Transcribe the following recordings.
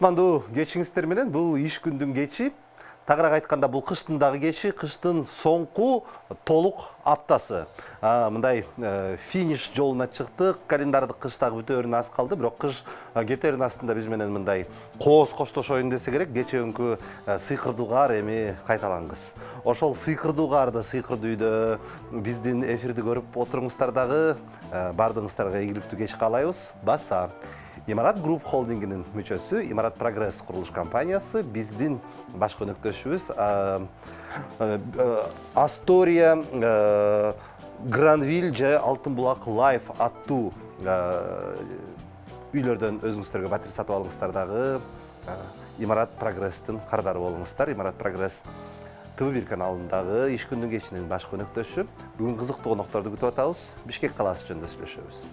Кутмандуу кечиңиздер менен бул иш күндүн кечи. Тагыраак айтканда бул кыштын дагы кечи, кыштын соңку толук аптасы. Мындай финиш жолуна чыктык. Календарда кыш дагы бүтөөрүнө аз калды, бирок кыш кетээринин астында биз менен мындай кооз коштошоюн десе керек. Кечеүнкү сыйкырдуу каар эми кайталангыс. Ошол сыйкырдуу каарда, сыйкырдуу үйдө биздин эфирди көрүп отуруңуздар дагы баардыгыңыздарга ийгиликтүү кеч каалайбыз. Баса Имарат Групп холдингинин мүчөсү, Имарат Прогресс курулуш компаниясы биздин баш өнөктөшүбүз Астория, Гранвиль же Алтын булак Лайф аттуу үйлөрдөн өзүңүздөргө батир сатып алыңыздар дагы Имарат Прогресстин кардары болуңуздар. Имарат Прогресс ТВ1 каналындагы иш күндүн кечинин баш өнөктөшү. Бүгүн кызыктуу конокторду күтүп атабыз. Бишкек калаасы жөнүндө сүйлөшөбүз.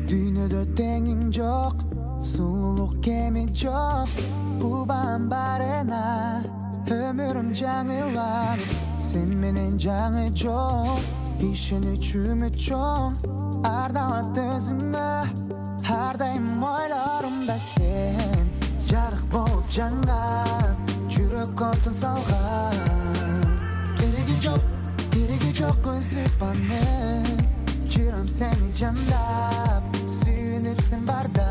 Дүйнөдө теңиң жок, сулуулук кеми жок. Убан барына өмүрүм жаңыланып, сен менен жаңы жок. Ишеничүмү чоң, ардалат өзүңө. Ар дайым ойлорумда сен жарык болуп жанган, жүрөк отун салган. Кереги жок өзүп аны, жүрөм сени жандап, сүйүнүпсүн барда.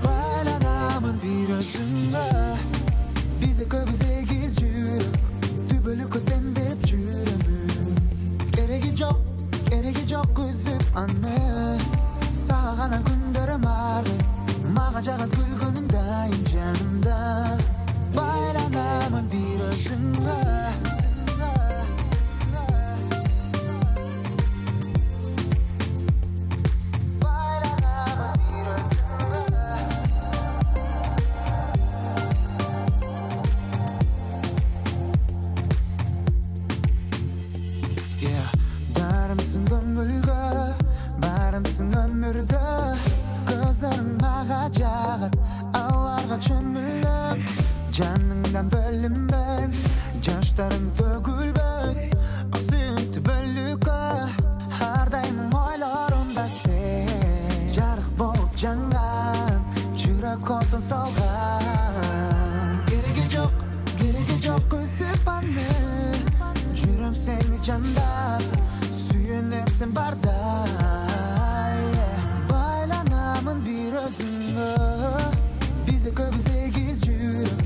Байланамын бир өзүңө, биз экөөбүз эгиз жүрөк, түбөлүккө сен деп жүрөмүн. Кереги жок үзүп аны, сага гана күндөрүм арды, мага жагат күлгөнүң дайым жанымда. Байланамын бир өзүңө. Дарымсың көңүлгө, барымсың өмүрдө. Көздөрүң мага жагат, аларга чөмүлөм. Жаныңдан бөлүнбөйм, жаштарың төгүлбөйт. Сүйүктүү бөлүккө, ар дайым ойлорумда сен жарык болуп жанган, жүрөк отун салган. Кереги жок үзүп аны, жүрөм сени жандап, сүйүнүпсүн барда. Байланамын бир өзүңө, биз экөөбүз эгиз жүрөк,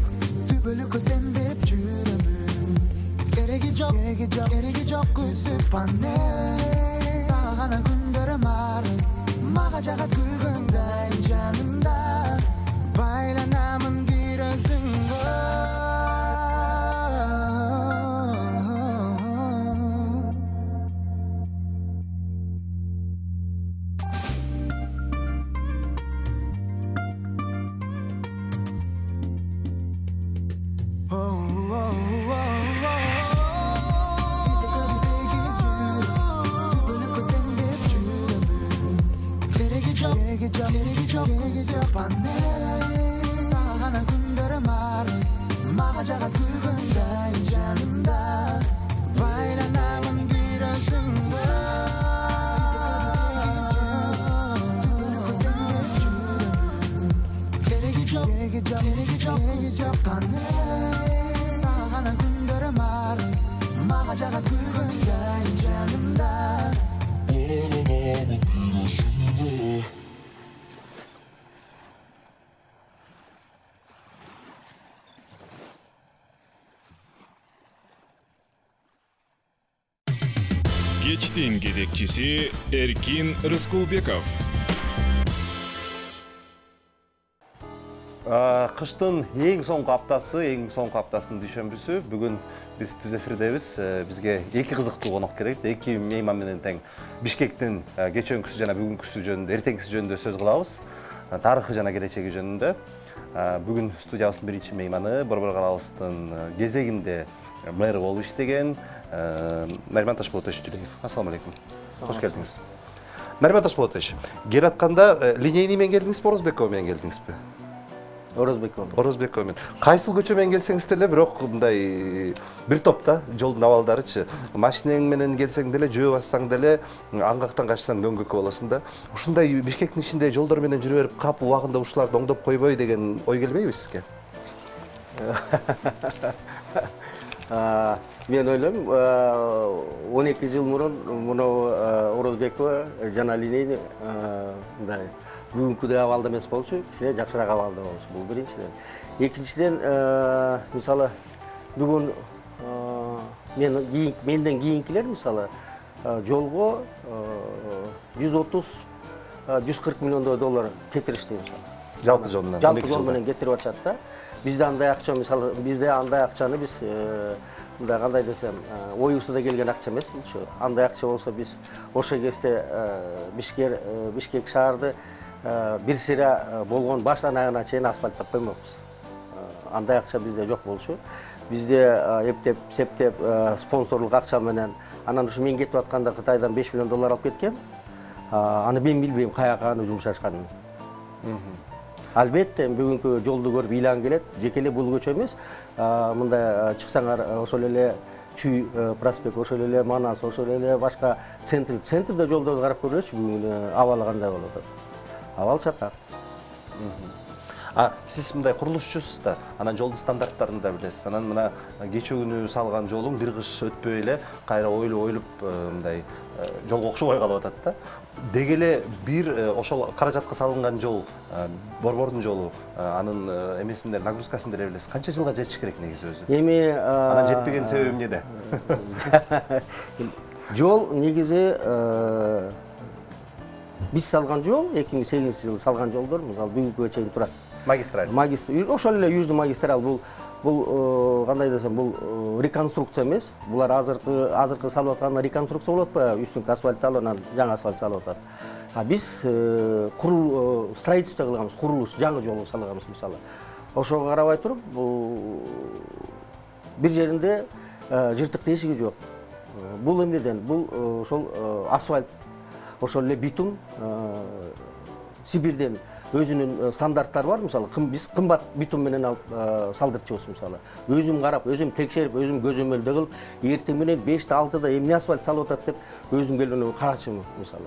түбөлүккө сен деп жүрөмүн. Кереги жок үзүп аны, сага гана күндөрүм арды, мага жагат күлгөн дайым жанымда. Байланамын бир өзүңө. Кереги жок үзүп аны, сага гана күндөрүм арды, мага жагат күлгөн дайым жанымда. Байланамын бир өзүңө. Кереги жок аны, сага гана күндөрүм арды, мага жагат күлгөн дайым жанымда. Байланамын бир өзүңө. Кечтин кезекчиси Эркин Рыскулбеков. Кыштын эң соңку аптасынын дүйшөмбүсү. Бүгүн биз түз эфирдебиз. Бизге эки кызыктуу конок керек. Эки мейман менен тең Бишкектин кечээкүсү жана бүгүнкүсү жөнүндө, эртеңкиси жөнүндө сөз кылабыз. Тарыхы жана келечеги жөнүндө. Бүгүн студиябыздын биринчи мейманы Борбор калабыздын кезегинде мэр болуп иштеген Нариман Ташполотович Тюлеев. Ассаламу алейкум. Кош келдиңиз. Нариман Ташполотович, келатканда линейный менен келдиңизби, Орозбекова менен келдиңизби? Орозбекова менен. Кайсыл көчө менен келсеңиз деле, бирок мындай бир топта жолдун абалдарычы. Машинең менен келсең деле, жөө бассаң деле, аңгактан качсаң дөңгөккө болосуң да. Ушундай Бишкектин ичинде жолдор менен жүрүп берип, кап убагында ушуларды оңдоп койбой деген ой келбейби сизге? Мен ойлойм, 12 жыл мурун муну Орозбекова жана линейный мындай бүгүнкүдөй абалда эмес болчу, кичине жакшыраак абалда болчу. Бул биринчиден. Экинчиден, мисалы, бүгүн менден кийинкилер мисалы жолго 130-140 миллиондой доллар кетиришти. Жалпы жол менен. Жалпы жол менен кетирип атышат да. Бизде андай акча мисалы, бизде андай акчаны биз мындай кандай десем, оюбузда келген акча эмес булчу. Андай акча болсо биз ошо кезде Бишкек шаарды бир сыйра болгон баштан аягына чейин асфальттап коймокпуз. Андай акча бизде жок болчу. Бизде эптеп, септеп, спонсорлук акча менен, анан ушу мен кетип атканда Кытайдан 5 миллион доллар алып кеткем. Аны мен билбейм каяка аны жумшашканын. Албетте, бүгүнкү жолду көрүп ыйлан келет. Жеке эле бул көчө эмес. Мындай чыксаңар, ошол эле Чүй проспект, ошол эле Манас, ошол эле башка центрде жолдорду карап көрөчү, бүгүн абалы кандай болуп атат. Абал чатак. Сиз мындай курулушчусуз да, анан жолдун стандарттарын да билесиз. Анан мына кече күнү салган жолуң бир кыш өтпөй эле кайра ойлоп мындай жолго окшобой калып атат да. Деги эле бир ошол каражатка салынган жол, Борбордун жолу, анын эмесинде нагрузкасын деле билесиз. Канча жылга жетиш керек негизи өзү? Эми анан жетпеген себеби эмнеде? Жол негизи биз салган жол 2008-жылы салган жолдор, мисалы бүгүнкүгө чейин турат. Магистраль. Ошол эле южный магистраль, бул кандай десем, бул реконструкция эмес. Булар азыркы салып аткан реконструкция болуп атпайбы? Үстүнкү асфальт алып, анан жаңы асфальт салып атат. Биз строительство кылганбыз, курулуш, жаңы жол салганбыз мисалы. Ошого карабай туруп, бир жеринде жыртык тешиги жок. Бул эмнеден? Бул ошол асфальт, ошол эле битум, Сибирден өзүнүн стандарттары бар, мисалы, биз кымбат битум менен алып салдырчубуз мисалы. Өзүм карап, өзүм текшерип, өзүм көзөмөлдө кылып, эртең менен 5-6-да эмне асфальт салып атат деп өзүм келип карачымын мисалы.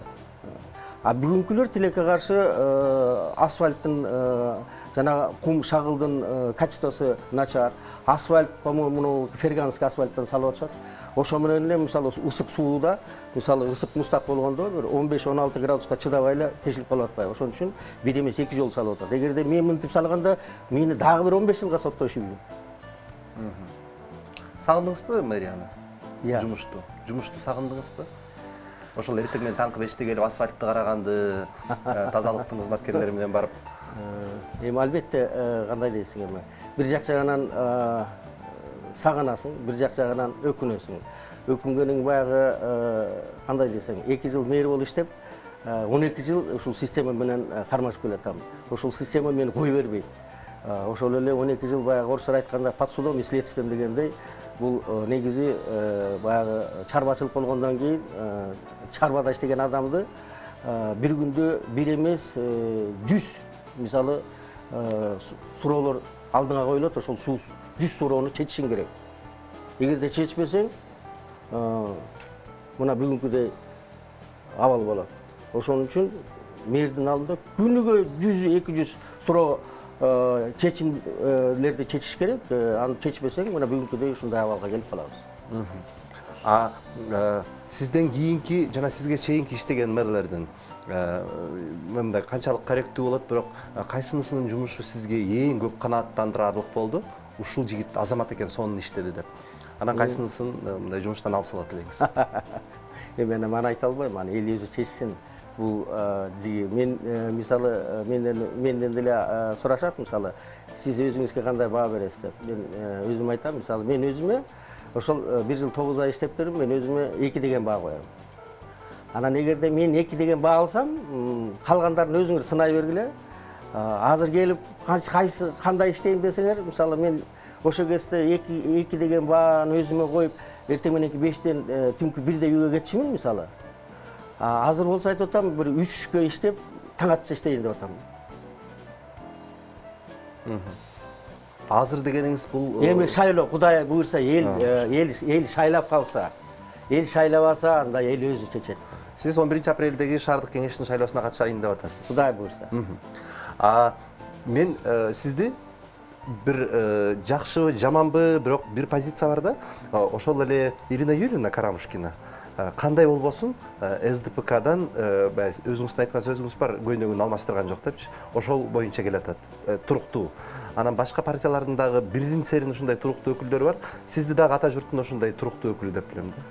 Бүгүнкүлөр тилекке каршы асфальттын жана кум шагылдын качествосу начар. Асфальт, по-моему, ферганский асфальттан салып атышат. Ошо менен эле мисалы ысык сууда, мисалы ысык мустак болгондо 15-16 градуска чыдабай эле тешилип калып атпайбы. Ошон үчүн бир эмес 2 жол салып атат. Эгерде мен мынтип салганда, мени дагы бир 15 жылга соттошу билем. Сагындыңызбы мэрияны? Жумушту сагындыңызбы? Ошол эртең менен таңкы 5те келип асфальтты караганды, тазалыктын кызматкерлери менен барып. Эми албетте кандай дейсиң эми. Бир жак жагынан сагынасың, бир жак жагынан өкүнөсүң. Өкүнгөнүң баягы кандай десең, 2 жыл мэр болуп иштеп, 12 жыл ушул система менен кармашып келатам. Ошол система мени кой бербейт. Ошол эле 12 жыл баягы орусча айтканда под судом и следствием дегендей, бул негизи баягы чарбачылык болгондон кийин чарбада иштеген адамды бир күндө бир эмес 100 мисалы суроолор алдыңа коюлат, ошол 100 суроону чечишиң керек. Эгерде чечпесең, мына бүгүнкүдөй абал болот. Ошон үчүн мэрдин алдында күнүгө 100-200 суроо чечимлерди чечиш керек. Аны чечпесең, мына бүгүнкүдөй ушундай абалга келип калабыз. Сизден кийинки жана сизге чейинки иштеген мэрлердин мындай канчалык корректүү болот, бирок кайсынысынын жумушу сизге эң көп канааттандырарлык болду? Ушул жигит азамат экен, сонун иштеди деп. Анан кайсынысын мындай жумуштан алып салат элеңиз? Эми аны айта албайм, аны эл өзү чечсин. Бул мен мисалы менден деле сурашат, мисалы, сиз өзүңүзгө кандай баа бересиз деп. Мен өзүм айтам, мисалы, мен өзүмө ошол 1 жыл 9 ай иштеп бердим, мен өзүмө 2 деген баа коём. Анан эгерде мен 2 деген баа алсам, калгандарын өзүңөр сынай бергиле. Азыр келип кайсы кандай иштейм десеңер, мисалы мен ошо кезде 2 деген бааны өзүмө коюп, эртең мененки 5тен түнкү 1де үйгө кетчүмүн мисалы. Азыр болсо айтып атам, бир 3кө иштеп, таң атса иштейин деп атам. Азыр дегениңиз бул Эми шайлоо, Кудай буйрса, эл шайлап калса, эл шайлабаса, анда эл өзү чечет. Сиз 11-апрелдеги шаардык кеңештин шайлоосуна катышайын деп атасыз. Кудай буйрса. Мен сизди бир жакшыбы, жаманбы, бирок бир позиция бар да. Ошол эле Ирина Юрьевна Карамушкина кандай болбосун СДПКдан өзүңүздүн айткан сөзүңүз бар, көйнөгүн алмаштырган жок депчи. Ошол боюнча келатат, туруктуу. Анан башка партиялардын дагы бирдин серин ушундай туруктуу өкүлдөр бар. Сизди дагы ата журттун ошондой туруктуу өкүлү деп билем да.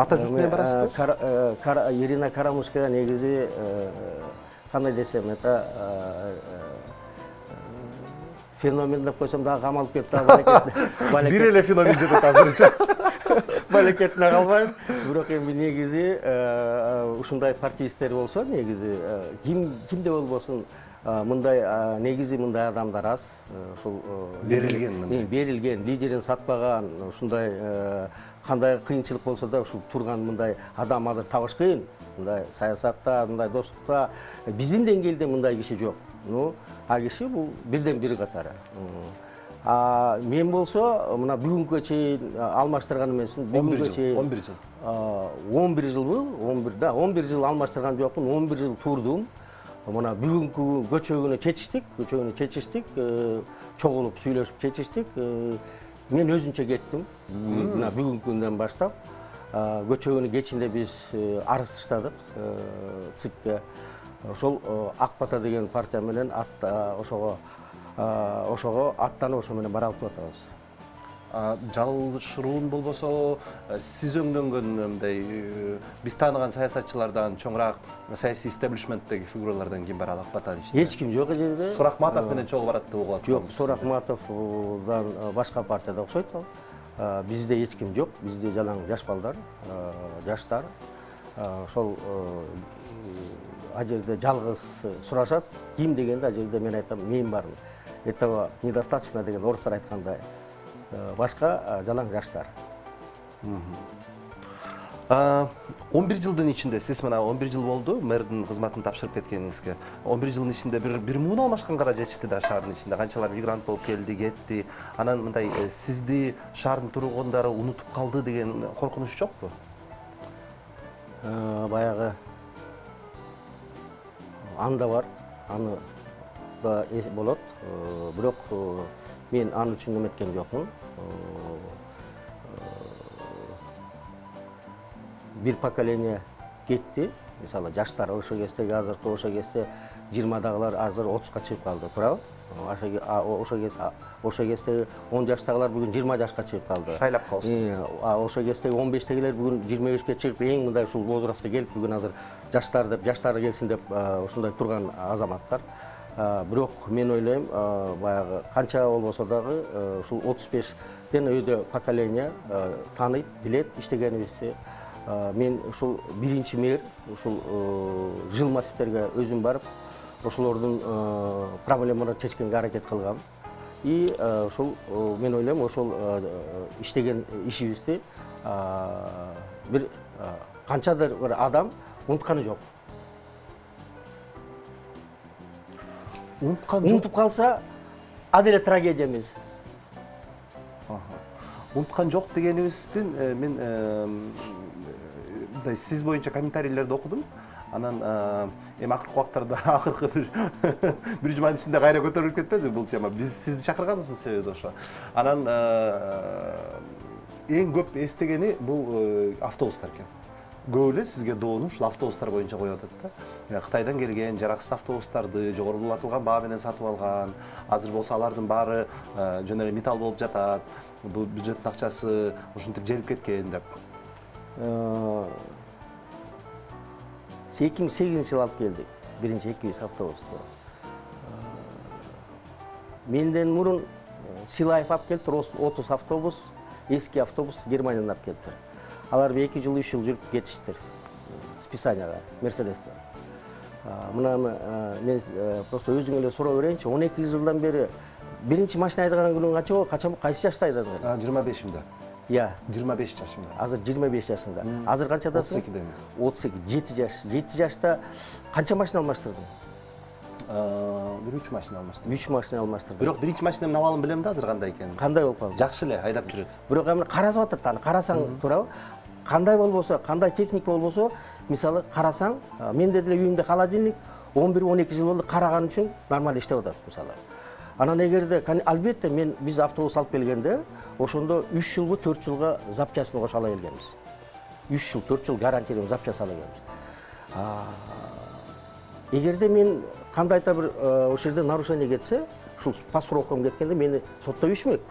Ата журт менен барасызбы? Ирина Карамушкина негизи кандай десем, это феномен деп койсом дагы камалып кетип балекет. Бир эле феномен жетет азырынча. Балекетине калбайм. Бирок эми негизи ушундай партиисттер болсо, негизи кимде болбосун, мындай негизи мындай адамдар аз. Ушул берилген, лидерин сатпаган, ушундай кандай кыйынчылык болсо да ушул турган мындай адам азыр табыш кыйын. Мындай саясатта, мындай достукта биздин деңгээлде мындай киши жок. А киши бул бирден бири катары. Мен болсо мына бүгүнкү чейин алмаштырган эмесмин. Бүгүнкү чейин 11 жыл. 11 жылбы? 11 жыл алмаштырган жокмун. 11 жыл турдум. Мына бүгүнкү көчөгүнү чечиштик, чогулуп сүйлөшүп чечиштик. Мен өзүнчө кеттим. Мына бүгүнкү күндөн баштап көчөгүнүн кечинде биз арыз таштадык ЦИКке. Ошол Ак Бата деген партия менен ошого аттанып ошо менен баралып атабыз. Жалышыруун болбосо, сиз өңдөнгөн мындай биз тааныган саясатчылардан, чоңураак саясий истеблишменттеги фигуралардан ким бар Ак Батанын ичинде? Эч ким жок жерде. Суракматов менен чогуу барат деп угулат. Жок, Суракматовдан башка партияда окшойт ал. Бизде эч ким жок. Бизде жалаң жаш балдар, жаштар. Ошол а жерде жалгыз сурашат. Ким дегенде а жерде мен айтам, мен бармын. Этого недостаточно деген орустар айткандай. Башка жалаң жаштар. 11 жылдын ичинде сиз мына 11 жыл болду мэрдин кызматын тапшырып кеткениңизге. 11 жылдын ичинде бир муун алмашканга да жетишти да шаардын ичинде. Канчалар мигрант болуп келди, кетти. Анан мындай сизди шаардын тургундары унутуп калды деген коркунуч жокпу? Баягы анда бар, аны да болот. Бирок мен аны үчүн эметкен жокмун. Бир поколение кетти. Мисалы жаштар ошо кездеги азыркы ошо кезде 20дагылар азыр 30ка чыгып калды, туурабы? Ошо кездеги 10 жаштагылар бүгүн 20 жашка чыгып калды. Шайлап калышты. Ошо кездеги 15тегилер бүгүн 25ке чыгып, эң мындай ушул возрастка келип, бүгүн азыр жаштар деп, жаштары келсин деп ушундай турган азаматтар. Бирок мен ойлойм, баягы канча болбосо дагы ушул 35ден өйдө поколение тааныйт, билет иштегенибизди. Мен ушул биринчи мэр ушул жыл массивтерге өзүм барып, ошолордун проблемаларын чечкенге аракет кылгам. И ушул мен ойлойм, ошол иштеген ишибизди бир канчадыр бир адам унутканы жок. Унутуп калса, аделе трагедия эмес. Унуткан жок дегенибиздин мен сиз боюнча комментарийлерди окудум. Анан эми акыркы убактарда акыркы бир жуманын ичинде кайра көтөрүлүп кетпеди бул тема. Биз сизди чакырганыбыздын себеби ошо. Анан эң көп эстегени бул автобустар экен. Көп эле сизге доону ушул автобустар боюнча коюп атат да. Кытайдан келген жараксыз автобустарды жогорулатылган баа менен сатып алган. Азыр болсо алардын баары жөн эле металл болуп жатат. Бул бюджеттин акчасы ушинтип желип кеткен деп. 2008 жыл алып келдик. Биринчи 200 автобусту. Менден мурун Силаев алып келиптир 30 автобус, эски автобус Германиядан алып келиптир. Алар 2 жыл, 3 жыл жүрүп кетиштир. Списанияга, Мерседестер. Мына мен просто өзүң эле суроо берейинчи. 12 жылдан бери биринчи машина айдаган күнүң кача кайсы жашта айдадың? 25-имде. Иә. 25 жашымда. Азыр 25 жашыңда. Азыр канчадасың? 32-демин. 32, 7 жаш. 7 жашта канча машина алмаштырдың? 3 машина алмаштырдым. 3 машина алмаштырдың. Бирок биринчи машинамдын абалын билем да азыр кандай экенин. Кандай болуп калды? Жакшы эле айдап жүрөт. Бирок эми карасып атат аны. Карасаң туурабы? Кандай болбосо, кандай техника болбосо, мисалы карасаң, менде деле үйүмдө холодильник 11-12 жыл болду караган үчүн нормаль иштеп атат мисалы. Анан эгерде албетте биз автобус алып келгенде, ошондо 3 жылбы 4 жылга запчасын кошо ала келгенбиз. 3 жыл 4 жыл гарантиялуу запчасын ала келгенбиз. Эгерде мен кандайда бир ошол жерде нарушение кетсе, ушул по срокам кеткенде мени соттой ишмек.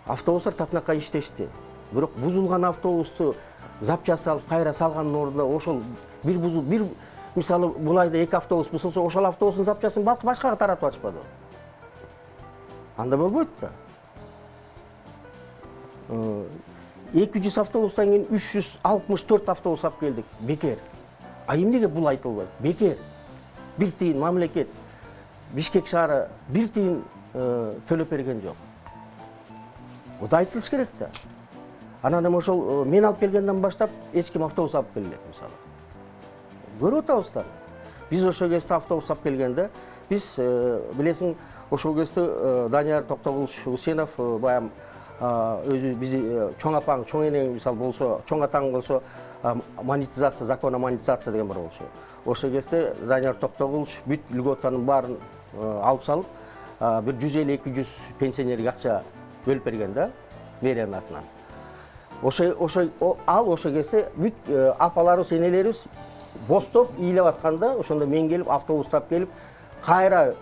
Автобустар татынакай иштешти. Бирок бузулган автобусту запчасы алып кайра салгандын ордуна ошол бир мисалы бул айда 2 автобус бузулса, ошол автобустун запчасын башкага таратып атышпады. Анда болбойт да. 200 автобустан кийин 364 автобус алып келдик. Бекер. Эмнеге бул айтылбайт? Бекер. Бир тыйын мамлекет Бишкек шаары бир тыйын төлөп берген жок. Ода айтылыш керек да. Анан эми ошол мен алып келгенден баштап эч ким автобус алып келбейт мисалы. Көрүп атабыз да. Биз ошол кезде автобус алып келгенде, биз билесиң, ошол кезде Данияр Токтогулович Усенов баягы өзү бизи чоң апаң, чоң энең мисалы болсо, чоң атаң болсо монетизация, закон о монетизация деген бар болчу. Ошол кезде Данияр Токтогулович бүт льготанын баарын алып салып, бир 150-200 пенсионерге акча бөлүп берген да, мэриянын атынан. Ал ошол кезде бүт апаларыбыз, энелерибиз бостоп ыйлап атканда, ошондо мен келип автобустап келип кайра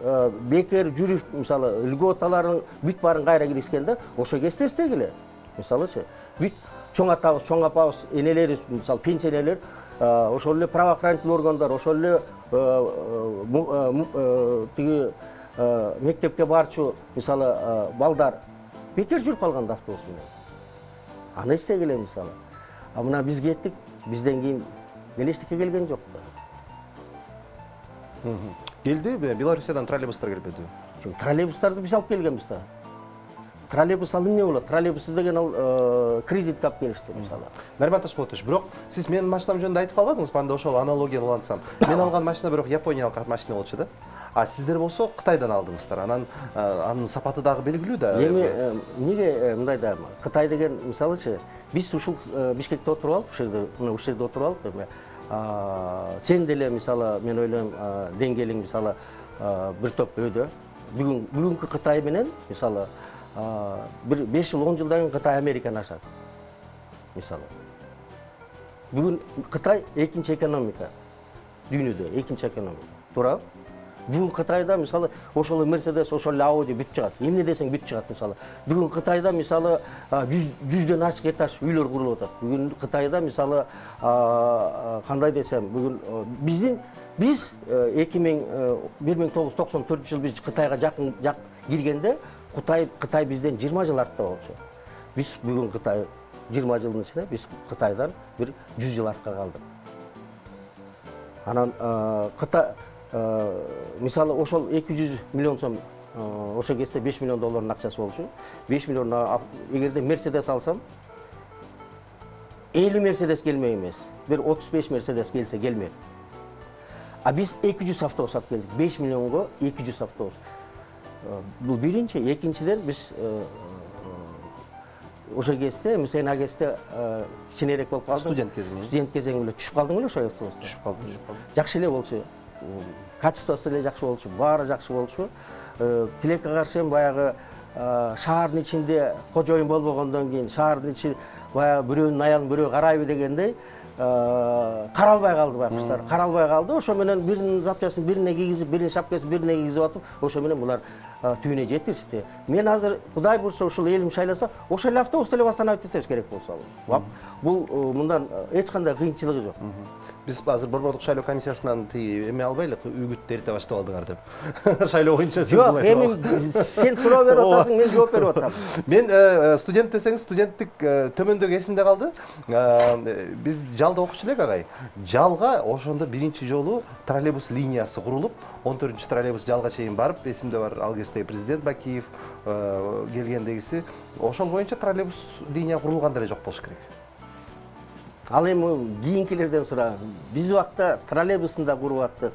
бекер жүрүп, мисалы льготаларын бүт баарын кайра киргизгенде, ошол кезде эстегиле. Мисалычы, бүт чоң атабыз, чоң апабыз, энелерибиз, мисалы пенсионерлер, ошол эле правоохранительный органдар, ошол эле тиги мектепке барчу, мисалы балдар бекер жүрүп калган автобус менен. Аны эстегиле мисалы. Мына биз кеттик, бизден кийин деле эчтеке келген жок да. Келди, Белоруссиядан троллейбустар келбеди. Троллейбустарды биз алып келгенбиз да. Троллейбус ал эмне болот? Троллейбус деген ал кредитке алып келишти мисалы. Нариман Ташполотович, бирок сиз менин машинам жөнүндө айтып калбадыңызбы? Анда ошол аналогияны улантсам. Мен алган машина бирок Япониялык машина болчу да. Сиздер болсо Кытайдан алдыңыздар. Анан анын сапаты дагы белгилүү да. Эми эмне мындай да, Кытай деген мисалычы, биз ушул Бишкекте отуруп алып, ушул жерде отуруп алып, эми сен деле мисалы мен ойлойм деңгээлиң мисалы бир топ өйдө. Бүгүнкү Кытай менен мисалы бир 5 жыл 10 жылдан кийин Кытай Американы ашат. Мисалы. Бүгүн Кытай экинчи экономика. Дүйнөдө экинчи экономика. Туура? Бүгүн Кытайда мисалы ошол Mercedes, ошол Audi бүт чыгат. Эмне десең бүт чыгат мисалы. Бүгүн Кытайда мисалы 100дөн ашык этаж үйлөр курулуп атат. Бүгүн Кытайда мисалы кандай десем, бүгүн биз 1994 жыл биз Кытайга жакын киргенде Кытай бизден 20 жыл артта болчу. Биз бүгүн Кытай 20 жылдын ичинде биз Кытайдан бир 100 жыл артка калдык. Анан Кытай мисалы ошол 200 миллион сом ошол кезде 5 миллион доллардын акчасы болчу. 5 миллион эгерде Mercedes алсам 50 Mercedes келмек эмес. Бир 35 Mercedes келсе келмек. Биз 200 автобус алып келдик. 5 миллионго 200 автобус. Бул биринчи, экинчиден биз ошол кезде, сен кезде кичинерээк болуп калдың. Студент кезең эле түшүп калдың эле ошол автобуста. Түшүп калдым. Жакшы эле болчу. Качествосы эле жакшы болчу, баары жакшы болчу. Тилекке каршы баягы шаардын ичинде кожоюн болбогондон кийин шаардын ичи баягы бирөөнүн аялын бирөө карайбы дегендей каралбай калды байкуштар. Каралбай калды. Ошо менен биринин запчасын бирине кийгизип, биринин шапкасын бирине кийгизип атып, ошо менен булар түйүнө жетишти. Мен азыр Кудай бурса ушул элим шайласа, ошол эле автобусту эле восстановить этебиз керек болсо. Бул мындан эч кандай кыйынчылыгы жок. Биз азыр Борбордук шайлоо комиссиясынан тиги эме албайлы, үгүт эрте баштап алдыңар деп. Шайлоо боюнча сиз Жок, эми сен суроо берип атасың, мен жооп берип атам. Мен студент десеңиз, студенттик төмөндөгү эсимде калды. Биз жалда окучу элек агай. Жалга ошондо биринчи жолу троллейбус линиясы курулуп, 14-чү троллейбус жалга чейин барып, эсимде бар, ал кезде президент Бакиев келгендегиси. Ошол боюнча троллейбус линия курулган деле жок болуш керек. Ал эми кийинкилерден сураа. Биз убакта троллейбустун да куруп аттык,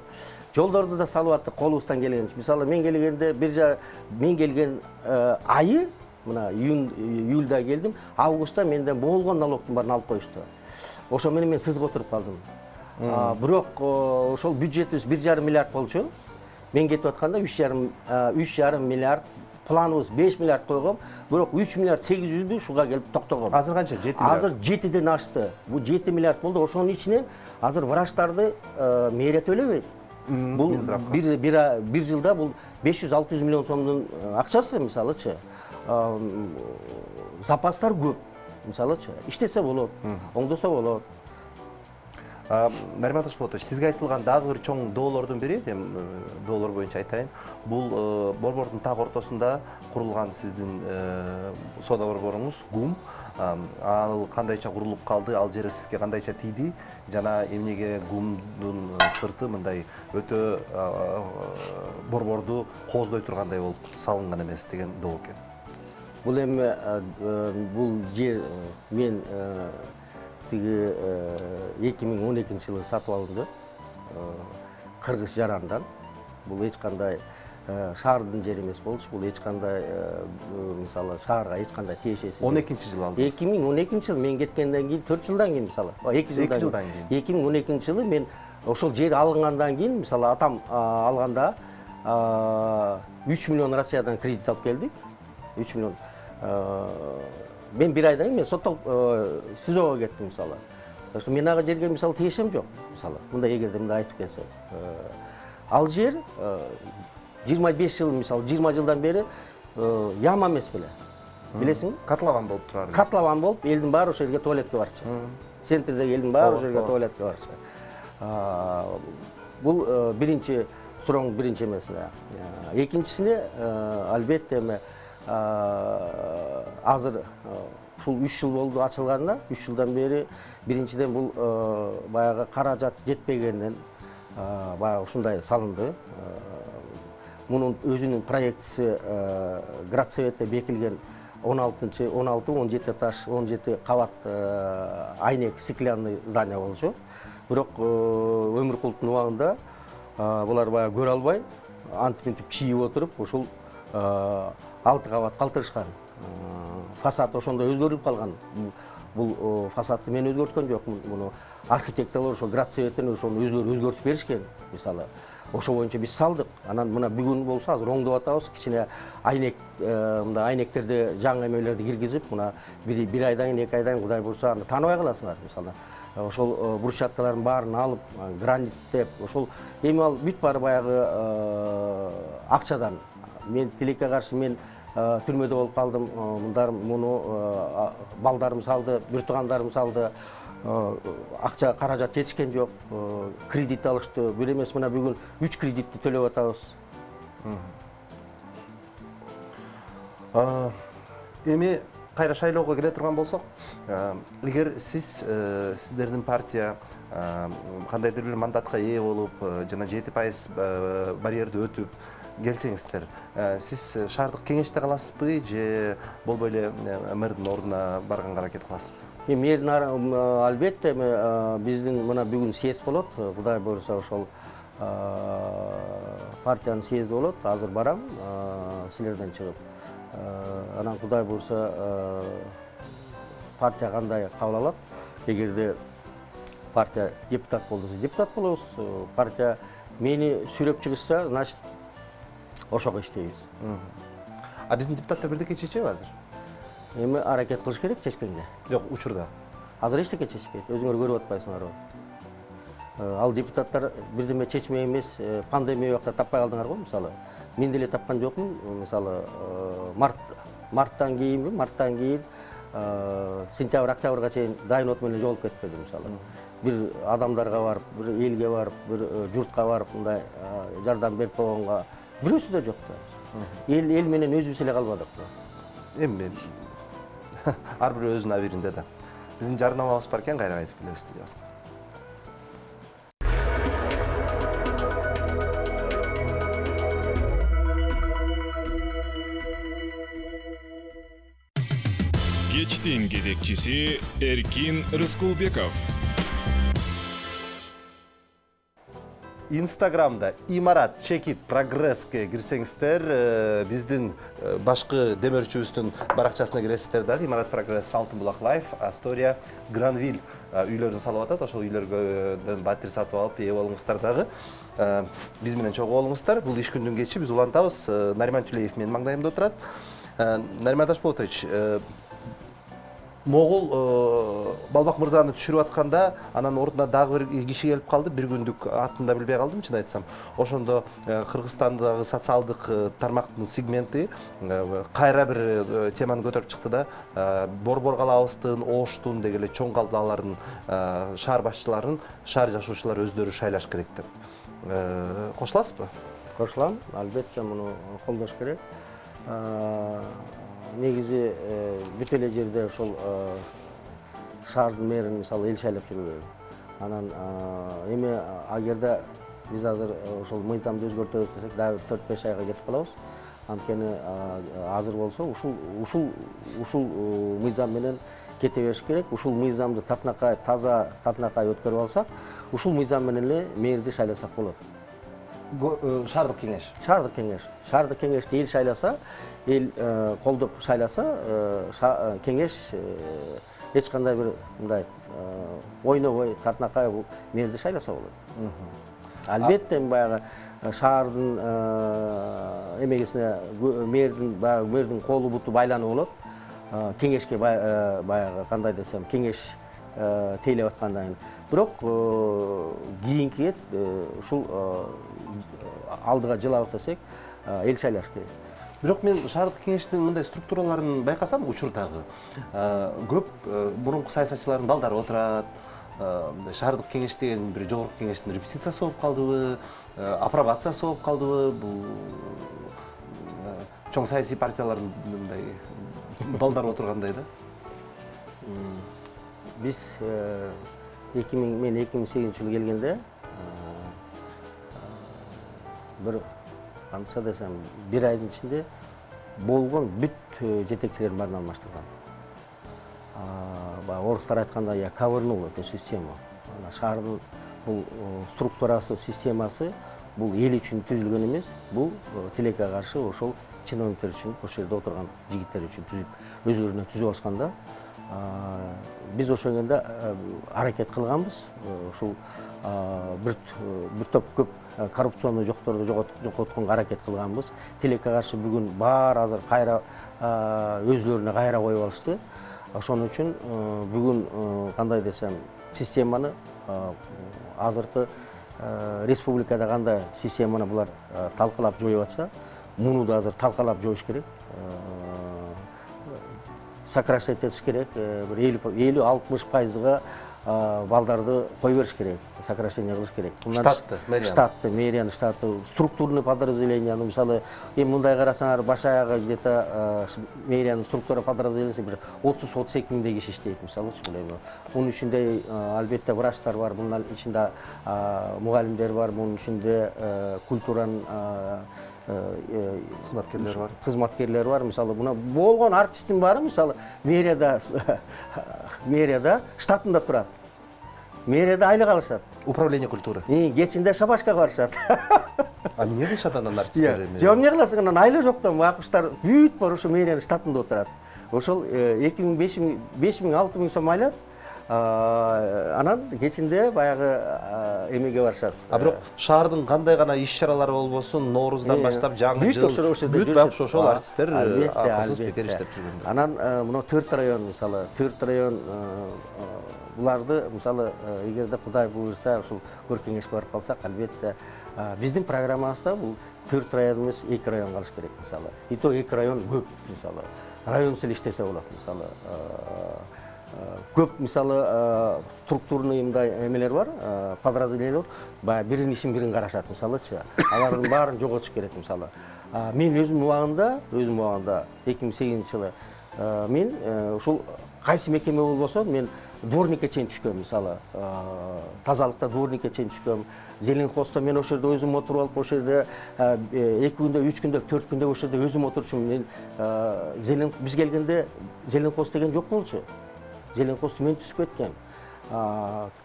жолдорду да салып аттык колубуздан келгенче. Мисалы мен келгенде мен келген айы, мына июлда келдим, августта менден болгон налогдун баарын алып коюшту. Ошо менен мен сызга отуруп калдым. Бирок ошол бюджетибиз 1,5 миллиард болчу. Мен кетип атканда 3,5 миллиард, планыбыз 5 миллиард койгом, бирок 3 миллиард 800 ушуга келип токтогом. Азыр канча? 7 миллиард. Азыр 7ден ашты. Бул 7 миллиард болду. Ошонун ичинен азыр врачтарды мэрия төлөбөйт. Бул бир жылда бул 500-600 миллион сомдун акчасы, мисалычы. Запастар көп. Мисалычы, иштесе болот, оңдосо болот. Нариман Ташпулатович, сизге айтылган дагы бир чоң доолордун бири, доолор боюнча айтайын. Бул борбордун так ортосунда курулган сиздин соода борборуңуз ГУМ. Ал кандайча курулуп калды, ал жер сизге кандайча тийди жана эмнеге ГУМдун сырты мындай өтө борборду кооздой тургандай болуп салынган эмес деген доо экен. Бул эми бул жер мен тиги 2012-жылы сатып алдым. Кыргыз жарандан. Бул эч кандай шаардын жери эмес болчу. Бул эч кандай мисалы шаарга эч кандай тиешеси. 12-жылы алдыңыз. 2012-жылы мен кеткенден кийин 4 жылдан кийин мисалы. 2 жылдан кийин. 2012-жылы мен ошол жер алынгандан кийин мисалы атам алганда 3 миллион Россиядан кредит алып келдик. 3 миллион. Мен bir aydan мен соттолуп СИЗОго кеттим мисалы. Так что мен ага жерге мисалы тиешем жок. Мисалы, мындай эгерде мындай айтып келсе. Ал жер 25 жыл мисалы 20 жылдан бери яма эмес беле. Билесиңби? Котлован болуп турар. Котлован болуп, элдин баары ошол жерге туалетке барчу. Центрдеги элдин баары ошол жерге туалетке барчу. Бул биринчи сурооң биринчи эмеси. Экинчисине албетте эми азыр ушул 3 жыл болду ачылганына, 3 жылдан бери биринчиден бул баягы каражат жетпегенден баягы ушундай салынды. Мунун өзүнүн проектиси Градсоветте бекилген 16-17 этаж, 17 кабат айнек стеклянный здание болчу. Бирок Өмүркулдун убагында булар баягы көрө албай, антип чийип отуруп, ушул 6 кабат калтырышкан. Фасад ошондо өзгөрүлүп калган. Бул фасадты мен өзгөрткөн жокмун. Муну архитекторлор ошо Градсоветтен ошону өзгөртүп беришкен. Мисалы, ошо боюнча биз салдык. Анан мына бүгүн болсо азыр оңдоп атабыз. Кичине айнек, мындай айнектерди жаңы эмелерди киргизип, мына бир айдан кийин, 2 айдан кийин Кудай буйрса аны тааныбай каласыңар. Мисалы, ошол брусчаткалардын баарын алып, граниттеп, ошол эми ал бүт баары баягы акчадан. Мен тилекке каршы мен түрмөдө болуп калдым. Мындар муну балдарым салды, бир туугандарым салды. Акча каражат жетишкен жок. Кредит алышты. Бир эмес мына бүгүн 3 кредитти төлөп атабыз. Эми кайра шайлоого келе турган болсок, эгер сиздердин партия кандайдыр бир мандатка ээ болуп, жана 7% барьерди өтүп келсеңиздер, сиз шаардык кеңеште каласызбы же болбой эле мэрдин ордуна барганга аракет кыласызбы? Мэрдин албетте биздин мына бүгүн съезд болот. Кудай буйрса ошол партиянын съезди болот. Азыр барам силерден чыгып. Анан Кудай буйрса партия кандай кабыл алат? Эгерде партия депутат болсо, депутат болобуз. Партия мени сүрөп чыгышса, значит ошого иштейбиз. А биздин депутаттар бирдеке чечеби азыр? Эми аракет кылыш керек чечкенге. Жок, учурда. Азыр эчтеке чечпейт. Өзүңөр көрүп атпайсыңарбы? Ал депутаттар бирдеме чечмей эмес, пандемия убакта таппай калдыңар го, мисалы. Мен деле тапкан жокмун. Мисалы, марттан кийин сентябрь, октябрга чейин дайын от менен жолуп кетпеди, мисалы. бир адамдарга барып, бир элге барып, бир журтка барып мындай жардам берип койгонго бирөөсү да жок да. Эл менен өзүбүз эле калбадык да. Эми ар бир өзүнүн абийиринде да. Биздин жарнамабыз бар экен, кайра кайтып келебиз студиябызга. Кечтин кезекчиси Эркин Рыскулбеков. Инстаграмда имарат чекит прогресске кирсеңиздер, биздин башкы демөөрчүбүздүн баракчасына киресиздер дагы. Имарат прогресс Алтын булак лайф, Астория, Гранвиль үйлөрүн салып атат. Ошол үйлөргө батир сатып алып ээ болуңуздар дагы. Биз менен чогуу болуңуздар. Бул иш күндүн кечи биз улантабыз. Нариман Түлеев менин маңдайымда отурат. Нариман Ташполотович, Могул Балбак мырзаны түшүрүп атканда, анан ордуна дагы бир киши келип калды. Бир күндүк атын да билбей калдым, чын айтсам. Ошондо Кыргызстандагы социалдык тармактын сегменти кайра бир теманы көтөрүп чыкты да, Борбор калабыздын, Оштун деги эле чоң калалардын шаар башчыларын шаар жашоочулар өздөрү шайлаш керек деп. Кошуласызбы? Кошулам, албетте муну колдош керек. Негизи бүт эле жерде ошол шаардын мэрин мисалы эл шайлап жүрбөйбү. Анан эми агерде биз азыр ошол мыйзамды өзгөртөбүз десек, дагы 4-5 айга кетип калабыз. Анткени азыр болсо ушул мыйзам менен кете бериш керек. Ушул мыйзамды татынакай, таза татынакай өткөрүп алсак, ушул мыйзам менен эле мэрди шайласак болот. Шаардык кеңеш. Шаардык кеңеш. Шаардык кеңешти эл шайласа, эл колдоп шайласа, кеңеш эч кандай бир мындай ойнобой, татынакай бул мэрди шайласа болот. Албетте баягы шаардын эмегесине мэрдин колу буту байланып болот. Кеңешке баягы кандай десем, кеңеш тейлеп аткандан кийин. Бирок кийинки ушул алдыга жылабыз десек, эл шайлаш керек. Бирок мен шаардык кеңештин мындай структураларын байкасам учурдагы көп мурунку саясатчылардын балдары отурат. Шаардык кеңеш деген бир жогорку кеңештин репетициясы болуп калдыбы, апробациясы болуп калдыбы, бул чоң саясий партиялардын мындай балдары отургандай да. Биз мен 2008-жылы келгенде бир канча десем, бир айдын ичинде болгон бүт жетекчилердин баарын алмаштырган. Орустар айтканда, я ковырнул эту систему. Шаардын бул структурасы, системасы бул эл үчүн түзүлгөн эмес, бул тилекке каршы ошол чиновниктер үчүн, ошол жерде отурган жигиттер үчүн түзүп, өзүлөрүнө түзүп алышканда, биз ошондо аракет кылганбыз. Ушул бир топ көп коррупционный жокторду жокотконго аракет кылганбыз. Тилекке каршы бүгүн баары азыр кайра өзүлөрүнө кайра коюп алышты. Ошон үчүн бүгүн кандай десем, системаны азыркы республикада кандай системаны булар талкалап жоюп атса, муну да азыр талкалап жоюш керек. Сокращать этиш керек, бир 50-60%га балдарды кой бериш керек, сокращение кылыш керек. Штатты, мэрияны штаты, структурный подразделенияны, мисалы, эми мындай карасаңар, баш аягы где-то мэриянын структура подразделениясы бир 30-32 миңдей киши иштейт, мисалычы бул эми. Мунун ичинде албетте врачтар бар, мунун ичинде мугалимдер бар, мунун ичинде культуранын кызматкерлер бар. Мисалы, мына болгон артисттин баары, мисалы, мэрияда штатында турат. Мэрияда айлык алышат. Управление культуры. Кечинде шабашкага барышат. Эмне кылышат анан артисттер? Жок, эмне кыласың, анан айлык жоктон акчтар бүт бар ошо мэриянын штатында отурат. Ошол 2000, 5000, 6000 сом айлат. Анан кечинде баягы эмеге барышат. Бирок шаардын кандай гана иш-чаралары болбосун, Нооруздан баштап жаңы жыл бүт бак ошол артисттер акысыз бекер иштеп жүргөн. Анан мына 4 район, мисалы, 4 район буларды, мисалы, эгерде Кудай буйрса, ушул көркеңешке барып калсак, албетте биздин программабызда бул 4 район эмес, 2 район калыш керек, мисалы. И то 2 район көп, мисалы. Район сел иштесе болот, мисалы. көп мисалы структурный мындай эмелер бар, подразделениялар баягы биринин ишин бирин карашат мисалычы. Алардын баарын жоготуш керек мисалы. Мен өзүм убагында 2008 жылы мен ушул кайсы мекеме болбосо мен дворникке чейин түшкөм мисалы. Тазалыкта дворникке чейин түшкөм. Зеленхозто мен ошол жерде өзүм отуруп алып, ошол жерде 2 күндө, 3 күндө, 4 күндө ошол жерде өзүм отурчумун. Мен биз келгенде Зеленхоз деген жок болчу. Зеленхозду мен түзүп кеткем.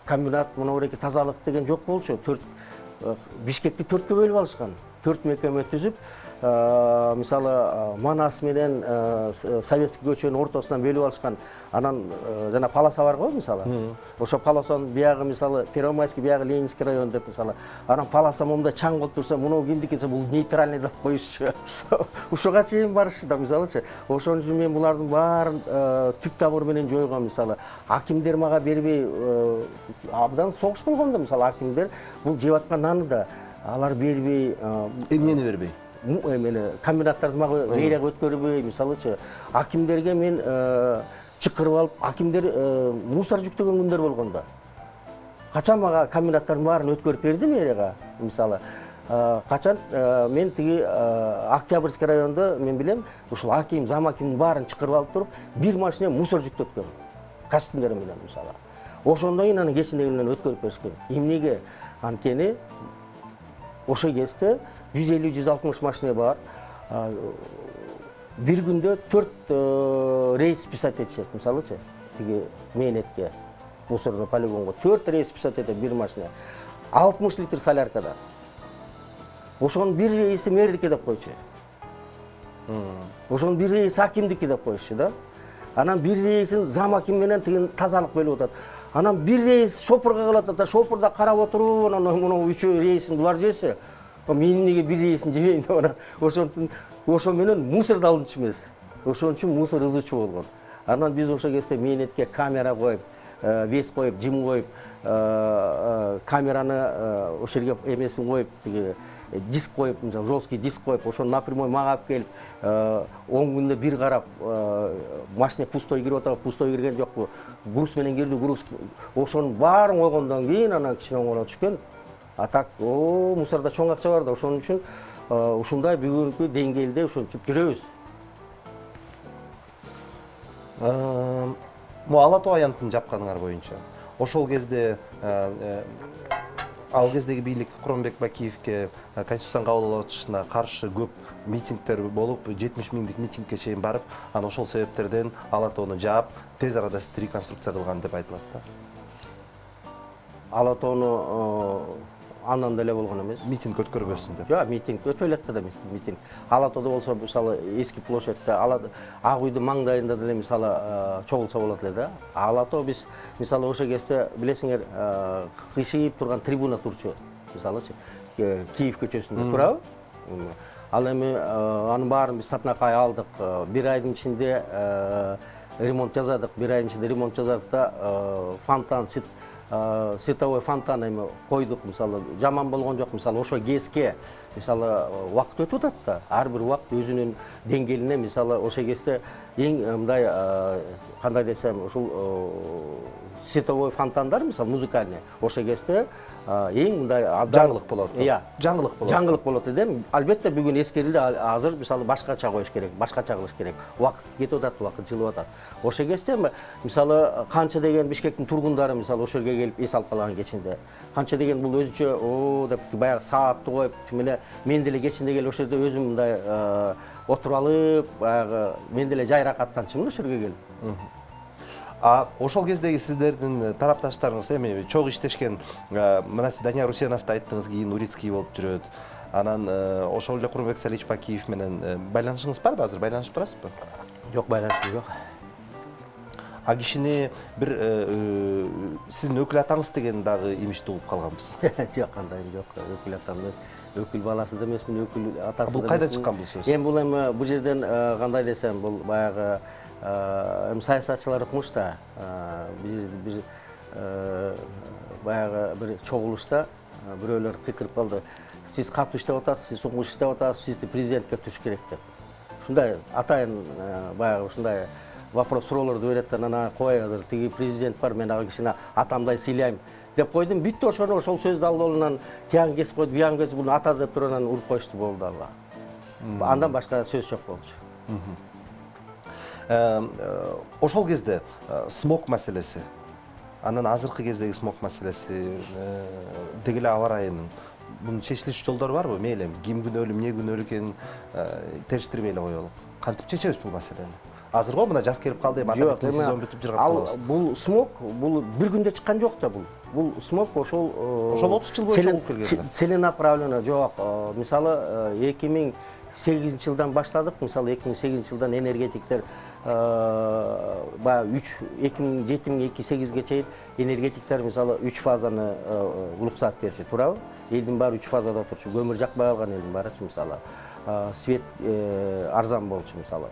Комбинат, мына буреки тазалык деген жок болчу. Бишкекти 4кө бөлүп алышкан. 4 мекеме түзүп, мисалы Манас менен Советский көчөнүн ортосунан бөлүп алышкан. Анан жана полоса бар го мисалы. Ошо полосанын биягы мисалы Первомайский, биягы Ленинский район деп мисалы. Анан полоса момунда чаң болуп турса, муну кимдики десе, бул нейтральный деп коюшчу. Ушуга чейин барышты да мисалычы. Ошон үчүн мен булардын баарын түп тамыры менен жойгом мисалы. Акимдер мага бербей, абдан согуш болгондо мисалы акимдер бул жеп аткан наны да алар бербей, эмнени бербей? Эмени комбинаттарды мага мэрияга өткөрбөй, мисалычы акимдерге мен чакырып алып, акимдер мусор жүктөгөн күндөр болгондо. Качан мага комбинаттардын баарын өткөрүп берди мэрияга, мисалы. Качан мен тиги Октябрьский районда мен билем, ушул аким, зам акимдин баарын чакырып алып туруп, бир машина мусор жүктөткөн. Костюмдер менен мисалы. Ошондон кийин анын кечиндеги менен өткөрүп беришкен. Эмнеге? Анткени ошо кезде 150-160 машина бар. Бир күндө 4 рейс писать этишет, мисалычы. Тиги мээнетке, мусорный полигонго 4 рейс писать этет бир машина. 60 литр соляркада. Ошонун бир рейси мэрдики деп койчу. Ошонун бир рейси акимдики деп коюшчу да. Анан бир рейсин зам аким менен тиги тазалык бөлүп атат. Анан бир рейс шопурга кылат да, шопурда карап отуруп, анан муну 3 рейсин булар жесе, мен эмнеге бир рейсин жебейм деп анан ошон менен мусорду алынчу эмес. Ошон үчүн мусор ызычу болгон. Анан биз ошол кезде мээнетке камера коюп, вес коюп, жим коюп, камераны ошол жерге эмесин коюп, тиги диск коюп, жесткий диск коюп, ошону напрямой мага алып келип, 10 күндө бир карап, машина пустой кирип атабы, пустой кирген жокпу, груз менен кирди, груз. Ошонун баарын койгондон кийин анан кичине оңоло түшкөн. А так, мусорда чоң акча бар да, ошон үчүн ушундай бүгүнкү деңгээлде ушинтип жүрөбүз. Ала Тоо аянтын жапканыңар боюнча, ошол кезде ал кездеги бийлик Куромбек Бакиевке Конституцияны кабыл алышына каршы көп митингдер болуп, 70 миңдик митингке чейин барып, анан ошол себептерден Ала Тоону жаап, тез арада реконструкция кылган деп айтылат да. Ала Тоону андан деле болгон эмес. Митинг өткөрбөсүн деп. Жок, митинг өтө элек да митинг. Ала Тоодо болсо, мисалы, эски площадьте, Ак үйдүн маңдайында деле мисалы чогулса болот эле да. Ала Тоо биз мисалы ошол кезде билесиңер, кыйшыйып турган трибуна турчу. Мисалычы, Киев көчөсүндө турабы? Ал эми анын баарын биз Сатнакай алдык. Бир айдын ичинде ремонт жасадык, да фонтан, световой фонтан эми койдук, мисалы, жаман болгон жок, мисалы, ошо кезге, мисалы, убакыт өтүп атат да. Ар бир убакыт өзүнүн деңгээлине, мисалы, ошо кезде эң мындай кандай десем, ушул световой фонтандар, мисалы, музыкальный, ошо кезде эң мындай жаңылык болот. Иә, жаңылык болот. Жаңылык болот дедим. Албетте бүгүн эскерилди, азыр мисалы башкача коюш керек, башкача кылыш керек. Убакыт кетип атат, убакыт жылып атат. Ошо кезде мисалы канча деген Бишкектин тургундары мисалы ошо жерге келип эс алып калган кечинде. Канча деген бул өзүнчө деп баягы саатты коюп, мен деле кечинде келип ошо жерде өзүм мындай отуруп алып, баягы мен деле жайракаттанчымын ошо жерге келип. Ошол кездеги сиздердин тарапташтарыңыз эми чогуу иштешкен, мына сиз Данияр Усеновду айттыңыз, кийин Урицкий болуп жүрөт. Анан ошол эле Куромбек Салич Бакиев менен байланышыңыз барбы азыр? Байланышып турасызбы? Жок, байланышым жок. Кишини бир сиздин өкүл атаңыз деген дагы имичти угуп калганбыз. Жок, кандай жок, өкүл атам эмес. Өкүл баласы да эмесмин, өкүл атасы да. Бул кайдан чыккан бул сөз? Эми бул эми бул жерден кандай десем, бул баягы саясатчылар укмуш да. Бир баягы бир чогулушта бирөөлөр кыйкырып калды. Сиз катуу иштеп атасыз, сиз сукмуш иштеп атасыз, сизди президентке түш керек деп. Ушундай атайын баягы ушундай вопрос суроолорду берет да, анан кой азыр тиги президент бар, мен ага кичине атамдай сыйлайм деп койдум. Бүттү, ошону ошол сөздү алдынан тиягын кесип койду, биягын кесип буну ата деп туруп анан уруп коюшту, болду алга. Андан башка сөз жок болчу. Ошол кезде смог маселеси, анан азыркы кездеги смог маселеси, деги эле аба ырайынын бунун чечилиш жолдору барбы? Мейли ким күнөөлүү, эмне күнөөлүү экенин териштирбей эле коелук. Кантип чечебиз бул маселени? Азыр го мына жаз келип калды, эми атабектин сезон бүтүп жыргап калабыз. Бул смог, бул бир күндө чыккан жок да бул. Бул смог ошол 30 жыл бою чогулуп келген. Целенаправленно жок. Мисалы 2008 жылдан баштадык. Мисалы 2008 жылдан энергетиктер баягы 2007-2008ге чейин энергетиктер мисалы 3 фазаны уруксаат бериши, туурабы? Элдин баары 3 фазада турчу, көмүр жакпай калган элдин баарычы мисалы. Свет арзан болчу мисалы.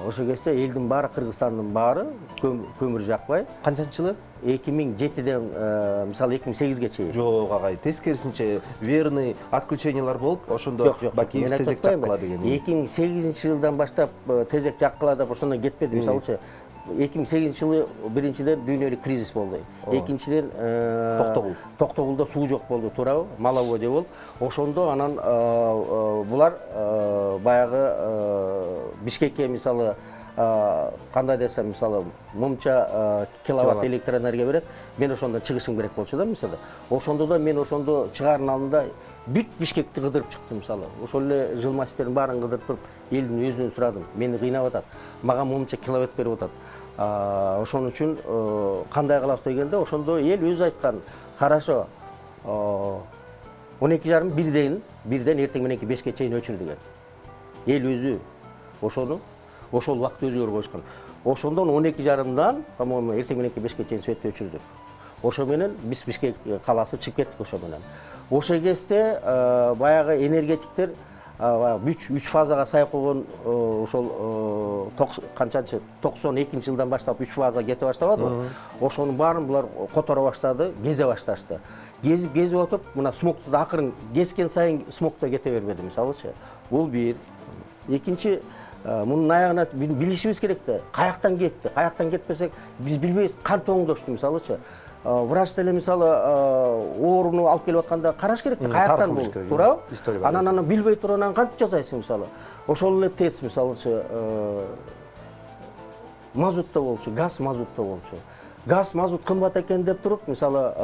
Ошол кезде элдин баары, Кыргызстандын баары көмүр жакпай. Канчанчы жылы? 2007ден мисалы 2008ге чейин. Жок агай, тескерисинче верный отключениялар болуп, ошондо Бакиев тезек жаккыла деген. 2008-жылдан баштап тезек жаккыла деп ошондон кетпеди. Мисалычы 2008-жылы биринчиден дүйнөлүк кризис болду. Экинчиден Токтогулда суу жок болду, туурабы? Маловодье болуп. Ошондо анан булар баягы Бишкекке мисалы кандай десем, мисалы мынча киловатт электроэнергия берет. Мен ошондон чыгышым керек болчу да мисалы. Ошондо да мен ошондо чыгаардын алдында бүт Бишкекти кыдырып чыктым мисалы. Ошол эле жыл массивтерин баарын кыдырып туруп, элдин өзүнөн сурадым. Мени кыйнап атат. Мага мынча киловатт берип атат. Ошон үчүн кандай кылабыз дегенде, ошондо эл өзү айткан, хорошо, 12:30 бирден эртең мененки 5ке чейин өчүр деген. Эл өзү ошону ошол убакытты өзгөрө койушкан. Ошондон 12:30дан, по-моему, эртең мененки 5ке чейин светти өчүрдүк. Ошо менен биз Бишкек калаасы чыгып кеттик ошо менен. Ошол кезде баягы энергетиктер 3 фазага сай койгон ошол канчанчы 92-жылдан баштап 3 фаза кете баштабадыбы? Ошонун баарын булар которо баштады, кезе башташты. Кезип отуп, мына смогту да акырын кескен сайын смогто кете бербеди, мисалычы. Бул бир. Экинчи, мунун аягына билишибиз керек да. Каяктан кетти? Каяктан кетпесек, биз билбейбиз, кантип оңдошту, мисалычы. Врач деле мисалы ооруну алып келип атканда караш керек да, каяктан бул, туурабы? Анан билбей туруп анан кантип жасайсың мисалы? Ошол эле ТЭЦ мисалычы мазутта болчу, газ мазутта болчу. Газ мазут кымбат экен деп туруп, мисалы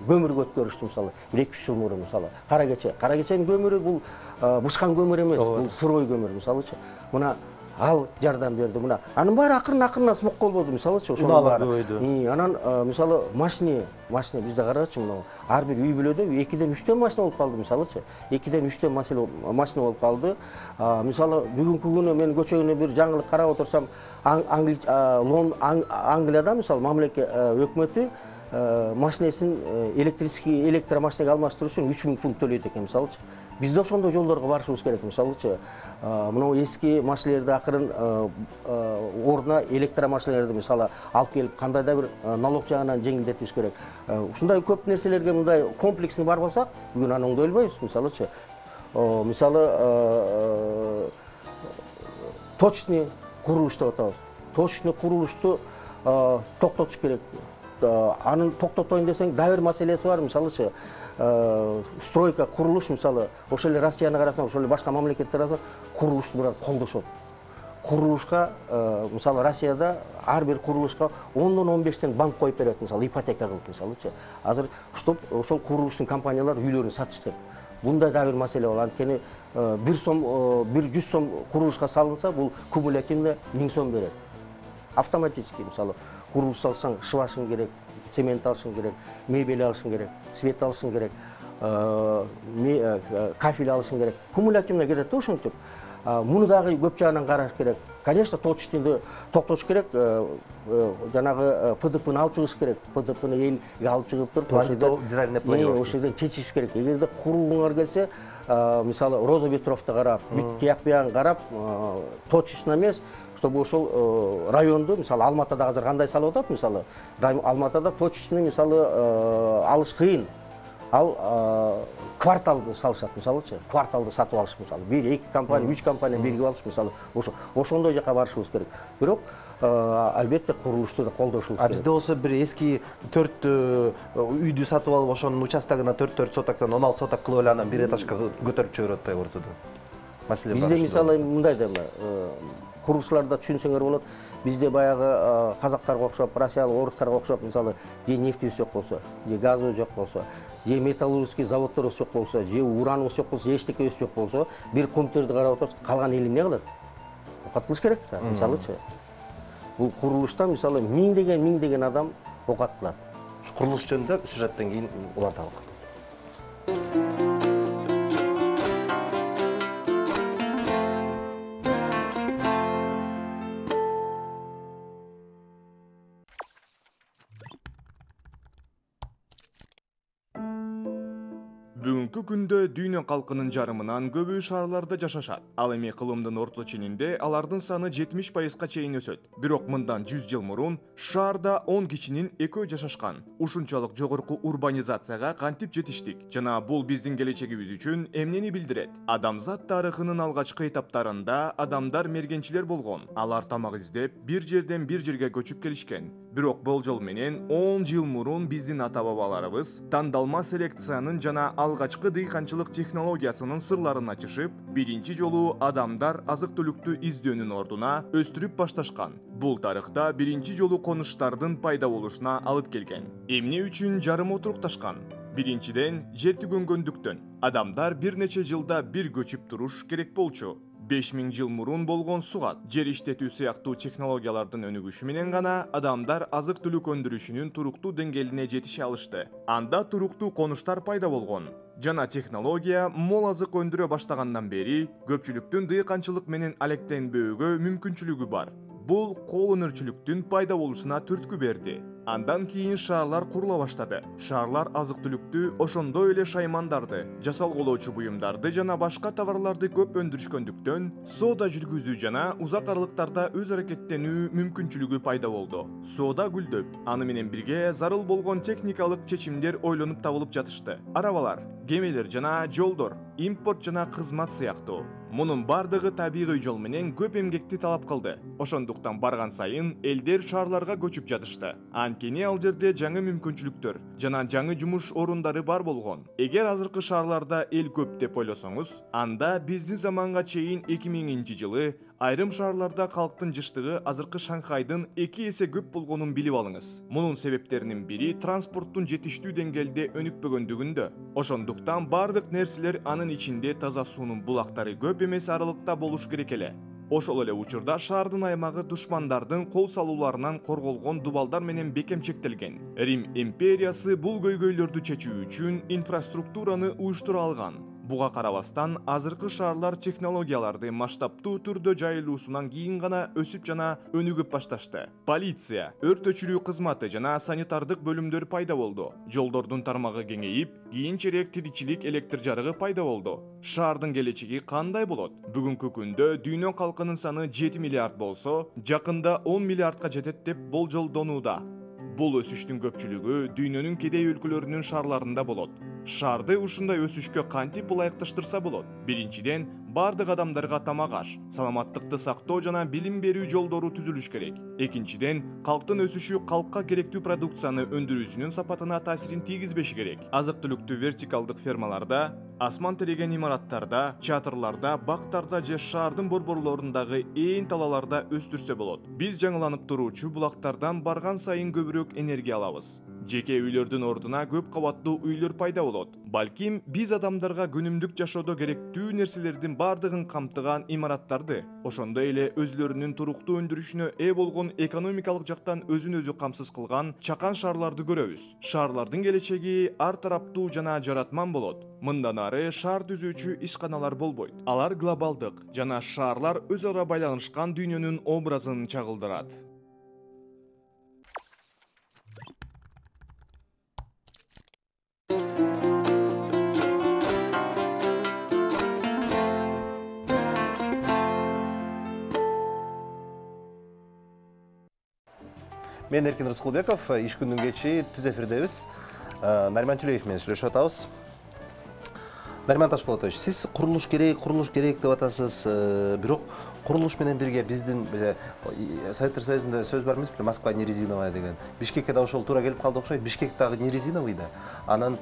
көмүргө өткөрүштү мисалы 1-2 жыл мурун мисалы. Каракеченин көмүрү бул бышкан көмүр эмес, бул сырой көмүр мисалычы. Мына ал жардам берди мына. Анын баары акырын смог болбоду мисалычы, ошол баары. Анан мисалы машина бизде карагычы, мына ар бир үй бүлөдө 2ден 3төн машина болуп калды мисалычы. 2ден 3төн машина болуп калды. Мисалы бүгүнкү күнү мен көчөгүнө бир жаңылык карап отурсам, Англияда мисалы мамлекет өкмөтү машинесин электрический электромашинеге алмаштыруу үчүн 3000 фунт төлөйт экен мисалычы. Бизде ошондой жолдорго барышыбыз керек мисалычы. Мына эски машинелерди акырын ордуна электромашинелерди мисалы алып келип кандайда бир налог жагынан жеңилдетишибиз керек. Ушундай көп нерселерге мындай комплексно барбасак, бүгүн аны оңдой албайбыз мисалычы. Мисалы точный курулуш деп атабыз. Точный курулушту токтотуш керек. Анын токтотойн десең, да бир маселеси бар мисалычы. Стройка, курулуш мисалы, ошол эле Россияны карасаң, ошол эле башка мамлекеттерди карасаң, курулушту бирок колдошот. Курулушка мисалы Россияда ар бир курулушка 10дон 15тен банк коюп берет мисалы, ипотека кылып мисалычы. Азыр ошол курулуштун компаниялары үйлөрүн сатышты. Бундай да бир маселе бар. Анткени 1 сом курулушка салынса, бул кумулятивно 1000 сом берет. Автоматически мисалы курулуш салсаң, шыбашың керек, цемент алышың керек, мебель алышың керек, свет алышың керек, кафель алышың керек. Кумулятивно кетет да ошентип. Муну дагы көп жагынан караш керек. Конечно, точныйды токтош керек, жанагы ПДПны алып чыгыш керек. ПДПны элге алып чыгып туруп, ошол жерден чечиш керек. Эгерде курулууңар келсе, мисалы Роза Ветровду карап, бүт тияк биягын карап, точечно эмес, чтобы ошол районду, мисалы Алматада азыр кандай салып атат, мисалы Алматада точечно мисалы алыш кыйын. Ал кварталды салышат, мисалычы, кварталды сатып алыш, мисалы, 1-2 компания, 3 компания биригип алыш, мисалы, ошондой жака барышыбыз керек. Бирок албетте курулушту да колдошубуз керек. Бизде болсо бир эски 4 үйдү сатып алып, ошонун участогуна 4 сотоктон 16 соток кылып эле анан бир этажга көтөрүп жиберип атпайбы ортодо? Маселе бар. Бизде мисалы мындай да курулуштарда түшүнсөңөр болот. Бизде баягы казактарга окшоп, россиялык, орустарга окшоп, мисалы, же нефтибиз жок болсо, же газыбыз жок болсо, же металлургический заводторубуз жок болсо, же ураныбыз жок болсо, эчтекебиз жок болсо, бир компьютерди карап отурсак, калган эл эмне кылат? Окат кылыш керек да, мисалычы. Бул курулушта мисалы миңдеген адам окат кылат. Курулуш жөнүндө сюжеттен кийин уланталык. Бүгүнкү күндө дүйнө калкынын жарымынан көбү шаарларда жашашат. Ал эми кылымдын орто ченинде алардын саны 70%га чейин өсөт. Бирок мындан 100 жыл мурун шаарда 10 кишинин 2 жашашкан. Ушунчалык жогорку урбанизацияга кантип жетиштик жана бул биздин келечегибиз үчүн эмнени билдирет? Адамзат тарыхынын алгачкы этаптарында адамдар мергенчилер болгон. Алар тамак издеп, бир жерден бир жерге көчүп келишкен. Бирок болжол менен 10 жыл мурун биздин ата-бабаларыбыз тандалма селекциянын жана алгачкы дыйканчылык технологиясынын сырларын ачышып, биринчи жолу адамдар азык-түлүктү издөөнүн ордуна өстүрүп башташкан. Бул тарыхта биринчи жолу конуштардын пайда болушуна алып келген. Эмне үчүн жарым отурукташкан? Биринчиден, жер түгөнгөндүктөн. Адамдар бир нече жылда бир көчүп туруш керек болчу. 5000 жыл мурун болгон сугат, жер иштетүү сыяктуу технологиялардын өнүгүшү менен гана адамдар азык-түлүк өндүрүшүнүн туруктуу деңгээлине жетише алышты. Анда туруктуу конуштар пайда болгон. Жана технология мол азык өндүрө баштагандан бери көпчүлүктүн дыйканчылык менен алектенбөөгө мүмкүнчүлүгү бар. Бул кол өнөрчүлүктүн пайда болушуна түрткү берди. Андан кийин шаарлар курула баштады. Шаарлар азык-түлүктү, ошондой эле шаймандарды, жасалгылоочу буюмдарды жана башка товарларды көп өндүрүшкөндүктөн, соода жүргүзүү жана узак аралыктарда өз аракеттенүү мүмкүнчүлүгү пайда болду. Соода гүлдөп, аны менен бирге зарыл болгон техникалык чечимдер ойлонуп табылып жатышты. Арабалар, кемелер жана жолдор, импорт жана кызмат сыяктуу. Мунун бардыгы табигый жол менен көп эмгекти талап кылды. Ошондуктан барган сайын элдер шаарларга көчүп жатышты. Анткени ал жерде жаңы мүмкүнчүлүктөр жана жаңы жумуш орундары бар болгон. Эгер азыркы шаарларда эл көп деп ойлосоңуз, анда биздин заманга чейин 2000-жылы айрым шаарларда калктын жыштыгы азыркы Шанхайдын 2 эсе көп болгонун билип алыңыз. Мунун себептеринин бири транспорттун жетиштүү деңгээлде өнүкпөгөндүгүндө. Ошондуктан бардык нерселер анын ичинде таза суунун булактары көп эмес аралыкта болуш керек эле. Ошол эле учурда шаардын аймагы душмандардын кол салууларынан корголгон дубалдар менен бекемчектелген. Рим империясы бул көйгөйлөрдү чечүү үчүн инфраструктураны уюштура алган. Буга карабастан азыркы шаарлар технологияларды масштабтуу түрдө жайылуусунан кийин гана өсүп жана өнүгүп башташты. Полиция, өрт өчүрүү кызматы жана санитардык бөлүмдөр пайда болду. Жолдордун тармагы кеңейип, кийинчерээк тиричилик электр жарыгы пайда болду. Шаардын келечеги кандай болот? Бүгүнкү күндө дүйнө калкынын саны 7 миллиард болсо, жакында 10 миллиардка жетет деп болжолдонууда. Бул өсүштүн көпчүлүгү дүйнөнүн кедей өлкөлөрүнүн шаарларында болот. Шаарды ушундай өсүшкө кантип ылайыкташтырса болот? Биринчиден, бардык адамдарга тамак аш, саламаттыкты сактоо жана билим берүү жолдору түзүлүш керек. Экинчиден, калктын өсүшү калкка керектүү продукцияны өндүрүүсүнүн сапатына таасирин тийгизбеши керек. Азык-түлүктү вертикалдык фермаларда, асман тиреген имараттарда, чатырларда, бактарда же шаардын борборлорундагы ээн талааларда өстүрсө болот. Биз жаңыланып туруучу булактардан барган сайын көбүрөөк энергия алабыз. Жеке үйлөрдүн ордуна көп кабаттуу үйлөр пайда болот. Балким биз адамдарга күнүмдүк жашоодо керектүү нерселердин бардыгын камтыган имараттарды, ошондой эле өзлөрүнүн туруктуу өндүрүшүнө ээ болгон экономикалык жактан өзүн өзү камсыз кылган чакан шаарларды көрөбүз. Шаарлардын келечеги ар тараптуу жана жаратман болот. Мындан ары шаар түзүүчү ишканалар болбойт. Алар глобалдык жана шаарлар өз ара байланышкан дүйнөнүн образын чагылдырат. Мен Эркин Рыскулбеков, иш күндүн кечи түз эфирдебиз. Нариман Тюлеев менен сүйлөшүп атабыз. Нариман Ташполотович, сиз курулуш керек деп атасыз, бирок курулуш менен бирге биздин Советтер Союзунда сөз бар эмеспи, Москва не резиновая деген. Бишкекке да ошол туура келип калды окшойт. Бишкек дагы не резиновый да. Анан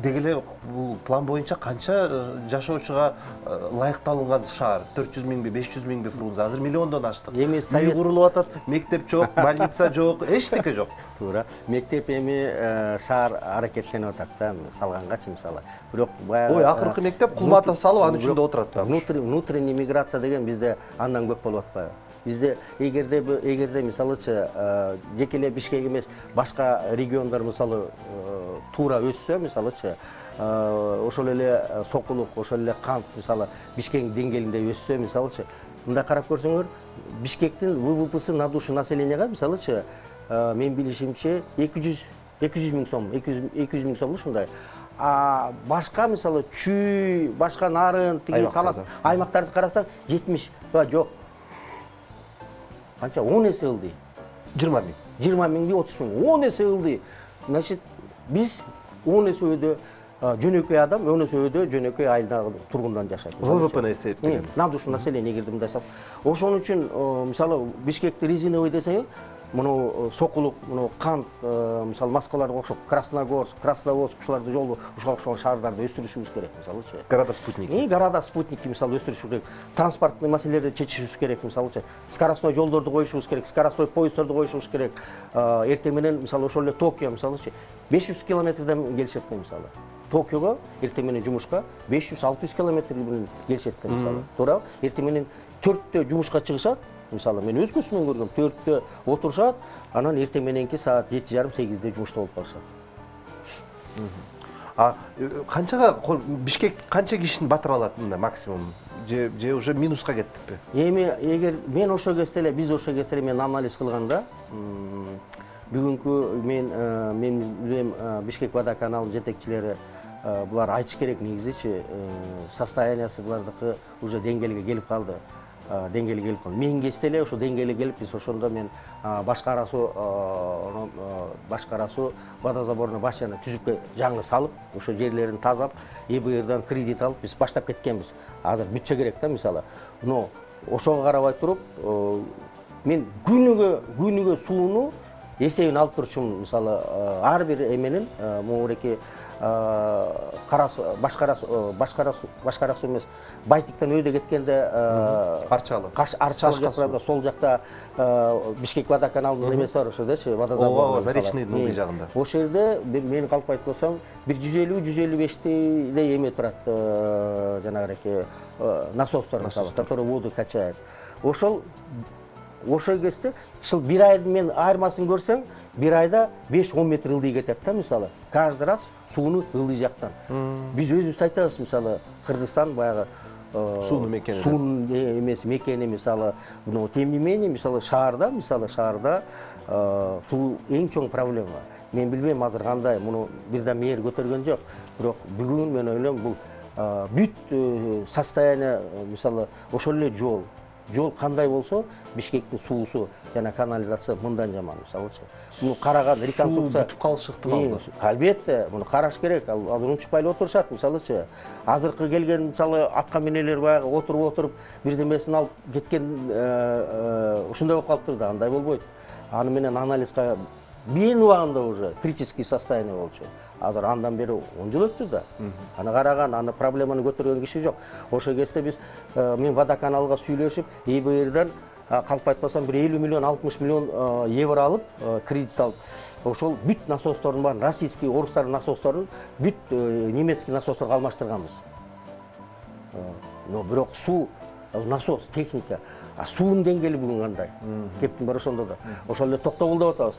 деги эле бул план боюнча канча жашоочуга ылайыкталган шаар? 400 миңби, 500 миңби Фрунзе? Азыр миллиондон аштык. Эми Үй курулуп атат, мектеп жок, больница жок, эчтеке жок. Туура. Мектеп эми шаар аракеттенип атат да, салгангачы мисалы. Бирок баягы Ой, акыркы мектеп Кулматов салып, анын ичинде отурат да. Внутренний миграция деген бизде андан көп болуп атпайбы? Бизде эгерде мисалычы жеке эле Бишкек эмес, башка региондар мисалы туура өссө, мисалычы ошол эле сокулук, ошол эле кант мисалы Бишкектин деңгээлинде өссө, мисалычы мындай карап көрсөңөр, Бишкектин ВВПсы на душу населенияга мисалычы мен билишимче 200 миң сом, 200 миң сом ушундай. Башка мисалы Чүй, башка Нарын, тиги талас аймактарды карасаң 70 жок. Канча 10 эсе ылды. 20 миң. 20 миңби 30 миң. 10 эсе ылды. Значит, биз 10 эсе өйдө жөнөкөй адам, 10 эсе өйдө жөнөкөй айылдагы тургундан жашайт. ВВПны эсептеген. На душу населения эгерде мындай салып. Ошон үчүн мисалы Бишкекти резиновый десең, муну сокулук, муну кант, мисалы Москваларга окшоп, Красногорск, Красноводск ушуларды жолу ушуга окшогон шаардарды өстүрүшүбүз керек, мисалычы. Города спутники. Города спутники мисалы өстүрүшүбүз керек. Транспорттук маселелерди чечишибиз керек, мисалычы. Скоростной жолдорду коюшубуз керек, скоростной поезддорду коюшубуз керек. Эртең менен мисалы ошол эле Токио мисалычы 500 километрден келишет да мисалы. Токиого эртең менен жумушка 500-600 километр менен келишет да мисалы. Туура? Эртең менен 4-тө жумушка чыгышат. Мисалы мен өз көзүмөн көргөм, 4-тө отурушат, анан эртең мененки саат 7:30-8-де жумушта болуп калышат. Канчага Бишкек канча кишини батыра алат мында максимум? Же уже минуска кеттикпи? Эми эгер мен ошо кезде эле, биз ошо кезде эле мен анализ кылганда, бүгүнкү мен билем Бишкек водоканалынын жетекчилери булар айтыш керек негизичи, состояниясы булардыкы уже деңгээлге келип калды. Мен кезде эле ошо деңгээлге келип, биз ошондо мен башкара суу водозаборный башняны түзүп жаңы салып, ошо жерлерин тазалап, ЭБРдан кредит алып, биз баштап кеткенбиз. Азыр бүтчө керек да мисалы. Но ошого карабай туруп, мен күнүгө сууну эсебин алып турчумун. Мисалы, ар бир эменин могуреки башкара суу эмес, Байтиктен өйдө кеткенде Арчалык жакта, сол жакта Бишкек водоканалынын эмеси бар ошодочу, водозабор. Заречныйдын ылдый жагында. Ошол жерде мен калп айтып болсом, бир 150-155 эле эме турат, жанагы насостор, который воду качает. Ошол кезде бир айдын мен айырмасын көрсөң, бир айда 5-10 метр ылдый кетет да мисалы. Каждый раз сууну ылдый жактан. Биз өзүбүз айтабыз мисалы, Кыргызстан баягы сууну мекени. Суунун эмеси мекени мисалы, тем не менее мисалы шаарда суу эң чоң проблема. Мен билбейм азыр кандай, муну бирден мээр көтөргөн жок. Бирок бүгүн мен ойлойм бул бүт состояние мисалы ошол эле жол кандай болсо, Бишкектин суусу жана канализация мындан жаман мисалычы. Муну караган реконструкция бүтүп калышы ыктымал. Албетте, муну караш керек. Азыр унчукпай эле отурушат мисалычы. Азыркы келген мисалы атка минелер баягы отуруп бирдемесин алып кеткен ушундай болуп калыптыр да, андай болбойт. Аны менен анализга мен убагында уже критический состояние болчу. Азыр андан бери 10 жыл өттү да. Аны караган, аны проблеманы көтөргөн киши жок. Ошол кезде биз мен водоканалга сүйлөшүп, ЭБРдан калп айтпасам бир 50 миллион, 60 миллион евро алып, кредит алып, ошол бүт насостордун баарын, российский, орустардын насосторун бүт немецкий насосторго алмаштырганбыз. Но бирок суу, насос, техника, суунун деңгээли бүгүн кандай? Кептин баары ошондо да. Ошол эле токтогул деп атабыз.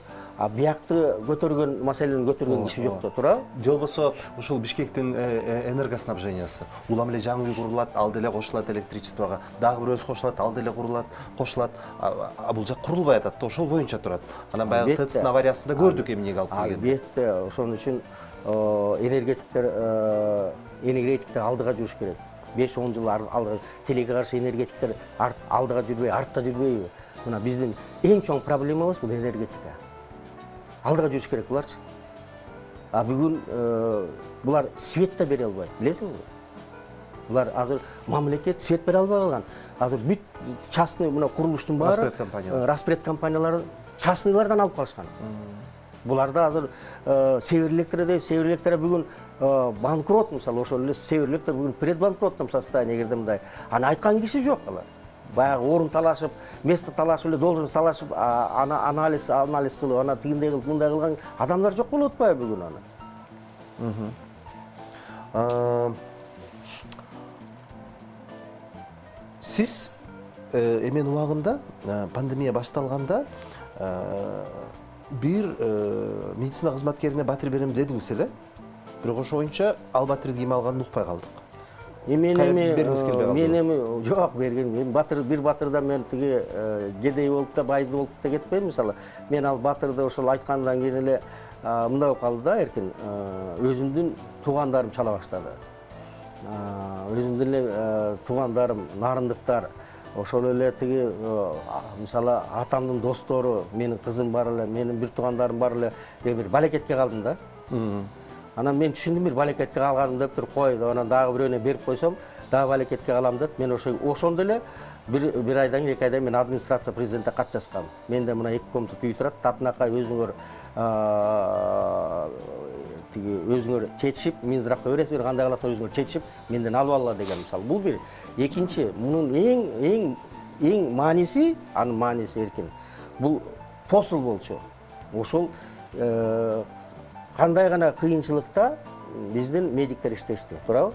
Биякты көтөргөн маселени көтөргөн киши жок да, туура? Же болбосо ушул Бишкектин энергоснабжениясы. Улам эле жаңы үй курулат, ал деле кошулат электричествого. Дагы бирөөсү кошулат, ал деле кошулат. Бул жак курулбай атат да, ошол боюнча турат. Анан баягы ТЭЦтин авариясында көрдүк эмнеге алып келгенин. Албетте, ошон үчүн энергетиктер алдыга жүрүш керек. 5-10 жыл алдыга телеге каршы энергетиктер алдыга жүрбөй, артта жүрбөйбү? Мына биздин эң чоң проблемабыз бул энергетика. Алдыга жүрүш керек буларчы. А бүгүн булар свет да бере албайт, билесиңби? Булар азыр мамлекет свет бере албай калган. Азыр бүт частный мына курулуштун баары распред компаниялары частныйлардан алып калышкан. Буларда азыр Север Электро бүгүн банкрот, мисалы ошол эле Север Электро бүгүн предбанкротном состоянии эгерде мындай. Аны айткан киши жок алар. Баягы орун талашып, место талашып эле должность талашып, анализ кылып, ана тигиндей кылып, мындай кылган адамдар жок болуп атпайбы бүгүн аны? Сиз эмен убагында пандемия башталганда бир медицина кызматкерине батир берем дедиңиз эле. Бирок ошо боюнча ал батирди ким алганын укпай калдык. Мен жок берген. Мен бир батырда мен тиги кедей болуп да бай болуп да кетпейм. Мисалы, мен ал батырды ошол айткандан кийин эле мындай болуп калды да, эркин өзүмдүн туугандарым чала баштады. Өзүмдүн эле туугандарым, нарындыктар, ошол эле тиги мисалы атамдын достору, менин кызым бар эле, менин бир туугандарым бар эле, бир балекетке калдым да. Анан мен түшүндүм, бир балекетке калганым деп туруп кой, анан дагы бирөөнө берип койсом, дагы балекетке калам деп, мен ошондо эле бир айдан кийин, 2 айдан мен администрация президентке кат жазгам. Менде мына 2 комнат үй турат, татынакай өзүңөр тиги өзүңөр чечишип, Минздравка бересиңер, кандай каласыңар өзүңөр чечишип, менден алып алгыла деген мисалы. Бул бир. Экинчи, мунун эң мааниси, анын мааниси эркин. Бул посул болчу. Ошол кандай гана кыйынчылыкта биздин медиктер иштешти, туурабы?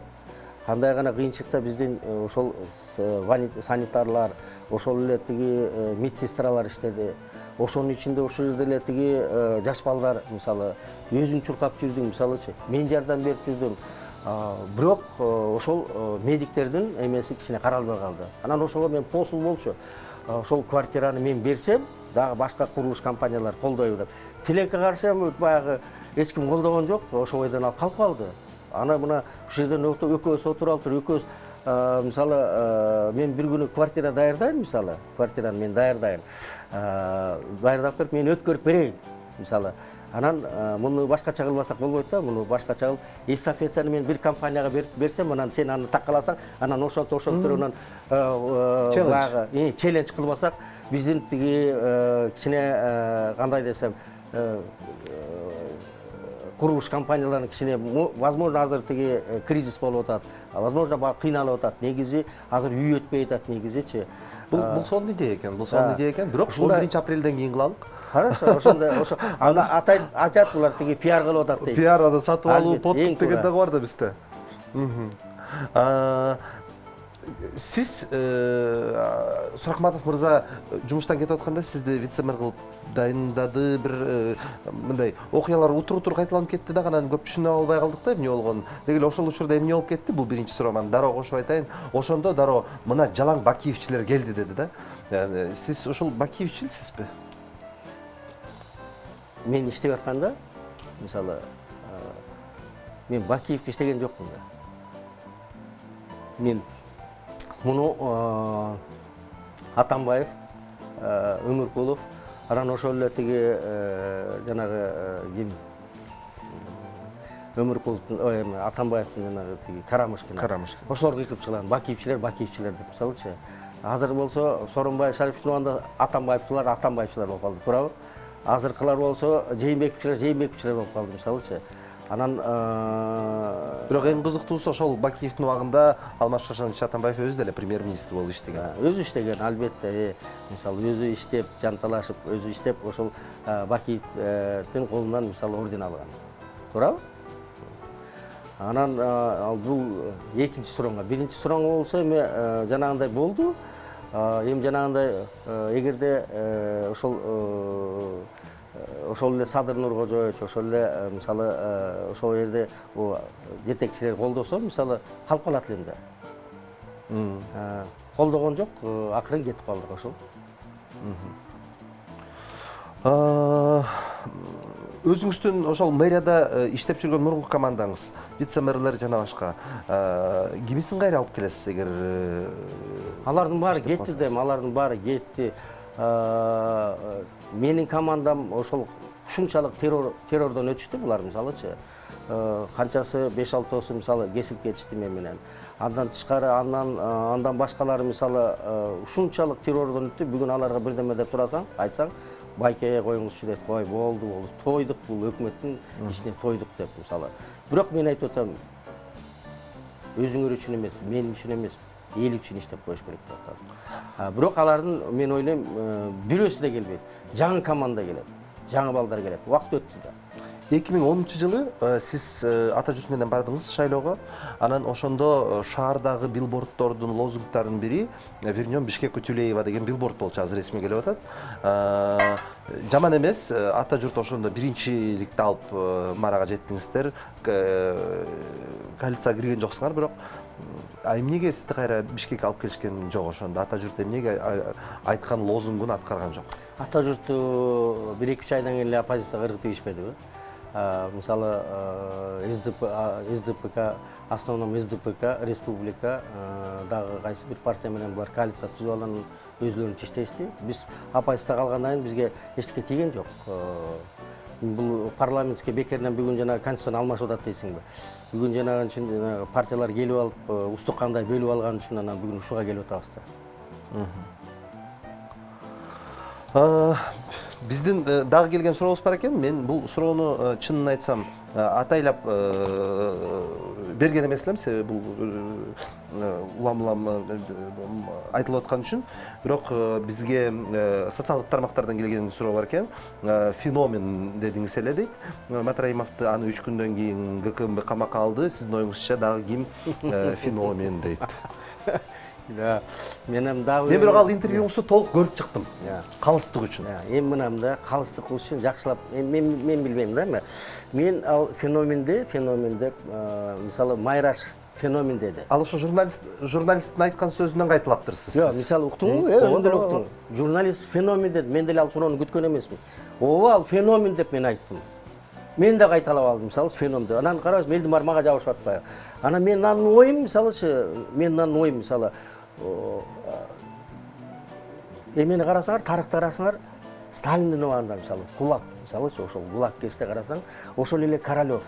Кандай гана кыйынчылыкта биздин ошол санитарлар, ошол эле тиги медсестралар иштеди. Ошонун ичинде ошол жерде эле тиги жаш балдар, мисалы, өзүң чуркап жүрдүң, мисалычы, мен жардам берип жүрдүм. Бирок ошол медиктердин эмеси кичине каралбай калды. Анан ошого мен посул болчу. Ошол квартираны мен берсем, дагы башка курулуш компаниялар колдойбу деп. Тилекке каршы баягы эч ким колдогон жок, ошол бойдон алып калып калды. Ана мына ушул жерден экөөбүз отуруп алыптыр, экөөбүз мисалы мен бир күнү квартира даярдайм, мисалы, квартираны мен даярдайм. Даярдап туруп мен өткөрүп берейин, мисалы. Анан муну башкача кылбасак болбойт да, муну башкача кылып, эстафетаны мен бир компанияга берсем, анан сен аны такаласаң, анан ошонтип анан челлендж кылбасак, биздин тиги кичине кандай десем, курулуш компанияларынын кичине возможно азыр тиги кризис болуп атат, возможно баягы кыйналып атат. Негизи азыр үй өтпөй атат негизичи. Бул сонун идея экен, Бирок 11-апрелден кийин кылалык. Хорошо, ошондой аны айтат булар тиги пиар кылып атат дейт. Пиар аны сатып алуу, подкуп деген да бар да бизде. Сиз Суракматов мырза жумуштан кетип атканда сизди вице-мэр кылып дайындады, бир мындай окуялар утур кайталанып кетти да, анан көп түшүнө албай калдык да эмне болгонун. Деги эле ошол учурда эмне болуп кетти? Бул биринчи сурооман дароо кошуп айтайын. Ошондо дароо мына жалаң Бакиевчилер келди деди да. Сиз ошол Бакиевчилсизби? Мен иштеп атканда, мисалы, мен Бакиевке иштеген жокмун да. Мен муну Атамбаев, Өмүркулов, анан ошол эле тиги жанагы ким Өмүркуловдун, Атамбаевдин жанагы тиги Карамышкин. Ошолор кыйкып чыгылган Бакиевчилер деп, мисалычы. Азыр болсо Сооронбай Шариповичтин убагында Атамбаевчилар болуп калды, туурабы? Азыркылар болсо Жээнбековчилер болуп калды, мисалычы. Анан бирок эң кызыктуусу ошол Бакиевдин убагында Алмаз Шашанович Атамбаев өзү деле премьер-министр болуп иштеген. Өзү иштеген, албетте. Мисалы өзү иштеп, жанталашып, өзү иштеп, ошол Бакиевдин колунан мисалы орден алган. Туурабы? Анан бул экинчи суроңго, биринчи суроңго болсо эми жанагындай болду. Эми жанагындай эгерде ошол эле Садыр Нуркожоевич, ошол эле мисалы ошол жерде жетекчилер колдосо, мисалы калып калат элем да. Колдогон жок, акырын кетип калдык ошол. Өзүңүздүн ошол мэрияда иштеп жүргөн мурунку командаңыз, вице-мэрлер жана башка кимисин кайра алып келесиз эгер алардын баары кетти дейм, алардын баары кетти. Менин командам ошол ушунчалык террордон өтүштү булар мисалычы. Канчасы 5-6 мисалы кесип кетишти мен менен. Андан тышкары андан башкалары мисалы ушунчалык террордон өттү. Бүгүн аларга бирдеме деп сурасаң, айтсаң, байкеге коюңузчу дейт. Кой, болду. Тойдук, бул өкмөттүн ишине тойдук деп мисалы. Бирок мен айтып атам, өзүңөр үчүн эмес, мен үчүн эмес, эл үчүн иштеп коюш керек деп атам. Бирок алардын мен ойлойм бирөөсү да келбейт. Жаңы команда келет, жаңы балдар келет. Убакыт өттү да. 2010-жылы сиз ата журт менен бардыңыз шайлоого. Анан ошондо шаардагы билборддордун лозунгдарынын бири «Вернем Бишкекку Тюлеева» деген билборд болчу, азыр ресми келип атат. Жаман эмес, ата журт ошондо биринчиликти алып марага жеттиңиздер. Коалицияга кирген жоксуңар, бирок эмнеге сизди кайра Бишкекке алып келишкен жок ошондо? Ата журт эмнеге айткан лозунгун аткарган жок? Ата журту 1-2 айдан кийин эле оппозицияга ыргытып ийишпедиби? Мисалы СДПК, основном СДПК, Республика дагы кайсы бир партия менен булар коалиция түзүп алган өзлөрүнчө иштешти. Биз оппозицияда калгандан кийин бизге эчтеке тийген жок. Бул парламентский бекеринен бүгүн жана конституцияны алмашып атат дейсиңби? Бүгүн жанагы үчүн партиялар келип алып, устук кандай бөлүп алган үчүн анан бүгүн ушуга келип атабыз да. Биздин дагы келген сурообуз бар экен. Мен бул суроону чынын айтсам атайлап берген эмес элем, себеби бул улам айтылып аткан үчүн. Бирок бизге социалдык тармактардан келген суроо бар экен. Феномен дедиңиз эле дейт. Матраимовду аны 3 күндөн кийин ГКМБ камакка алды. Сиздин оюңузча дагы ким феномен дейт? Менен дагы мен бирок ал интервьюңузду толук көрүп чыктым. Калыстык үчүн. Эми мынам да калыстык үчүн жакшылап мен билбейм да. Мен ал феномен деп мисалы Майраш феномен деди. Ал ошо журналисттин айткан сөзүнөн кайталаптыр сиз. Жок, мисалы уктуңбу? Өзүң деле уктуң. Журналист феномен деди. Мен деле ал суроону күткөн эмесмин. Ооба, ал феномен деп мен айттым. Мен да кайталап алдым, мисалы феномен деп. Анан карабыз, Мелдимар мага жабышып атпайбы? Анан менин оюм, мисалы, эмени карасаңар, тарыхты карасаңар, Сталиндин убагында мисалы ГУЛАГ, мисалычы ошол ГУЛАГ кезде карасаң, ошол эле Королёв,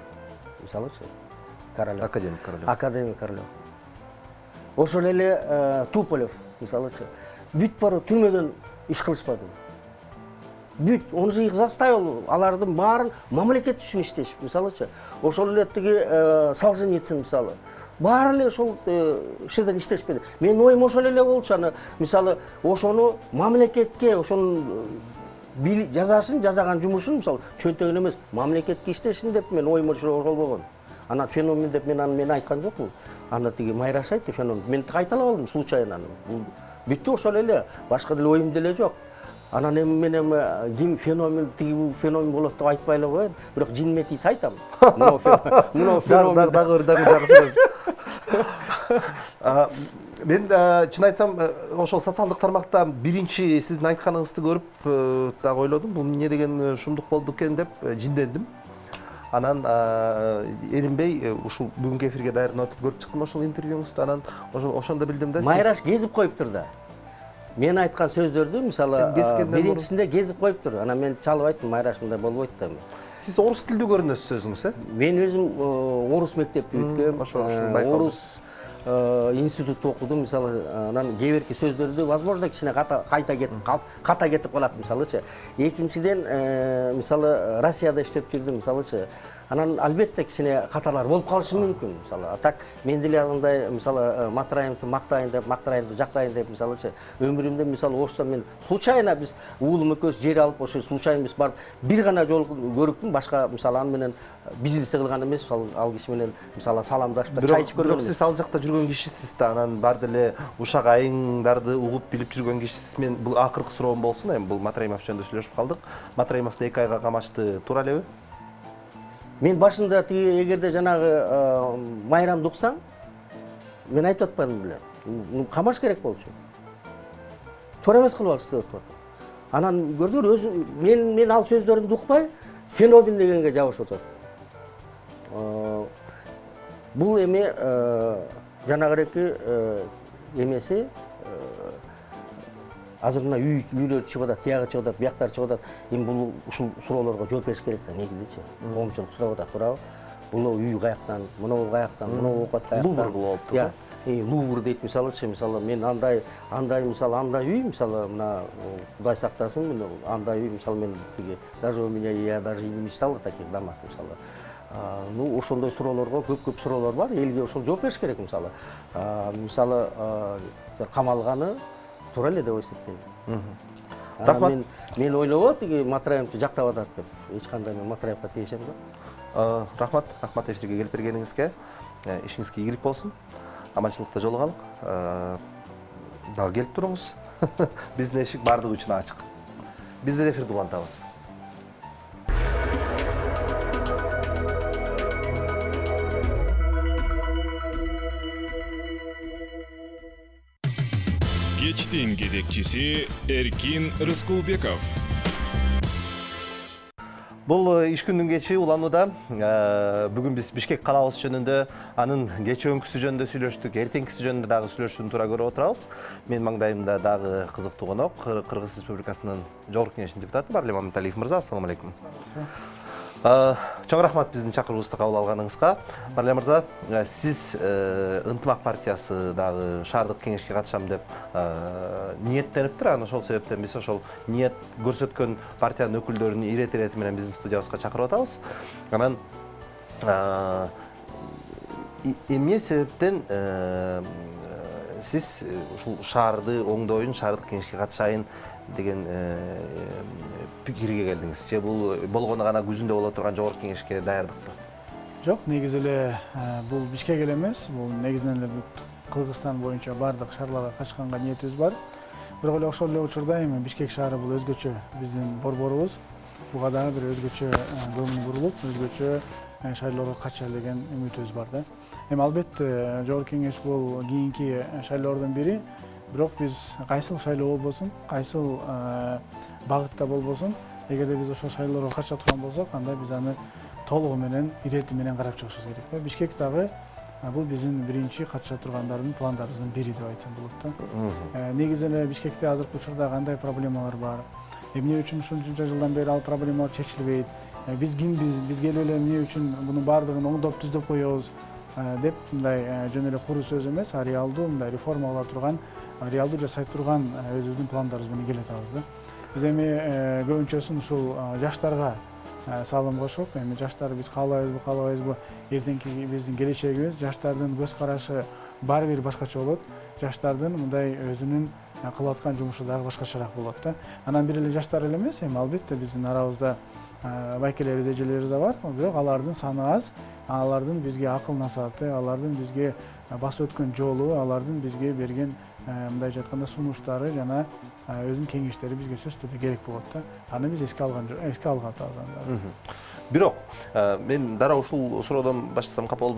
мисалычы Королёв. Академик Королёв. Ошол эле Туполев, мисалычы. Бүт барып түрмөдөн иш кылышпады. Бүт, он же их заставил, алардын баарын мамлекет үчүн иштешип, мисалычы. Ошол эле тиги Солженицын мисалы. Баары эле ошол жерден иштешпеди. Менин оюм ошол эле болчу. Аны мисалы ошону мамлекетке, ошонун жазаган жумушун мисалы чөнтөгүн эмес, мамлекетке иштешин деп мен оюм ошол болгон. Анан феномен деп мен айткан жокмун. Аны тиги Майраш айтты феномен. Мен кайталап алдым случайно. Бүттү ошол эле, башка деле оюм деле жок. Анан эми мен ким феномен, тиги феномен болот деп айтпай эле коеюн. Бирок жинметис айтам. Мына феномен. Дагы. Мен чын айтсам, ошол социалдык тармакта биринчи сиздин айтканыңызды көрүп дагы ойлодум. Бул эмне деген шумдук болду экен деп жиндендим. Анан эринбей ушул бүгүнкү эфирге даярданып көрүп чыктым ошол интервьюңузду. Анан ошондо билдим да. Майраш кезип коюптур да. Мен айткан сөздөрдү мисалы биринчисинде кезип коюптур. Анан мен чалып айттым, Майраш мындай болбойт да. Сиз орус тилдүү көрүнөсүз өзүңүз, Мен өзүм орус мектепти бүткөм. Орус институтта окудум, мисалы, анан кээ бирки сөздөрдү возможно кичине ката кетип калат, мисалычы. Экинчиден, мисалы, Россияда иштеп жүрдүм, мисалычы. Анан албетте кичине каталар болуп калышы мүмкүн, мисалы. А так мен деле андай, мисалы, Матраимовду мактайын деп, Матраимовду жактайын деп, мисалычы, өмүрүмдө мисалы ошто мен случайно биз уулум экөөбүз жер алып, ошо случайно биз барып бир гана жолу көрүктүм, башка мисалы аны менен бизнес кылган эмес, мисалы, ал киши менен мисалы саламдашып, чай ичип көргөн. Бирок сиз ал жакта жүргөн кишисиз да, анан бар деле ушак айыңдарды угуп билип жүргөн кишисиз. Мен бул акыркы суроом болсун, эми бул Матраимов жөнүндө сүйлөшүп калдык. Матраимовду 2 айга камашты, туура элеби? Мен башында тиги эгерде жанагы майрамды уксаң, мен айтып атпадым беле. Камаш керек болчу. Туура эмес кылбакчы деп атат. Анан көрдүңөр, өзү мен ал сөздөрүмдү укпай, феномен дегенге жабышып атат. Бул эми жанагыреки эмеси азыр мына үйлөр чыгып атат, тиягы чыгып атат, бияктар чыгып атат. Эми бул ушул суроолорго жооп бериш керек да, негизичи. Коомчулук сурап атат, туурабы? Бул үй каяктан, мынау каяктан, мынау оокат каяктан. Лувр болуп атат. Лувр дейт мисалычы, мисалы мен андай мисалы андай үй, мисалы мына Кудай сактасын, андай үй мисалы мен тиги даже у меня я даже не мечтал о таких домах мисалы. Ну ошондой суроолорго көп суроолор бар, элге ошол жооп бериш керек мисалы. Мисалы камалганы туура эле деп эсептейм. Рахмат. Мен ойлогом тиги Матраевди жактап атат деп. Эч кандай мен Матраевга тийишем жок. Рахмат эфирге келип бергениңизге. Ишиңизге ийгилик болсун. Аманчылыкта жолугалык. Дагы келип туруңуз. Биздин эшик бардыгы үчүн ачык. Биз эфирди улантабыз. Кечтин кезекчиси Эркин Рыскулбеков. Бул иш күндүн кечи уланууда бүгүн биз Бишкек калабыз жөнүндө, анын кечөөңкүсү жөнүндө сүйлөштүк, эртеңкиси жөнүндө дагы сүйлөшүүнү туура көрүп отурабыз. Менин маңдайымда дагы кызыктуу конок, Кыргыз Республикасынын Жогорку Кеңешинин депутаты Барлим Маматалиев мырза. Ассаламу алейкум. Чоң рахмат биздин чакыруубузду кабыл алганыңызга. Барлим мырза, сиз Ынтымак партиясы дагы шаардык кеңешке катышам деп ниеттениптир. Анан ошол себептен биз ошол ниет көрсөткөн партиянын өкүлдөрүн ирет менен биздин студиябызга чакырып атабыз. Анан эмне себептен сиз ушул шаарды оңдоюн, шаардык кеңешке катышайын деген пикирге келдиңиз? Же бул болгону гана күзүндө боло турган Жогорку Кеңешке даярдыкпы? Жок, негизи эле бул Бишкек эле эмес, бул негизинен эле Кыргызстан боюнча бардык шаарларга катышканга ниетибиз бар. Бирок эле ошол эле учурда эми Бишкек шаары бул өзгөчө биздин борборубуз. Буга дагы бир өзгөчө көңүл бурулуп, өзгөчө шайлоого катышалы деген үмүтүбүз бар да. Эми албетте Жогорку Кеңеш бул кийинки шайлоолордун бири. Бирок биз кайсыл шайлоо болбосун, кайсыл багытта болбосун, эгерде биз ошол шайлоого катыша турган болсок, анда биз аны толугу менен, ирети менен карап чыгышыбыз керек да. Бишкек дагы бул биздин биринчи катыша тургандардын пландарыбыздын бири деп айтсам болот да. Негизи эле Бишкекте азыркы учурда кандай проблемалар бар? Эмне үчүн ушунча жылдан бери ал проблемалар чечилбейт? Биз кимбиз? Биз келип эле эмне үчүн мунун баардыгын оңдоп түздөп коебуз деп мындай жөн эле куру сөз эмес, реалдуу мындай реформа кыла турган, реалдуу жасай турган өзүбүздүн пландарыбыз менен келе атабыз да. Биз эми көбүнчөсүн ушул жаштарга салым кошуп, эми жаштар биз каалабайбызбы, эртеңки биздин келечегибиз, жаштардын көз карашы баары бир башкача болот. Жаштардын мындай өзүнүн кылып аткан жумушу дагы башкачараак болот да. Анан бир эле жаштар эле эмес, эми албетте биздин арабызда байкелерибиз, эжелерибиз да бар, бирок алардын саны аз. Алардын бизге акыл насааты, алардын бизге басып өткөн жолу, алардын бизге берген мындайча айтканда сунуштары жана өзүнүн кеңештери бизге сөзсүз түрдө керек болот да. Аны биз эске алган атабыз анда. Бирок мен дароо ушул суроодон баштасам капа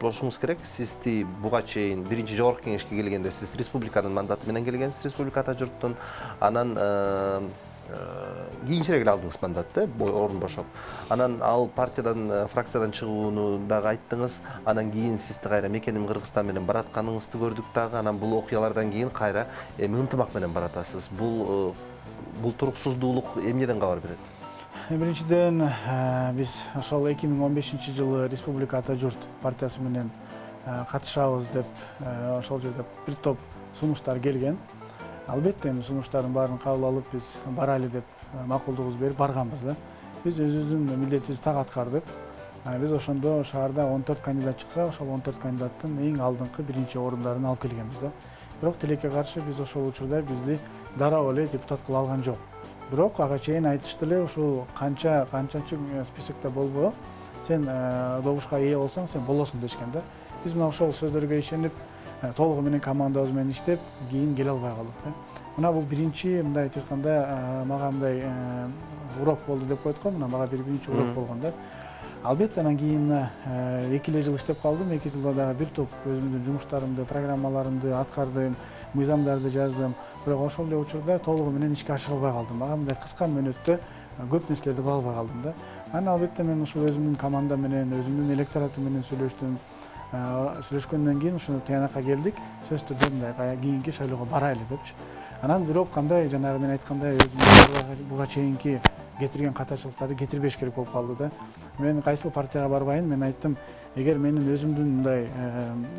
болушуңуз керек. Сизди буга чейин биринчи Жогорку Кеңешке келгенде сиз республиканын мандаты менен келгенсиз, республикада журттун. Анан кийинчерээк эле алдыңыз мандатты, орун бошоп. Анан ал партиядан, фракциядан чыгууну дагы айттыңыз. Анан кийин сизди кайра мекеним Кыргызстан менен баратканыңызды көрдүк дагы. Анан бул окуялардан кийин кайра эми Ынтымак менен баратасыз. Бул туруксуздуулук эмнеден кабар берет? Биринчиден биз ошол 2015-жылы Республика Ата Журт партиясы менен катышабыз деп ошол жерде бир топ сунуштар келген. Албетте эми сунуштардын баарын кабыл алып биз барайлы деп макулдугубузду берип барганбыз да. Биз өзүбүздүн милдетибизди так аткардык. Биз ошондо шаарда 14 кандидат чыкса, ошол 14 кандидаттын эң алдыңкы биринчи орундарын алып келгенбиз да. Бирок тилекке каршы биз ошол учурда бизди дароо эле депутат кыла алган жок. Бирок ага чейин айтышты эле, ушул канчанчы списокто болбо, сен добушка ээ болсоң, сен болосуң дешкен да. Биз мына ошол сөздөргө ишенип, толугу менен командабыз менен иштеп, кийин келе албай калдык да. Мына бул биринчи мындай айтканда мага мындай урок болду деп коет го, мына мага биринчи урок болгон да. Албетте анан кийин 2 жыл иштеп калдым, 2 жылда дагы бир топ өзүмдүн жумуштарымды, программаларымды аткардым, мыйзамдарды жаздым. Бирок ошол эле учурда толугу менен ишке ашыра албай калдым. Мага мындай кыска мөөнөттө көп нерселерди кыла албай калдым да. Анан албетте мен ушул өзүмдүн команда менен, өзүмдүн электоратым менен сүйлөштүм. сүйлөшкөндөн кийин ушуну тыянакка келдик. Сөз түрдө мындай кийинки шайлоого барайлы депчи. Анан бирок кандай жанагы мен айткандай өзүм буга чейинки кетирген катачылыктарды кетирбеш керек болуп калды да. Мен кайсыл партияга барбайын, мен айттым, эгер менин өзүмдүн мындай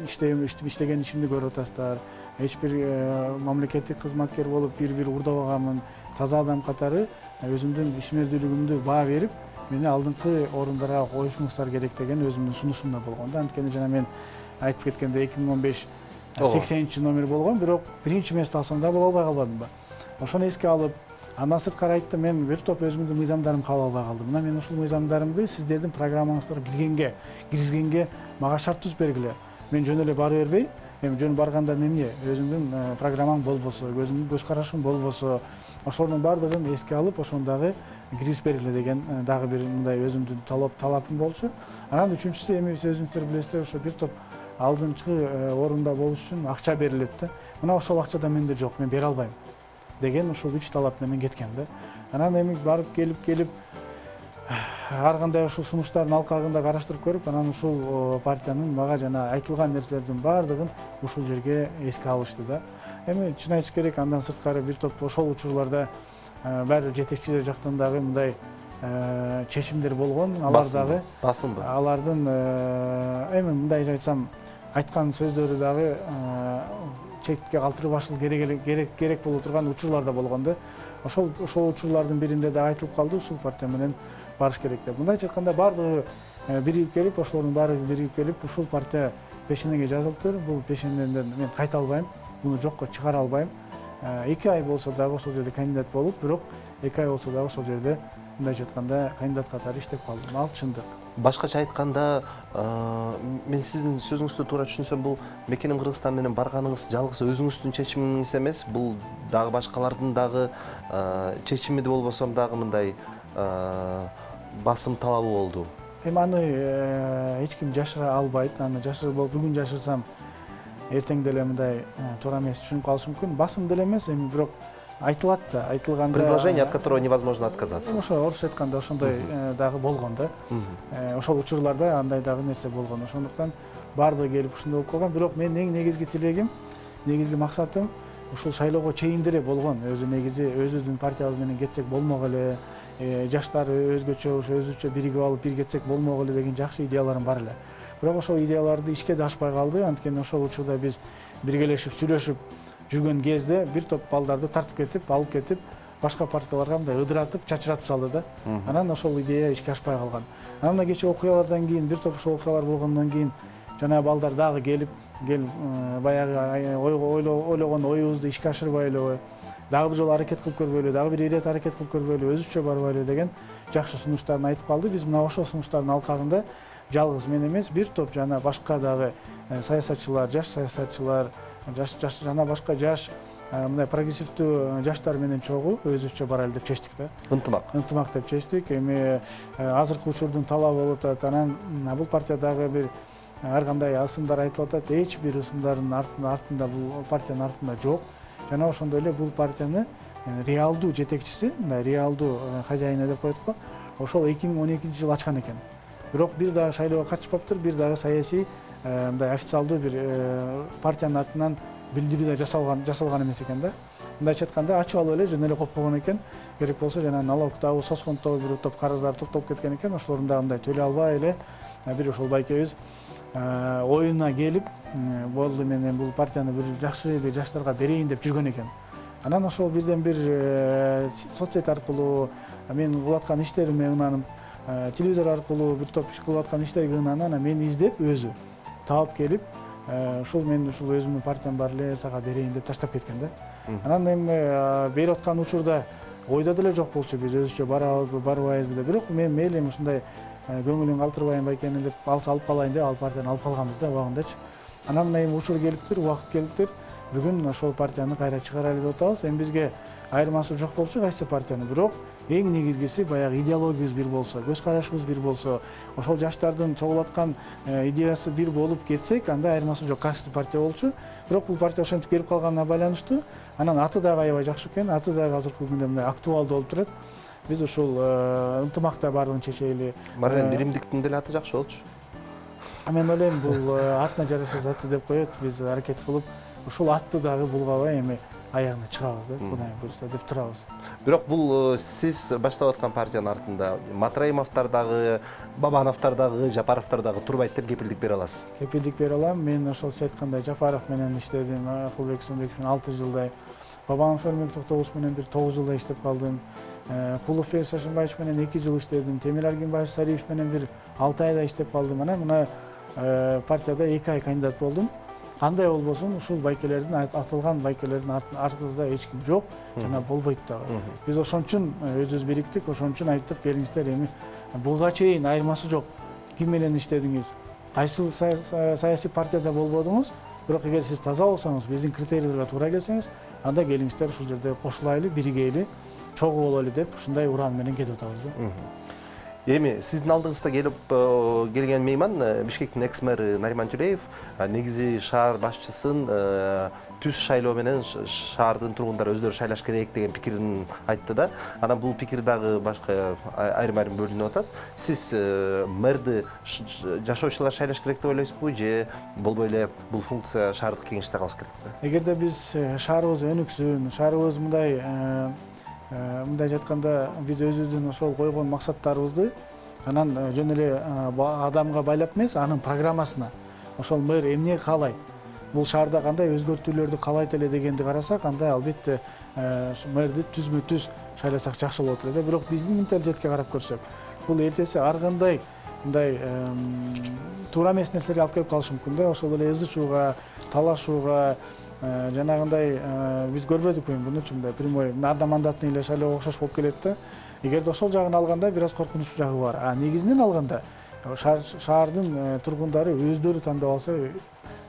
иштеген ишимди көрүп атасыздар, эч бир мамлекеттик кызматкер болуп бир урдабаганмын, таза адам катары өзүмдүн ишмердүүлүгүмдү баа берип, мени алдыңкы орундарга коюшуңуздар керек деген өзүмдүн сунушумда болгон да. Анткени жана мен айтып кеткендей 2015 80 номер болгон, бирок биринчи место алсам да боло албай калбадымбы. Ошону эске алып, андан сырткары айттым, мен бир топ өзүмдүн мыйзамдарымды кабыл албай калдым. Мына мен ушул мыйзамдарымды сиздердин программаңыздарга киргизгенге мага шарт түзүп бергиле. Мен жөн эле бара бербей, эми жөн барганда эмне, өзүмдүн программам болбосо, өзүмдүн көз карашым болбосо, ошонун баардыгын эске алып, ошону дагы киргизип бергиле деген дагы бир мындай өзүмдүн талапым болчу. Анан үчүнчүсү эми өзүңүздөр билесиздер, ошо бир топ алдыңкы орунда болуш үчүн акча берилет да. Мына ошол акча да менде жок, мен бере албайм деген ушул 3 талап менен кеткен да. Анан эми барып келип ар кандай ушул сунуштардын алкагында караштырып көрүп, анан ушул партиянын мага жана айтылган нерселердин баардыгын ушул жерге эске алышты да. Эми чын айтыш керек, андан сырткары бир топ ошол учурларда баары жетекчилер жактан дагы мындай чечимдер болгон. Алар дагы басымбы? Алардын эми мындай айтсам, айткан сөздөрү дагы четке калтырбашыл керек болуп турган учурлар да болгон да. Ошол учурлардын биринде да айтылып калды, ушул партия менен барыш керек деп. Мындайча айтканда баардыгы биригип келип, ошолордун баары биригип келип, ушул партия пешенеге жазылыптыр. Бул пешенеден мен кайта албайм, муну жокко чыгара албайм. 2 ай болсо дагы ошол жерде кандидат болуп, бирок 2 ай болсо дагы ошол жерде мындайча айтканда кандидат катары иштеп калдым. Ал чындык. Башкача айтканда, мен сиздин сөзүңүздү туура түшүнсөм, бул Мекеним Кыргызстан менен барганыңыз жалгыз өзүңүздүн чечимиңиз эмес, бул дагы башкалардын дагы чечими болбосом дагы мындай басым талабы болду. Эми аны эч ким жашыра албайт. Аны бүгүн жашырсам, эртең деле мындай туура эмес түшүнүп калышы мүмкүн. Басым деле эмес, эми бирок айтылат да, айтылганда предложение, от которого невозможно отказаться. Ошо орусча айтканда ошондой дагы болгон да. Ошол учурларда андай дагы нерсе болгон. Ошондуктан баардыгы келип ушундай болуп калган. Бирок мен эң негизги тилегим, негизги максатым ушул шайлоого чейин деле болгон. Өзүбүздүн партиябыз менен кетсек болмок эле, жаштар өзгөчө өзүчө биригип алып бир кетсек болмок эле деген жакшы идеяларым бар эле. Бирок ошол идеяларды ишке да ашпай калды. Анткени ошол учурда биз биргелешип сүйлөшүп жүргөн кезде бир топ балдарды тартып кетип, алып кетип, башка партияларга мындай ыдыратып, чачыратып салды да. Анан ошол идея ишке ашпай калган. Анан кечээ окуялардан кийин, бир топ ошол окуялар болгондон кийин жана балдар дагы келип баягы ойлогон оюбузду ишке ашырбайлы, дагы бир жолу аракет кылып көрбөйлү, дагы бир ирет аракет кылып көрбөйлү, өзүчө барбайлы деген жакшы сунуштарын айтып калды. Биз мына ошол сунуштардын алкагында жалгыз мен эмес, бир топ жана башка дагы саясатчылар, жаш саясатчылар, жана башка жаш мындай прогрессивдүү жаштар менен чогуу өзүбүзчө барайлы деп чечтик да. Ынтымак деп чечтик. Эми азыркы учурдун талабы болуп атат. Анан бул партиядагы бир ар кандай ысымдар айтылып атат. Эч бир ысымдардын артында бул партиянын артында жок. Жана ошондой эле бул партияны реалдуу жетекчиси, мындай реалдуу хозяины деп коет го. Ошол 2012-жылы ачкан экен. Бирок бир дагы шайлоого катышпаптыр, бир дагы саясий мындай официалдуу бир партиянын атынан билдирүү да жасалган эмес экен да. Мындайча айтканда ачып алып эле жөн эле коюп койгон экен. Керек болсо жана налогдогу, соцфонддогу бир топ карыздар токтолуп кеткен экен. Ошолордун дагы мындай төлөй албай эле бир ошол байкебиз оюна келип, болду мен бул партияны бир жакшы бир жаштарга берейин деп жүргөн экен. Анан ошол бирден бир соцсет аркылуу мен кылып аткан иштериме ынанып, телевизор аркылуу бир топ кылып аткан иштерге ынанып, анан мени издеп өзү таап келип, мен өзүмдүн партиям бар эле, сага берейин деп таштап кеткен да. Анан эми берип аткан учурда ойдо деле жок болчу, биз өзүчө барабызбы, барбайбызбы деп. Бирок мен мейли ушундай көңүлүн калтырбайын байкени деп алып калайын деп ал партияны алып калганбыз да убагындачы. Анан мына эми учур келиптир, убакыт келиптир. Бүгүн ошол партияны кайра чыгарайлы деп атабыз. Эми бизге айырмасы жок болчу кайсы партияны, бирок эң негизгиси баягы идеологиябыз бир болсо, көз карашыбыз бир болсо, ошол жаштардын чогулуп аткан идеясы бир болуп кетсек, анда айырмасы жок кайсы партия болчу. Бирок бул партия ошентип келип калганына байланыштуу. Анан аты дагы аябай жакшы экен, аты дагы азыркы күндө мындай актуалдуу болуп турат. Биз ушул ынтымакта баардыгын чечели. Марилен Биримдиктин деле аты жакшы болчу. Мен ойлойм бул атына жараша заты деп коет. Биз аракет кылып ушул атты дагы булгабай эми аягына чыгабыз да, Кудай буйруса деп турабыз. Бирок бул сиз баштап аткан партиянын артында Матраимовдор дагы, Бабановдор дагы, Жапаровдор дагы турбайт деп кепилдик бере аласыз. Кепилдик бере алам. Мен ошол сиз айткандай Жапаров менен иштедим, Акылбек Сөнбеков менен 6 жылдай, Бабанов Эрмек Токтогулович менен бир 9 жылдай иштеп калдым. Кулов Ферис Сашынбаевич менен 2 жыл иштедим. Темир Аргенбаев Сариев менен бир 6 айда иштеп калдым. Мына партияда 2 ай кандидат болдум. Кандай болбосун, ушул байкелердин, атылган байкелердин артыбызда эч ким жок, жана болбойт дагы. Биз ошон үчүн өзүбүз бириктик, ошон үчүн айттык, келиңиздер, эми буга чейин айырмасы жок. Ким менен иштедиңиз, кайсы саясий партияда болбодуңуз, бирок эгер сиз таза болсоңуз, биздин критерийлерге туура келсеңиз, анда келиңиздер ушул жерде кошулайлы, биригейли, чогуу бололу деп ушундай уран менен кетип атабыз да. Эми сиздин алдыңызда келген мейман Бишкектин экс-мэры Нариман Тюлеев негизи шаар башчысын түз шайлоо менен шаардын тургундары өздөрү шайлаш керек деген пикирин айтты да. Анан бул пикир дагы башка айрым-айрым бөлүнүп атат. Сиз мэрди жашоочулар шайлаш керек деп ойлойсузбу же болбой эле бул функция шаардык кеңеште калыш керекпи? Эгерде биз шаарыбыз өнүксүн, шаарыбыз мындай жатканда биз өзүбүздүн ошол койгон максаттарыбызды анан жөн эле адамга байлап эмес, анын программасына ошол мэр эмне каалайт, бул шаарда кандай өзгөртүүлөрдү каалайт эле дегенди карасак, анда албетте мэрди түзмө-түз шайласак жакшы болот эле да. Бирок биздин менталитетке карап көрсөк, бул эртеси ар кандай мындай туура эмес нерселерге алып келип калышы мүмкүн да. Ошол эле ызычууга, талашууга, жанагындай биз көрбөдүкпү мынча мындай прямой одномандатный эле шайлоого окшош болуп келет да. Эгерде ошол жагын алганда бир аз коркунучтуу жагы бар. Негизинен алганда шаардын тургундары өздөрү тандап алса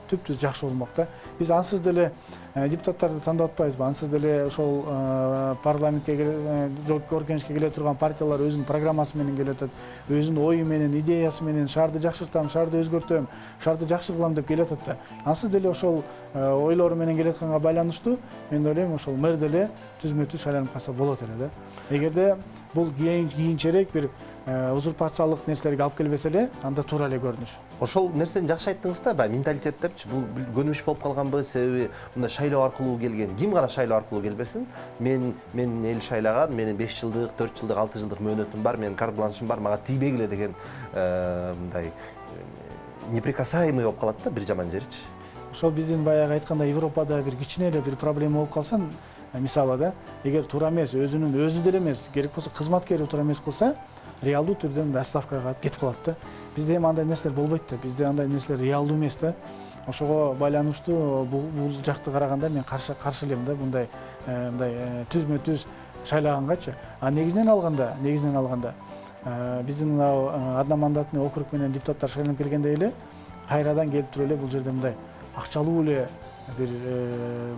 түптүз жакшы болмок да. Биз ансыз деле депутаттарды тандап атпайбызбы? Ансыз деле ошол парламентке жогорку кеңешке келе турган партиялар өзүнүн программасы менен келе атат, өзүнүн ою менен, идеясы менен шаарды жакшыртам, шаарды өзгөртөм, шаарды жакшы кылам деп келе атат да. Ансыз деле ошол ойлору менен келе атканга байланыштуу мен ойлойм ошол мэр деле түзмө-түз шайланып калса болот эле да. Эгерде бул кийинчерээк бир узурпациялык нерселерге алып келбесе эле, анда туура эле көрүнүш. Ошол нерсени жакшы айттыңыз да, баягы менталитет депчи, бул көнүмүш болуп калганбы? Себеби мындай шайлоо аркылуу келген, ким гана шайлоо аркылуу келбесин, мен эл шайлаган, менин 5 жылдык, 4 жылдык, 6 жылдык мөөнөтүм бар, менин карт бланшым бар, мага тийбегиле деген мындай неприкасаемый болуп калат да бир жаман жеричи. Ошол биздин баягы айткандай Европада бир кичине эле бир проблема болуп калса, мисалы да, эгер туура эмес, өзү деле эмес, керек болсо кызматкери туура эмес кылса, реалдуу түрдө отставкага кетип калат да. Бизде эми андай нерселер болбойт да. Бизде андай нерселер реалдуу эмес да. Ошого байланыштуу бул жакты караганда мен каршы элем да мындай түзмө-түз шайлагангачы. Негизинен алганда биздин мына одномандатный округ менен депутаттар шайланып келгенде эле кайрадан келип туруп эле бул жерде мындай акчалуу эле бир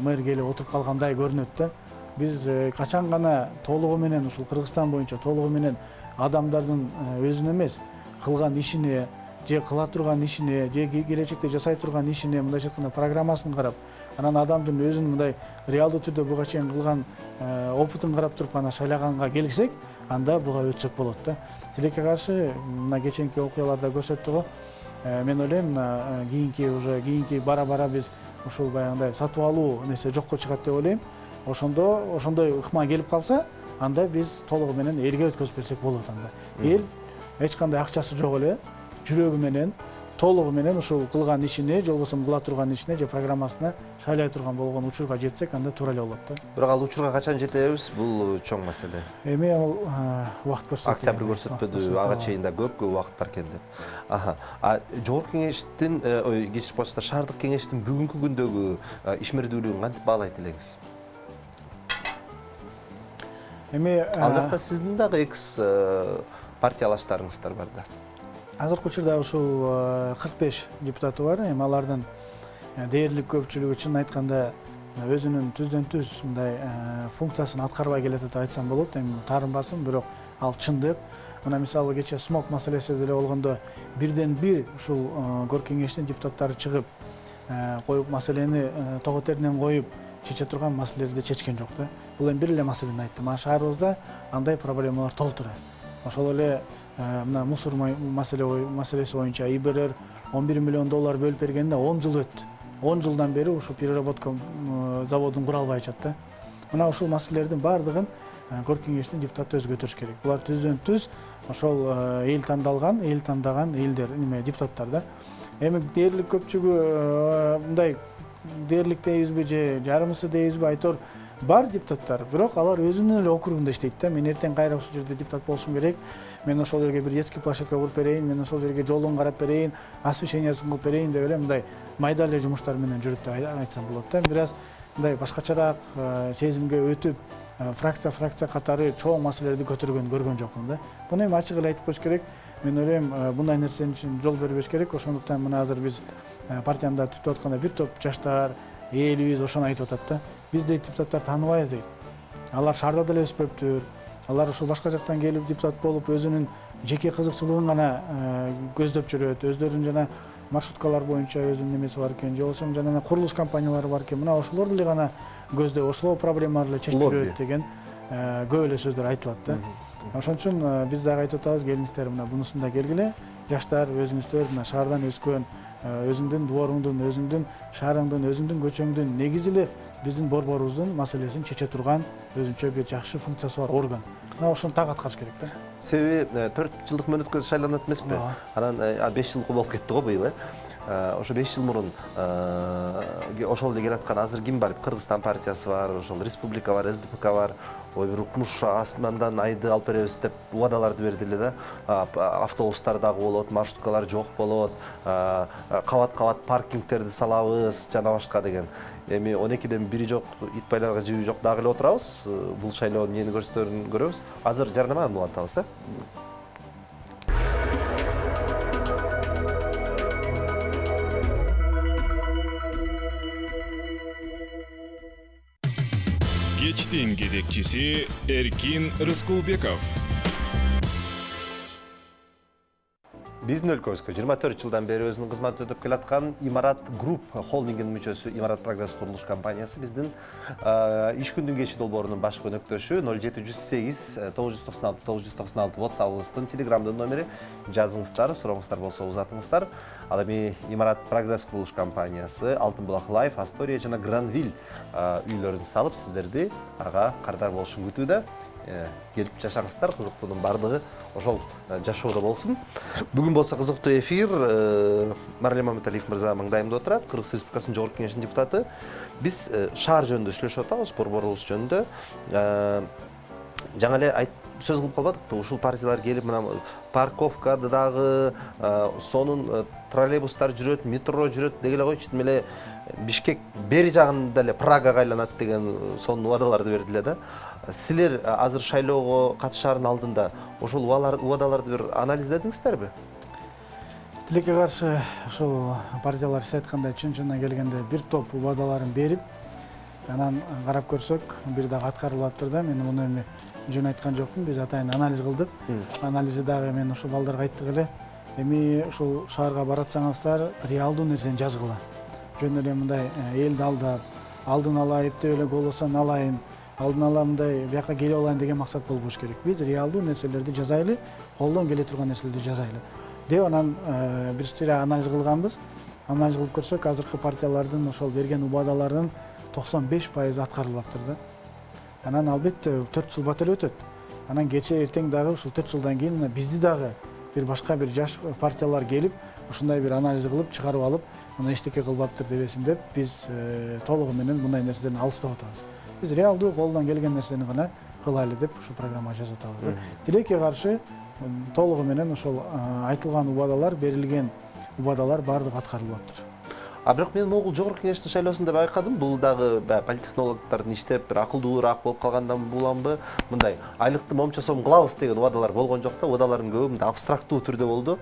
мэр келип отуруп калгандай көрүнөт да. Биз качан гана толугу менен ушул Кыргызстан боюнча толугу менен адамдардын өзүнө эмес, кылган ишине, же кыла турган ишине, же келечекте жасай турган ишине мындайча айтканда программасын карап, анан адамдын өзүнүн мындай реалдуу түрдө буга чейин кылган опытын карап туруп ана шайлаганга келсек, анда буга өтсөк болот да. Тилекке каршы мына кеченки окуяларда көрсөттү го. Мен ойлойм мына кийинки бара-бара биз ушул баягындай сатып алуу нерсе жокко чыгат деп ойлойм. Ошондой ыкма келип калса, анда биз толугу менен элге өткөзүп берсек болот анда. Эл эч кандай акчасы жок эле, жүрөгү менен, толугу менен ушул кылган ишине, же болбосо кыла турган ишине, же программасына шайлай турган болгон учурга жетсек, анда туура эле болот да. Бирок ал учурга качан жетебиз? Бул чоң маселе. Эми ал убакыт көрсөтөт. Октябрь көрсөтпөдү, ага чейин да көп убакыт бар экен деп. Жогорку кеңештин, кечирип коесуздар, шаардык кеңештин бүгүнкү күндөгү ишмердүүлүгүн кантип баалайт элеңиз? Эми ал жакта сиздин дагы экс партиялаштарыңыздар бар да. Азыркы учурда ушул 45 депутаты бар. Эми алардын дээрлик көпчүлүгү чын айтканда өзүнүн түздөн-түз мындай функциясын аткарбай келет деп айтсам болот. Эми таарынбасын, бирок ал чындык. Мына мисалы кечээ смог маселеси деле болгондо бирден-бир ушул Горкий кеңештин депутаттары чыгып, коюп маселени тогот эрнен коюп чече турган маселелерди чечкен жок да. Бул эми бир эле маселени айттым. Шаарыбызда андай проблемалар толтура. Ошол эле мына мусор маселеси боюнча ИБРР $11 миллион бөлүп бергенде 10 жыл өттү. 10 жылдан бери ушул переработка заводун кура албай атат да. Мына ушул маселелердин баардыгын Кор кеңештин депутаты өзү көтөрүш керек. Булар түздөн түз ошол эл тандаган элдер, депутаттар да. Эми дээрлик көпчүлүгү мындай дээрлик дейбизби же жарымысы дейбизби айтор бар депутаттар, бирок алар өзүнүн эле округунда иштейт да. Мен эртең кайра ушул жерде депутат болушум керек. Мен ошол жерге бир детский площадка куруп берейин, мен ошол жерге жолун карап берейин, освещениясын кылып берейин деп эле мындай майда эле жумуштар менен жүрүп деп айтсам болот да. Бираз мындай башкачараак сезимге өтүп, фракция катары чоң маселелерди көтөргөнү көргөн жокмун да. Буну эми ачык эле айтып коюш керек. Мен ойлойм, мындай нерсени үчүн жол бербеш керек. Ошондуктан мына азыр биз партиямда түптөп атканда бир топ жаштар, элибиз ошону айтып атат да. Биз дейт депутаттар тааныбайбыз дейт. Алар шаарда деле өспөптүр. Алар ушул башка жактан келип депутат болуп өзүнүн жеке кызыкчылыгын гана көздөп жүрөт. Өздөрүнүн жана маршруткалар боюнча өзүнүн немеси бар экен, же болбосо жана курулуш компаниялары бар экен. Мына ошолорду эле гана көздөп, ошол проблемаларды эле чечип жүрөт деген көп эле сөздөр айтылат да. Ошон үчүн биз дагы айтып атабыз, келиңиздер мына бунусунда келгиле. Жаштар өзүңүздөр мына шаардан өскөн, өзүңдүн дворуңдун, өзүңдүн шаарыңдын, өзүңдүн көчөңдүн негизи эле биздин борборубуздун маселесин чече турган өзүнчө бир жакшы функциясы бар орган. Мына ошону так аткарыш керек да. Себеби 4 жылдык мөөнөткө шайланат эмеспи? Анан 5 жыл болуп кетти го быйыл, ошо 5 жыл мурун ошол эле келаткан азыр ким бар? Кыргызстан партиясы бар, ошол республика бар, СДПК бар. Ой, бир укмуш асмандан айды алып беребиз деп убадаларды берди эле да. Автобустар дагы болот, маршруткалар жок болот, кабат паркингтерди салабыз, жана башка деген. Эми 12ден бири жок, ит байларга жиби жок дагы эле отурабыз. Бул шайлоонун эмнени көрсөтөрүн көрөбүз. Азыр жарнаманы улантабыз, Кечтин кезекчиси Эркин Рыскулбеков. Биздин өлкөбүзгө 24 жылдан бери өзүнүн кызматын өтөп келаткан Имарат Груп холдингинин мүчөсү Имарат Прогресс курулуш компаниясы биздин иш күндүн кечи долбоорунун баш өнөктөшү 0708 996 996 WhatsApp-ыбыздын, Telegram'дын номери. Жазыңыздар, сурооңуздар болсо узатыңыздар. Ал эми Имарат Прогресс курулуш компаниясы Алтын булак Лайф, Астория жана Гранвиль үйлөрүн салып, сиздерди ага кардар болушун күтүүдө. Келип жашаңыздар, кызыктуунун бардыгы ошол жашоодо болсун. Бүгүн болсо кызыктуу эфир. Марлен Маматалиев мырза маңдайымда отурат, Кыргыз Республикасынын Жогорку Кеңешинин депутаты. Биз шаар жөнүндө сүйлөшүп атабыз, борборубуз жөнүндө. Жаңа эле сөз кылып калбадыкпы? Ушул партиялар келип, мына парковкада дагы сонун троллейбустар жүрөт, метро жүрөт деги эле койчу, тим эле Бишкек бери жагында эле Прагага айланат деген сонун убадаларды берди эле да. Силер азыр шайлоого катышаардын алдында ошол убадаларды бир анализдедиңиздерби? Тилекке каршы ошол партиялар сиз айткандай чын-чындан келгенде бир топ убадаларын берип, анан карап көрсөк, бир дагы аткарылып атыптыр да. Мен муну эми жөн айткан жокмун. Биз атайын анализ кылдык. Анализди дагы мен ошол балдарга айттык эле. Эми ошол шаарга баратсаңыздар, реалдуу нерсени жазгыла. Жөн эле мындай элди алдап, алдын ала эптеп эле голосон алайын, алдын ала мындай бияка келип алайын деген максат болбош керек. Биз реалдуу нерселерди жазайлы, колдон келе турган нерселерди жазайлы деп анан бир стире анализ кылганбыз. Анализ кылып көрсөк, азыркы партиялардын ошол берген убадаларынын 95% аткарылып атыптыр да. Анан албетте 4 жыл бат эле өтөт. Анан кечээ эртең дагы ушул 4 жылдан кийин бизди дагы бир башка бир жаш партиялар келип, ушундай бир анализ кылып, чыгарып алып, мына эчтеке кылбаптыр дебесин деп, биз толугу менен мындай нерседен алыстап атабыз. Биз реалдуу колдон келген нерсени гана кылайлы деп ушул программага жазып атабыз. Тилекке каршы толугу менен ошол айтылган убадалар, берилген убадалар бардыгы аткарылып атыптыр. Бирок мен могул Жогорку Кеңештин шайлоосунда байкадым, бул дагы политтехнологдордун иштеп бир акылдуураак болуп калгандан буламбы? Мындай айлыкты момча сом кылабыз деген убадалар болгон жок да, убадалардын көбү мындай абстрактуу түрдө болду.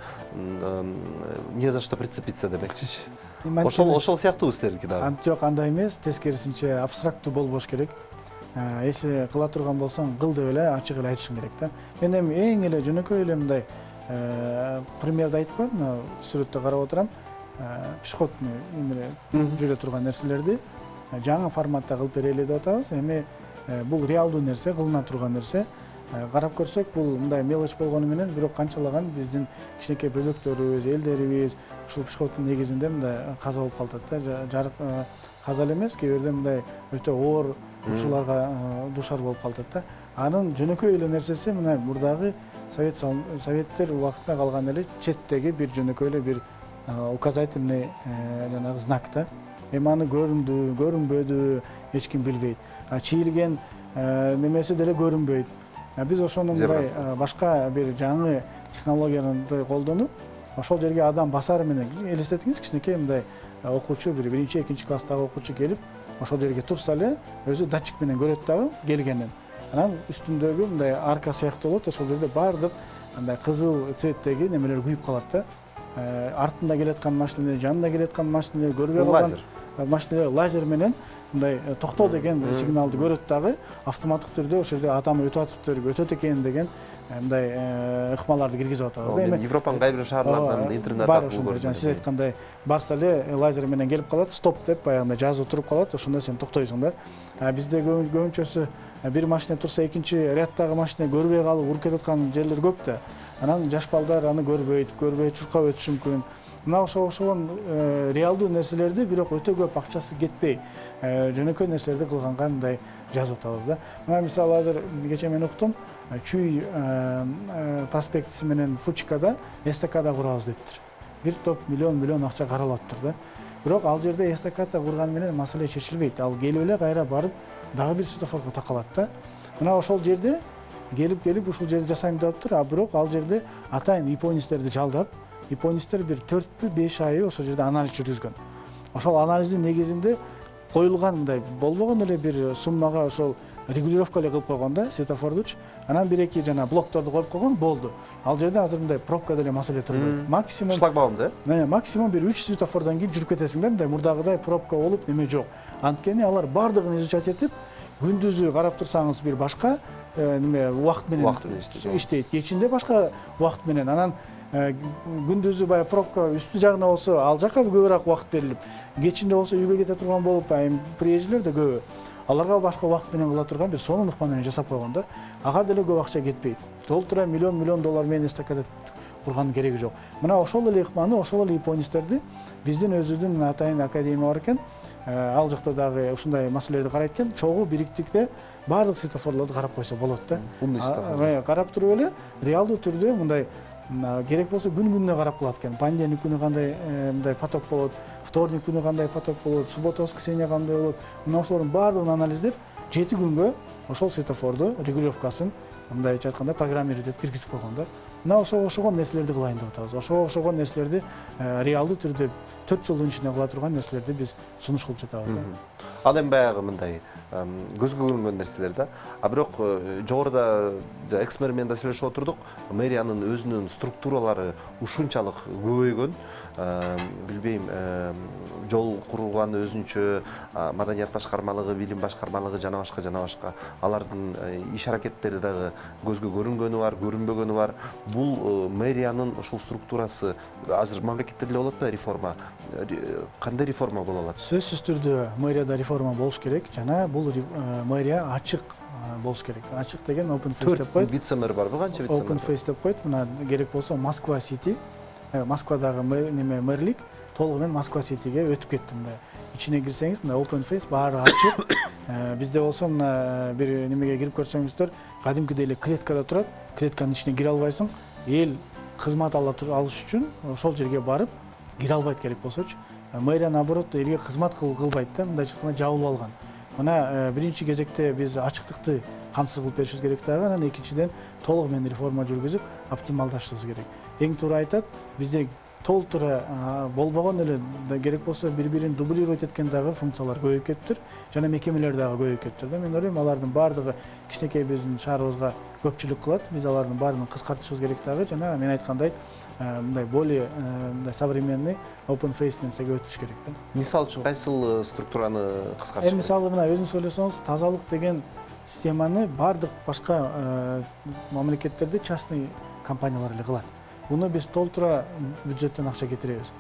Не за что прицепиться демекчичи. Ошол сыяктуу силердики дагы. Жок, андай эмес, тескерисинче абстрактуу болбош керек. Эси кыла турган болсоң, кыл деп эле ачык эле айтышың керек да. Мен эми эң эле жөнөкөй эле мындай примерди айтып коеюн, сүрөттө карап отурам. Пешеходный жүрө турган нерселерди жаңы форматта кылып берели деп атабыз. Эми бул реалдуу нерсе, кылына турган нерсе. карап көрсөк, бул мындай мелочь болгону менен бирок канчалаган биздин кичинекей бөбөктөрүбүз, элдерибиз ушул психоттун негизинде мындай каза болуп калат да. Жарык каза эле эмес, кээ бирде мындай өтө оор учурларга дуушар болуп калат да. Анын жөнөкөй эле нерсеси мына мурдагы советтер убактында калган эле четтеги бир жөнөкөй эле бир указательный жанагы знак да. Эми аны көрүндү, көрүнбөдү эч ким билбейт. Чийилген немеси деле көрүнбөйт. Биз ошону мындай башка бир жаңы технологияларды колдонуп, ошол жерге адам басары менен элестетиңиз, кичинекей мындай окуучу, бир 1-2 класстагы окуучу келип, ошол жерге турса эле өзү датчик менен көрөт дагы келгенин. Анан үстүндөгү мындай арка сыяктуу болот, ошол жерде баардык мындай кызыл цветтеги немелер күйүп калат да. Артында келаткан машиналар, жанында келаткан машиналар, көрбөй калган машиналар лазер менен мындай токтоо деген сигналды көрөт дагы, автоматтык түрдө ошол жерде адам өтүп атыптыр, өтөт экен деген мындай ыкмаларды киргизип атабыз. Эми Европанын кайбир шаарларынан интернет аркылуу жана сиз айткандай барса эле лазер менен келип калат, стоп деп баягындай жазып туруп калат, ошондо сен токтойсуң да. Бизде көбүнчөсү бир машина турса экинчи ряддагы машина көрбөй калып уруп кетип аткан жерлер көп да. Анан жаш балдар аны көрбөй чуркап өтүшү мүмкүн. Мына ошол реалдуу нерселерди, бирок өтө көп акчасы кетпей, жөнөкөй нерселерди кылганга мындай жазып атабыз да. Мына мисалы азыр кечээ мен уктум, Чүй проспектиси менен Фучикада эстакада курабыз дептир. Бир топ миллион акча каралаптыр да. Бирок ал жерде эстакада курган менен маселе чечилбейт. Ал келип эле кайра барып дагы бир светофорго такалат да. Мына ошол жерде келип ушул жерди жасайм деп атыптыр, бирок ал жерде атайын японецтерди жалдап, японецтер бир 4-5 ай ошол жерде анализ жүргүзгөн. Ошол анализдин негизинде коюлган мындай болбогон эле бир суммага ошол регулировка эле кылып койгон да, светофордучу. Анан 1-2 жана блокторду коюп койгон, болду. Ал жерде азыр мындай пробка деле маселе турбайт. Максимум шлагбаумду, максимум бир 3 светофордон кийин жүрүп кетесиң да, мындай мурдагыдай пробка болуп неме жок. Анткени алар бардыгын изучать этип, күндүзү карап турсаңыз бир башка неме убакыт менен иштейт, кечинде башка убакыт менен. Анан күндүзү баягы пробка үстү жагына болсо ал жака көбүрөөк убакыт берилип, кечинде болсо үйгө кете турган болуп, приезжийлер да көбү. Аларга башка убакыт менен кыла турган бир сонун ыкма менен жасап койгон да. Ага деле көп акча кетпейт. Толтура миллион доллар менен эстакада курганын кереги жок. Мына ошол эле ыкманы, ошол эле японецтерди биздин өзүбүздүн атайын академия бар экен. Ал жакта дагы ушундай маселелерди карайт экен. Чогуу бириктикте баардык светофорлорду карап койсо болот да. Карап туруп эле реалдуу түрдө мындай керек болсо күнүнө карап калат экен. Понедельник күнү кандай мындай поток болот, вторник күнү кандай поток болот, суббота, воскресенье кандай болот. Мына ошолордун баардыгын анализдеп, 7 күнгө ошол светофорду регулировкасын мындайча айтканда программируй деп киргизип койгон да. Мына ошогон нерселерди кылайын деп атабыз. Ошогон нерселерди реалдуу түрдө 4 жылдын ичинде кыла турган нерселерди биз сунуш кылып жатабыз да. Ал эми баягы мындай көзгө көрүнгөн нерселер да. Бирок жогоруда экспериментте сүйлөшүп отурдук, мэриянын өзүнүн структуралары ушунчалык көбөйгөн, билбейм, жол курулган өзүнчө, маданият башкармалыгы, билим башкармалыгы жана башка. Алардын иш аракеттери дагы көзгө көрүнгөнү бар, көрүнбөгөнү бар. Бул мэриянын ушул структурасы азыр мамлекетте деле болот да реформа. Кандай реформа боло алат? Сөзсүз түрдө мэрияда реформа болуш керек жана бул мэрия ачык болуш керек. Ачык деген open face деп коет. Вице-мэр барбы, канча вице-мэр? Open face деп коет. Мына керек болсо Москва Сити, Москвадагы мэрлик толугу менен Москва Ситиге өтүп кетти. Мына ичине кирсеңиз, мына open face баары ачык. Бизде болсо мына бир немеге кирип көрсөңүздөр, кадимкидей эле клеткада турат. Клетканын ичине кире албайсың. Эл кызмат алыш үчүн ошол жерге барып кире албайт керек болсочу. Мэрия наоборот элге кызмат кылбайт да, мындайча айтканда жабылып алган. Мына биринчи кезекте биз ачыктыкты камсыз кылып беришибиз керек дагы, анан экинчиден толугу менен реформа жүргүзүп, оптималдаштырышыбыз керек. Эң туура айтат, бизде толтура болбогон эле керек болсо бири-бирин дублировать эткен дагы функциялар көбөйүп кетиптир, жана мекемелер дагы көбөйүп кетиптир да. Мен ойлойм, алардын баардыгы кичинекей биздин шаарыбызга көпчүлүк кылат. Биз алардын баарын кыскартышыбыз керек дагы, жана мен айткандай мындай более современный open face нерсеге өтүш керек да. Мисал үчүн кайсыл структураны кыскартыш керек? Мисалы мына өзүңүз ойлосоңуз, тазалык деген системаны баардык башка мамлекеттерде частный компаниялар эле кылат. Буну биз толтура бюджеттен акча кетиребиз.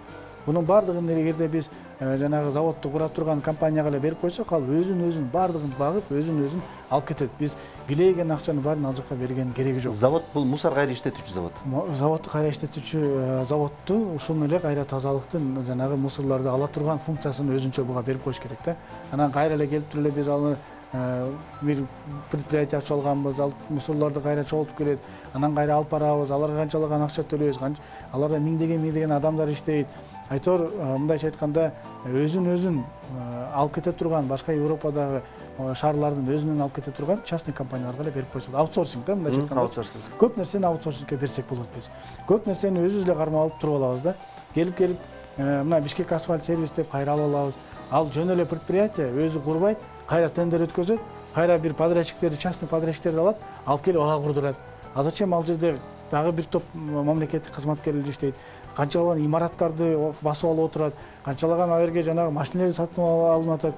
Бунун баардыгын эгерде биз жанагы заводду кура турган компанияга эле берип койсок, ал өзүн баардыгын багып, өзүн алып кетет. Биз килейген акчаны баарын ал жака берген кереги жок. Завод бул мусор кайра иштетүүчү завод. Заводду кайра иштетүүчү заводду ушуну эле кайра тазалыктын жанагы мусорлорду ала турган функциясын өзүнчө буга берип коюш керек да. Анан кайра эле келип туруп эле биз аны бир предприятие ачып алганбыз, ал мусорлорду кайра чогултуп келет, анан кайра алып барабыз, аларга канчалаган акча төлөйбүз, аларда миңдеген адамдар иштейт. Айтор мындайча айтканда өзүн алып кете турган башка Европадагы шаарлардын өзүнөн алып кете турган частный компанияларга эле берип койсок, аутсорсинг да, мындайча айтканда. Көп нерсени аутсорсингке берсек болот биз. Көп нерсени өзүбүз эле кармап алып туруп алабыз да. Келип мына Бишкек асфальт сервис деп кайра алып алабыз. Ал жөн эле предприятие өзү курбайт, кайра тендер өткөзөт, кайра бир подрядчиктерди, частный подрядчиктерди алат, алып келип ага курдурат. А зачем ал жерде дагы бир топ мамлекеттик кызматкерлер иштейт, канчалаган имараттарды басып алып отурат, канчалаган ал жерге жанагы машиналарды сатып алынып атат.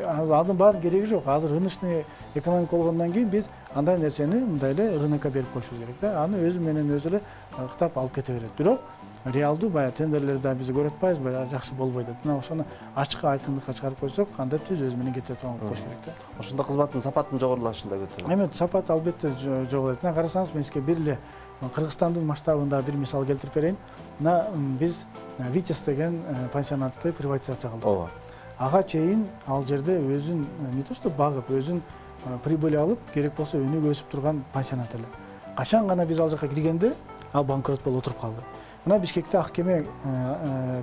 Анын баары кереги жок. Азыр рыночный экономика болгондон кийин биз андай нерсени мындай эле рынокко берип коюшубуз керек да. Аны өзү менен өзү эле кыттап алып кете берет. Бирок реалдуу баягы тендерлерди биз көрүп атпайбыз, баягы жакшы болбойт. Мына ошону ачык айкындыкка чыгарып койсок, кандай түз өзү менен кете турган коюш керек да. Ошондо кызматтын сапатынын жогорулашында көтөрөт. Эми сапат албетте жогорулайт. Мына карасаңыз, мен сизге бир эле Кыргызстандын масштабында бир мисал келтирип берейин. Мына биз Витязь деген пансионатты приватизация кылдык. Ооба. Ага чейин ал жерде өзүн не то что багып, өзүн прибыль алып, керек болсо өнүгүп өсүп турган пансионат эле. Качан гана биз ал жака киргенде, ал банкрот болуп отуруп калды. Мына Бишкекте Ак кеме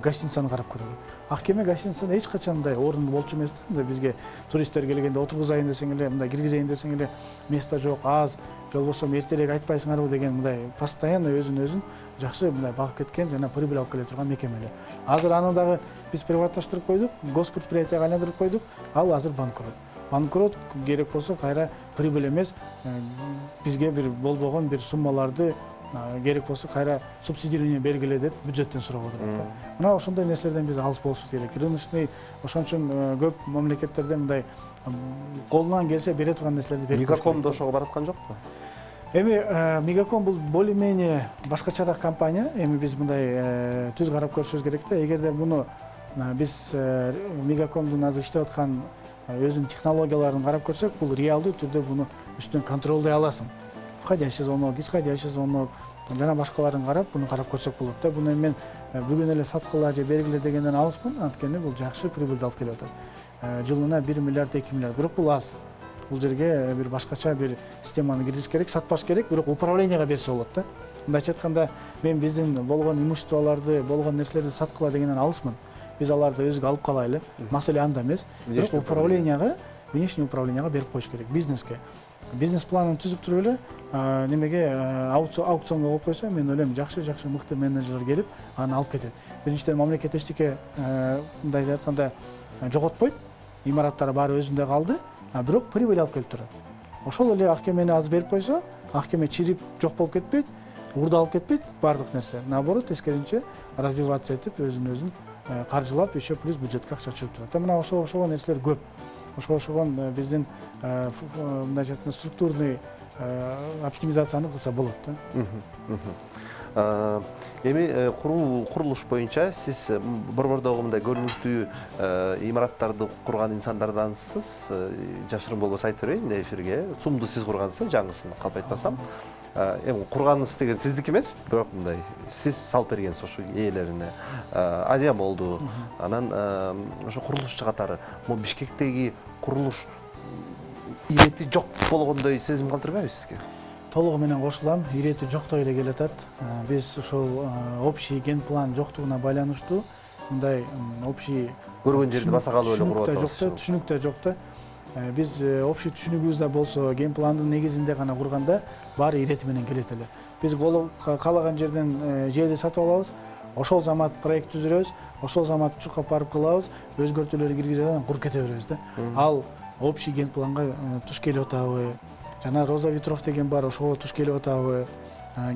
гостиницаны карап көрөлү. Ак кеме гостиницасы эч качан мындай орун болчу эмес да. Бизге туристтер келгенде отургузайын десең эле, мындай киргизейин десең эле место жок, аз, же болбосо эртерээк айтпайсыңарбы деген мындай постоянно өзүн жакшы мындай багып кеткен жана прибыль алып келе турган мекеме эле. Азыр аны дагы биз приватташтырып койдук, госпредприятияга айландырып койдук. Ал азыр банкрот. Банкрот керек болсо кайра прибыль эмес, бизге бир болбогон бир суммаларды керек болсо кайра субсидирование бергиле деп бюджеттен сурап отурат да. Мына ошондой нерселерден биз алыс болушубуз керек. Рыночный ошон үчүн көп мамлекеттерде мындай колунан келсе бере турган нерселерди берип коюш керек. Мегаком да ошого бараткан жокпу? Эми Мегаком бул более-менее башкачараак компания. Эми биз мындай түз карап көрүшүбүз керек да. Эгерде муну биз Мегакомдун азыр иштеп аткан өзүнүн технологияларын карап көрсөк, бул реалдуу түрдө буну үстүнөн контролдой аласың. Входящий звонок, исходящий звонок, жана башкаларын карап, буну карап көрсөк болот да. Буну мен бүгүн эле саткыла же бергиле дегенден алыспын, анткени бул жакшы прибыль алып келип атат. Жылына 1 миллиард 2 миллиард. Бирок бул аз. Бул жерге бир башкача бир системаны киргизиш керек, сатпаш керек, бирок управленияга берсе болот да. Мындайча айтканда, мен биздин болгон имуществолорду, болгон нерселерди саткыла дегенден алыспын. Биз аларды өзүгө алып калайлы. Маселе анда эмес. Бирок управленияга, внешний управленияга берип коюш керек, бизнеске. Бизнес планын түзүп туруп эле немеге аукционго коюп койсо, мен ойлойм жакшы мыкты менеджер келип аны алып кетет. Биринчиден мамлекет эчтеке мындай айтканда жоготпойт. Имараттары баары өзүндө калды, бирок прибыль алып келип турат. Ошол эле Ак кемени аз берип койсо, Ак кеме чирип жок болуп кетпейт, урдалып кетпейт баардык нерсе. Наоборот, тескерисинче развивация этип өзүн каржылап, еще плюс бюджетке акча түшүрүп турат. Мына ошол нерселер көп. Ошогон биздин мындайча айтканда структурный оптимизацияны кылса болот да. Эми курулуш боюнча сиз борбордогу мындай көрүнүктүү имараттарды курган инсандардансыз, жашырын болбосо айтып берейин эфирге. ЦУМду сиз кургансыз, жаңысын калп айтпасам. Эми курганыңыз деген сиздики эмес, бирок мындай сиз салып бергенсиз ошо ээлерине. Азия болду. Анан ошо курулушчу катары могу Бишкектеги курулуш ирети жок болгондой сезим калтырбайбы сизге? Толугу менен кошулам, ирети жоктой эле келатат. Биз ошол общий ген план жоктугуна байланыштуу мындай общий көргөн жерди баса калып эле куруп атабыз. Түшүнүктө жок да. Биз общий түшүнүгүбүз да болсо, ген пландын негизинде гана курганда баары ирети менен келет эле. Биз каалаган жерден жерди сатып алабыз, ошол замат проект түзүрөбүз, ошол замат учурка барып кылабыз, өзгөртүүлөрдү киргизип анан куруп кете беребиз да. Ал общий ген планга туш келип атабы, жана Роза Ветров деген бар, ошого туш келип атабы,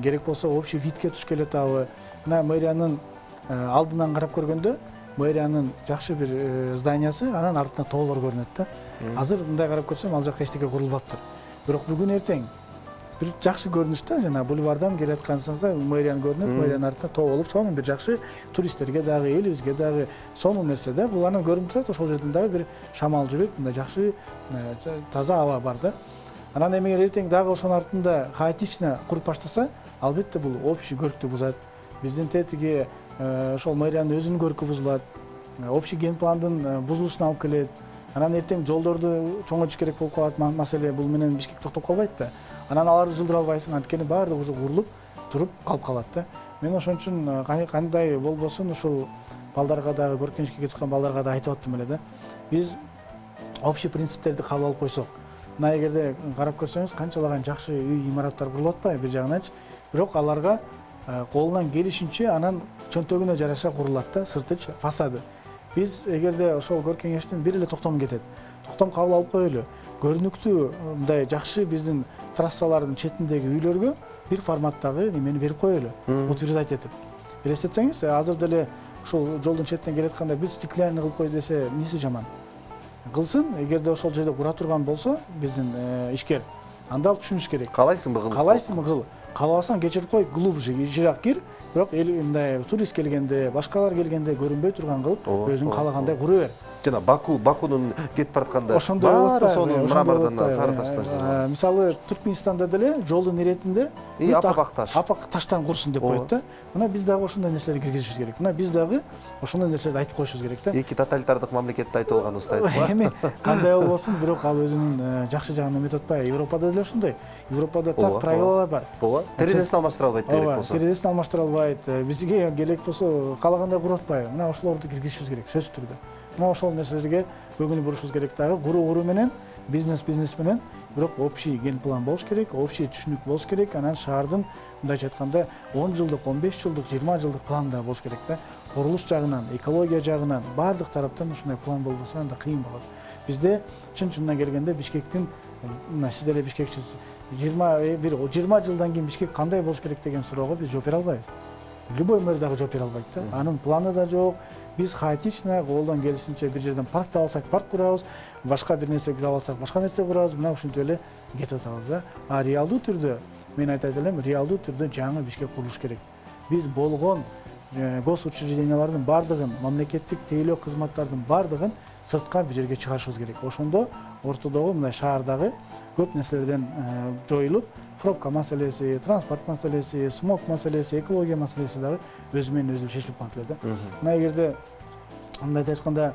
керек болсо общий видке туш келип атабы. Мына мэриянын алдынан карап көргөндө, мэриянын жакшы бир зданиясы, анан артынан тоолор көрүнөт да. Азыр мындай карап көрсөм, ал жакка эчтеке курулбаптыр. Бирок бүгүн эртең бир жакшы көрүнүш да, жана бульвардан келаткансаңыз мэриянын көрүнөт, мэриянын артында тоо болуп, сонун бир жакшы туристтерге дагы, элибизге дагы сонун нерсе да. Бул анан көрүнүп турат, ошол жерден дагы бир шамал жүрөт, мындай жакшы таза аба бар да. Анан эми эртең дагы ошонун артында хаотично куруп баштаса, албетте бул общий көркү бузат. Биздин тетиги ошол мэриянын өзүнүн көркү бузулат. Общий ген пландын бузулушуна алып келет. Анан эртең жолдорду чоңойтуш керек болуп калат, маселе бул менен Бишкек токтоп калбайт да. Анан аларды жылдыра албайсың, анткени баардыгы уже курулуп туруп калып калат да. Мен ошон үчүн кандай болбосун ушул балдарга дагы, көркөмүшкө кетип балдарга да айтып аттым эле да. Биз общий принциптерди кабыл алып койсок, мына эгерде карап көрсөңүз канчалаган жакшы үй, имараттар курулуп атпайбы бир жагынанчы, бирок аларга колунан келишинче анан чөнтөгүнө жараша курулат да, сырты, фасады. Биз эгерде ошол көркөмүштүн бир эле токтом кетет, токтом кабыл алып коелу. Көрүнүктүү мындай жакшы биздин трассалардын четиндеги үйлөргө бир форматтагы немени берип коелу, утверждать этип. Элестетсеңиз, азыр деле ушул жолдун четинен келатканда бүт стеклянный кылып кой десе, эмнеси жаман? Кылсын, эгерде ошол жерде кура турган болсо биздин ишкер, анда ал түшүнүш керек. Каалайсыңбы кыл? Каалайсыңбы кыл? Каалабасаң кечирип кой, глубже, жыраак кир, бирок мындай турист келгенде, башкалар келгенде көрүнбөй турган кылып, өзүң каалагандай кура бер. Жана Бакунун кетип баратканда баары сонун мрамордон, сары таштан. Мисалы Түркмөнстанда деле жолдун иретинде апак таштан курсун деп коет да. Мына биз дагы ошондой нерселерди киргизишибиз керек. Мына биз дагы ошондой нерселерди айтып коюшубуз керек да. Эки тоталитардык мамлекетте айтып алганыбызды айтып. Эми кандай болбосун, бирок ал өзүнүн жакшы жагын эметип атпайбы. Европада деле ошондой. Европада так правилалар бар. Ооба. Терезесин алмаштыра албайт керек болсо. Терезесин алмаштыра албайт. Бизге керек болсо каалагандай куруп атпайбы. Мына ошолорду киргизишибиз керек, сөзсүз түрдө. Мына ошол нерселерге көңүл бурушубуз керек дагы. Куруу менен, бизнес менен, бирок общий ген план болуш керек, общий түшүнүк болуш керек. Анан шаардын мындайча айтканда 10 жылдык, 15 жылдык, 20 жылдык план да болуш керек да. Курулуш жагынан, экология жагынан, баардык тараптан ушундай план болбосо анда кыйын болот. Бизде чын-чынына келгенде Бишкектин, сиз деле бишкекчисиз, 20 жылдан кийин Бишкек кандай болуш керек деген суроого биз жооп бере албайбыз. Любой мэр дагы жооп бере албайт да. Анын планы да жок. Биз хаотично колдон келишинче бир жерден парк таап алсак парк курабыз, башка бир нерсе таап алсак башка нерсе курабыз, мына ушинтип эле кетип атабыз да. А реалдуу түрдө, мен айтат элем, реалдуу түрдө жаңы Бишкек курулуш керек. Биз болгон госучреждениялардын баардыгын, мамлекеттик тейлөө кызматтардын баардыгын сыртка бир жерге чыгарышыбыз керек. Ошондо ортодогу мындай шаардагы көп нерселерден жоюлуп, пробка маселеси, транспорт маселеси, смог маселеси, экология маселеси дагы өзү менен өзү чечилип калат эле да. Мына эгерде мындай айтканда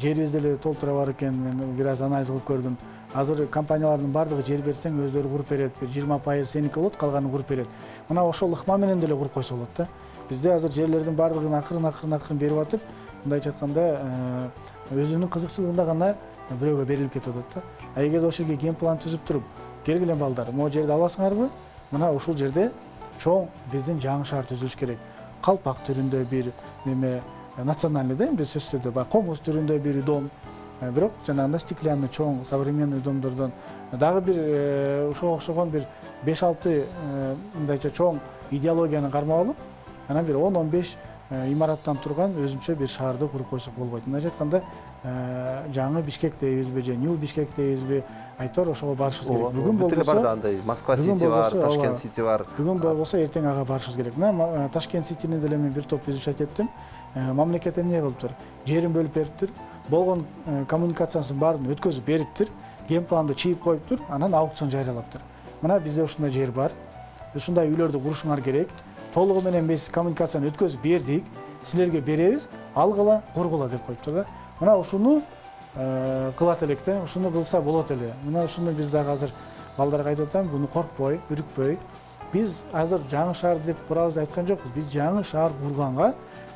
жерибиз деле толтура бар экен, мен бир аз анализ кылып көрдүм. Азыр компаниялардын баардыгы жер берсең өзлөрү куруп берет, бир 20% сеники болот, калганын куруп берет. Мына ошол ыкма менен деле куруп койсо болот да. Бизде азыр жерлердин баардыгын акырын берип атып, мындайча айтканда өзүнүн кызыкчылыгында гана бирөөгө берилип кетип атат да. А эгерде ошол жерге ген план түзүп туруп, келгиле балдар, могу жерди аласыңарбы? Мына ушул жерде чоң биздин жаңы шаар түзүлүш керек. Калпак түрүндө бир неме национальный да, бир сөзсүз түрдө, комуз түрүндө бир дом. Бирок жанагындай стеклянный чоң современный домдордон дагы бир ошого окшогон бир 5-6 мындайча чоң идеологияны кармап алып, анан бир 10-15 имараттан турган өзүнчө бир шаарды куруп койсок болбойт. Мындайча айтканда жаңы Бишкек дейбизби же Нью Бишкек дейбизби, айтор ошого барышыбыз керек. Бүгүн болбосо бар да, андай Москва Сити бар, Ташкент Сити бар. Бүгүн болбосо эртең ага барышыбыз керек. Мына Ташкент Ситини деле мен бир топ изучать эттим. Мамлекет эмне кылыптыр? Жерин бөлүп бериптир, болгон коммуникациясын баарын өткөзүп бериптир, ген планды чийип коюптур, анан аукцион жарыялаптыр. Мына бизде ушундай жер бар. Ушундай үйлөрдү курушуңар керек. Толугу менен биз коммуникацияны өткөзүп бердик, силерге беребиз, алгыла, кургула деп коюптур да. Мына ушуну кылат элек да, ушуну кылса болот эле. Мына ушуну биз дагы азыр балдарга айтып атам, буну коркпой, үрүкпөй. Биз азыр жаңы шаар деп курабыз деп айткан жокпуз. Биз жаңы шаар курганга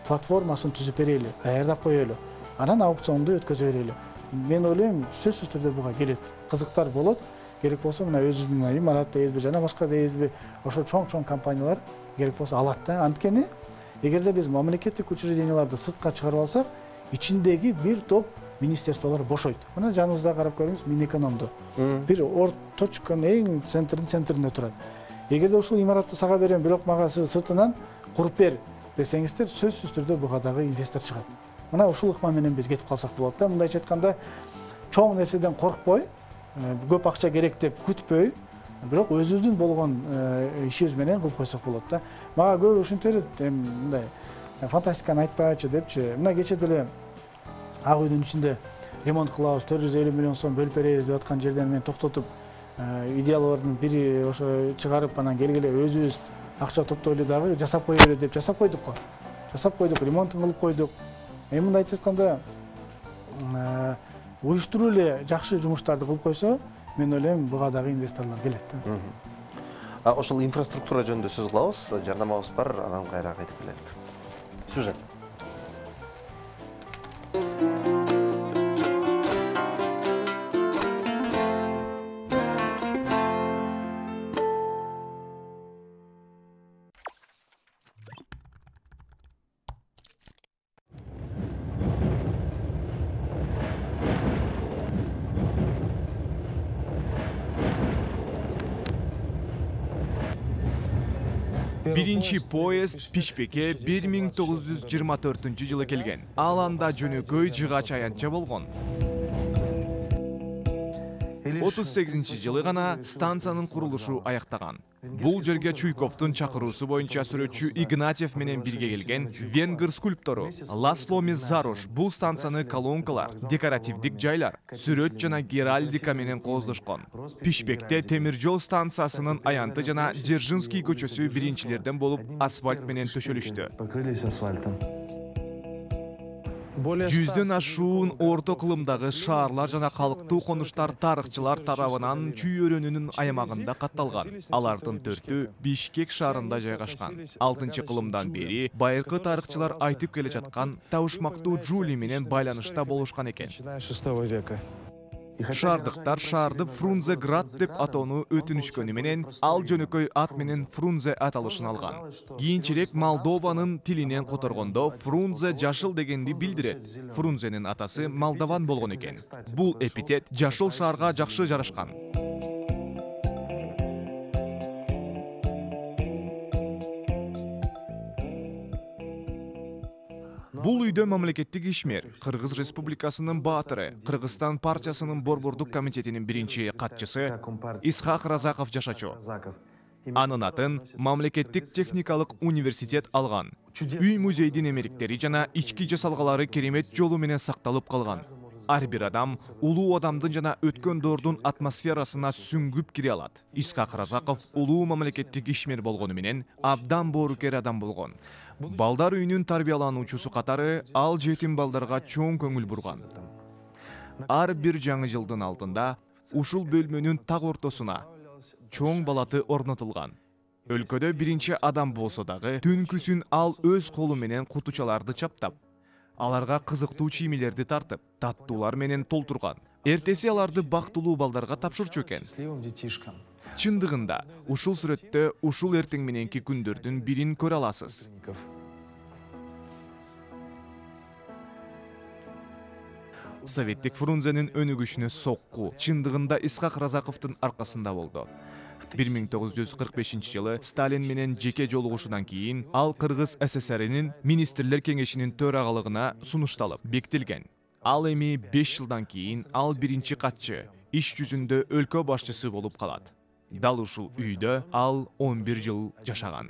платформасын түзүп берели, даярдап коелу. Анан аукционду өткөзө берели. Мен ойлойм, сөзсүз түрдө буга келет. Кызыктар болот. Керек болсо мына өзүбүздүн имарат дейбизби, жана башка дейбизби, ошо чоң компаниялар керек болсо алат да. Анткени эгерде биз мамлекеттик учрежденияларды сыртка чыгарып алсак, ичиндеги бир топ министерстволор бошойт. Мына жаныбызда карап көрүңүз, Минэкономду. Бир точканын эң центринде турат. Эгерде ушул имаратты сага берем, бирок мага сыртынан куруп бер десеңиздер, сөзсүз түрдө буга дагы инвестор чыгат. Мына ушул ыкма менен биз кетип калсак болот да. Мындайча айтканда, чоң нерседен коркпой, көп акча керек деп күтпөй, Бирок өзүбүздүн болгон ишибиз менен кылып койсок болот да. Мага көбү ушинтип берет, эми мындай фантастиканы айтпачы депчи. Мына кече деле Ак үйдүн ичинде ремонт кылабыз, 450 миллион сом бөлүп беребиз деп аткан жерден мен токтотуп, идеялардын бири ошо чыгарып, анан келгиле өзүбүз акча топтойлу дагы жасап кое берет деп жасап койдук го. Жасап койдук, ремонтун кылып койдук. Эми мындай айтып атканда, уюштуруу эле жакшы жумуштарды кылып койсо, мен ойлойм буга дагы инвесторлор келет да. Ошол инфраструктура жөнүндө сөз кылабыз. Жарнамабыз бар, анан кайра кайтып келелик. Сюжет. Биринчи поезд Пишпекке 1924-жылы келген. Ал анда жөнөкөй жыгач аянтча болгон. 38-жылы гана станциянын курулушу аяктаган. Бул жерге Чуйковдун чакыруусу боюнча сүрөтчү Игнатьев менен бирге келген венгер скульптору Ласло Меззарош бул станцияны колонкалар, декоративдик жайлар, сүрөт жана геральдика менен кооздошкон. Пишпекте темир жол станциясынын аянты жана Дзержинский көчөсү биринчилерден болуп асфальт менен төшөлүштү. Покрылись асфальтом. 100дөн ашуун орто кылымдагы шаарлар жана калктуу конуштар тарыхчылар тарабынан Чүй өрөөнүнүн аймагында катталган. Алардын 4-ü Бишкек шаарында жайгашкан. 6-кылымдан бери байыркы тарыхчылар айтып келе жаткан табышмактуу Жули менен байланышта болушкан экен. 6 века. Шаардыктар шаарды Фрунзеград деп атоону өтүнүшкөнү менен ал жөнөкөй ат менен Фрунзе аталышын алган. Кийинчерээк Молдованын тилинен которгондо Фрунзе жашыл дегенди билдирет. Фрунзенин атасы молдован болгон экен. Бул эпитет жашыл шаарга жакшы жарашкан. Бул үйдө мамлекеттик ишмер, Кыргыз Республикасынын баатыры, Кыргызстан партиясынын борбордук комитетинин биринчи катчысы Исхак Разаков жашачу. Анын атын мамлекеттик техникалык университет алган. Үй музейдин эмериктери жана ички жасалгалары керемет жолу менен сакталып калган. Ар бир адам улуу адамдын жана өткөн доордун атмосферасына сүңгүп кире алат. Исхак Разаков улуу мамлекеттик ишмер болгону менен абдан боорукер адам болгон. Балдар үйүнүн тарбиялануучусу катары ал жетим балдарга чоң көңүл бурган. Ар бир жаңы жылдын алдында ушул бөлмөнүн так ортосуна чоң балаты орнотулган. Өлкөдө биринчи адам болсо дагы түнкүсүн ал өз колу менен кутучаларды чаптап, аларга кызыктуу чиймелерди тартып, таттуулар менен толтурган. Эртеси аларды бактылуу балдарга тапшырчу экен. Чындыгында, ушул сүрөттө ушул эртең мененки күндөрдүн бирин көрө аласыз. Советтик Фрунзенин өнүгүшүнө сокку чындыгында Исхак Разаковдун аркасында болду. 1945-жылы Сталин менен жеке жолугушудан кийин ал Кыргыз СССРинин министрлер кеңешинин төрагалыгына сунушталып бекитилген. Ал эми 5 жылдан кийин ал биринчи катчы, иш жүзүндө өлкө башчысы болуп калат. Дал ушул үйдө ал 11 жыл жашаган.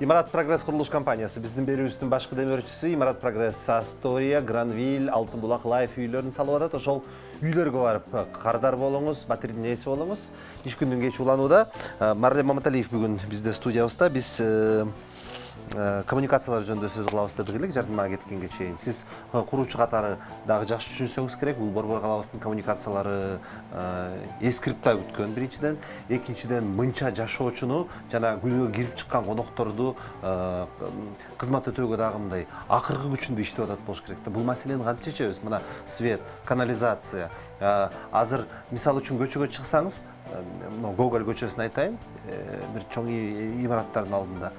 Имарат Прогресс курулуш компаниясы биздин берүүбүздүн башкы демөөрчүсү Имарат Прогресс Астория, Гранвиль, Алтын булак Лайф үйлөрүн салып атат. Ошол үйлөргө барып кардар болуңуз, батирдин ээси болуңуз. Иш күндүн кечи уланууда Марлен Маматалиев бүгүн бизде студиябызда. Биз коммуникациялар жөнүндө сөз кылабыз дедик элек жардымга кеткенге чейин. Сиз куруучу катары дагы жакшы түшүнсөңүз керек. Бул Борбор калабыздын коммуникациялары эскирипта күткөн биринчиден, экинчиден мынча жашоочуну жана үйгө кирип чыккан конокторду кызмат өтөөгө дагы мындай акыркы күчүндө иштеп атат болуш керек да. Бул маселени кантип чечебиз? Мына свет, канализация. Азыр мисалы үчүн көчөгө чыксаңыз, Гоголь көчөсүн айтайын, бир чоң имараттардын алдында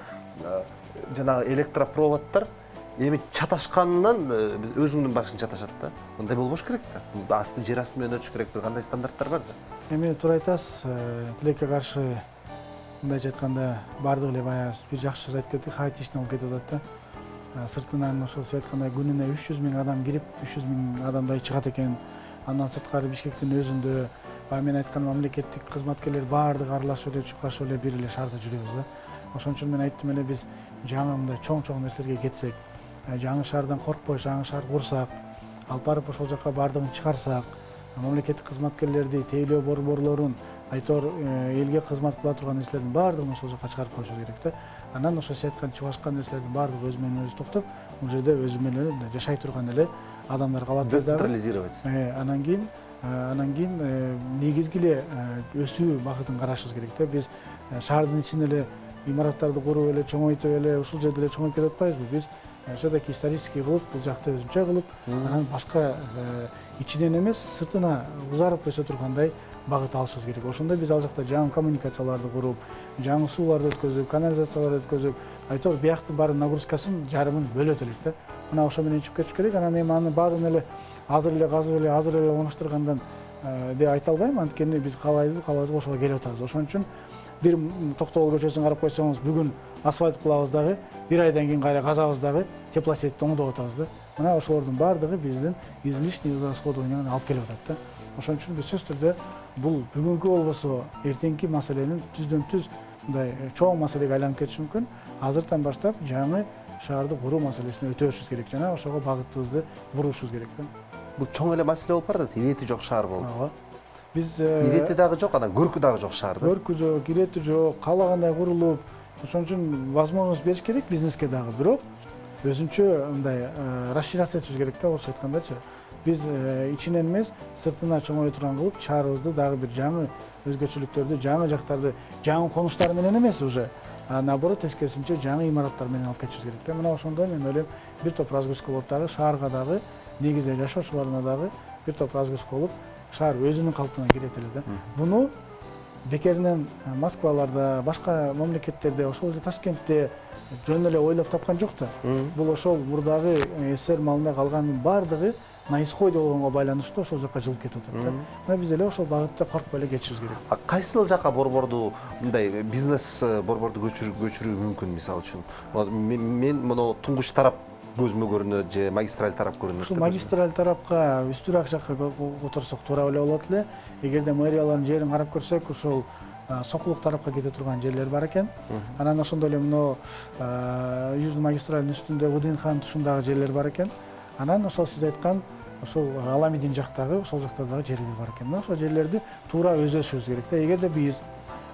жанагы электропроводдор эми чаташканынан өзүңдүн башың чаташат да. Мындай болбош керек да. Бул асты жер асты менен өтүш керек, бир кандай стандарттар бар да. Эми туура айтасыз, тилекке каршы мындайча айтканда баардыгы эле баягы бир жакшы сөз айтып кеттик, хаотично болуп кетип атат да. Сыртынан ошол сиз айткандай күнүнө 300 миң адам кирип, 300 миң адамдай чыгат экен. Андан сырткары Бишкектин өзүндө баягы мен айткан мамлекеттик кызматкерлер баардыгы аралашып эле чуркашып эле бир эле шаарда жүрөбүз да. Ошон үчүн мен айттым эле биз жаңы мындай чоң нерселерге кетсек, жаңы шаардан коркпой жаңы шаар курсак, алып барып ошол жака баардыгын чыгарсак, мамлекеттик кызматкерлерди, тейлөө борборлорун, айтор элге кызмат кыла турган нерселердин баардыгын ошол жака чыгарып коюшубуз керек да. Анан ошо сиз айткан чыбашкан нерселердин баардыгы өзү менен өзү токтоп, бул жерде өзү менен жашай турган эле адамдар калат да. Децентрализировать. Анан кийин негизги эле өсүү багытын карашыбыз керек да. Биз шаардын ичинде эле имараттарды куруп эле чоңойтуп эле ушул жерде эле чоңоюп кетип атпайбызбы? Биз все-таки исторический кылып, бул жакты өзүнчө кылып, анан башка ичинен эмес, сыртына узарып өсө тургандай багыт алышыбыз керек. Ошондо биз ал жакта жаңы коммуникацияларды куруп, жаңы сууларды өткөзүп, канализацияларды өткөзүп, айтор бияктын баары нагрузкасын жарымын бөлөт элек да. Мына ошо менен ичип кетиш керек. Анан эми анын баарын эле азыр эле оңоштургандан деп айта албайм. Анткени биз каалайбызбы ошого келип атабыз. Ошон үчүн бир Токтогул көчөсүн карап койсоңуз, бүгүн асфальт кылабыз дагы, бир айдан кийин кайра казабыз дагы, теплосетти оңдоп атабыз да. Мына ошолордун баардыгы биздин излишний расходованияны алып келип атат да. Ошон үчүн биз сөзсүз түрдө бул бүгүнкү болбосо эртеңки маселенин түздөн-түз мындай чоң маселеге айланып кетиши мүмкүн. Азыртан баштап жаңы шаарды куруу маселесине өтөбүшүбүз керек жана ошого багытыбызды бурушубуз керек да. Бул чоң эле маселе болуп барат, ирети жок шаар болуп. Ооба. Биз ирети дагы жок, анан көркү дагы жок шаар да. Көркү жок, ирети жок, каалагандай курулуп, ошон үчүн возможность бериш керек бизнеске дагы, бирок өзүнчө мындай расширяться этишибиз керек да, орусча айткандачы. Биз ичинен эмес, сыртына чоңое турган кылып, шаарыбызды дагы бир жаңы өзгөчөлүктөрдү, жаңы жактарды, жаңы конуштар менен эмес уже, наоборот тескерисинче жаңы имараттар менен алып кетишибиз керек да. Мына ошондо мен ойлойм, бир топ разгрузка болуп дагы шаарга дагы, негизи жашоочуларына дагы бир топ разгрузка болуп, шаар өзүнүн калпына келет эле да. Буну бекеринен Москваларда, башка мамлекеттерде, ошол эле Ташкентте жөн эле ойлоп тапкан жок да. Бул ошол мурдагы СССР малында калганын баардыгы на исходе болгонго байланыштуу ошол жака жылып кетип атат да. Мына биз эле ошол багытта коркпой эле кетишибиз керек. Кайсыл жака борборду мындай бизнес борборду көчүрүү мүмкүн, мисалы үчүн? Мен муну туңгуч тарап көзүмө көрүнөт же магистраль тарап көрүнөт. Ушул магистраль тарапка үстүрөөк жакка отурсак туура эле болот эле. Эгерде мэриялардын жерин карап көрсөк, ушул Сокулук тарапка кете турган жерлер бар экен. Анан ошондой эле мына Южный магистралдын үстүндө ВДНХнын тушундагы жерлер бар экен. Анан ошол сиз айткан ошол Аламидин жактагы ошол жактардагы жерлер бар экен. Ошол жерлерди туура өздөшүбүз керек да. Эгерде биз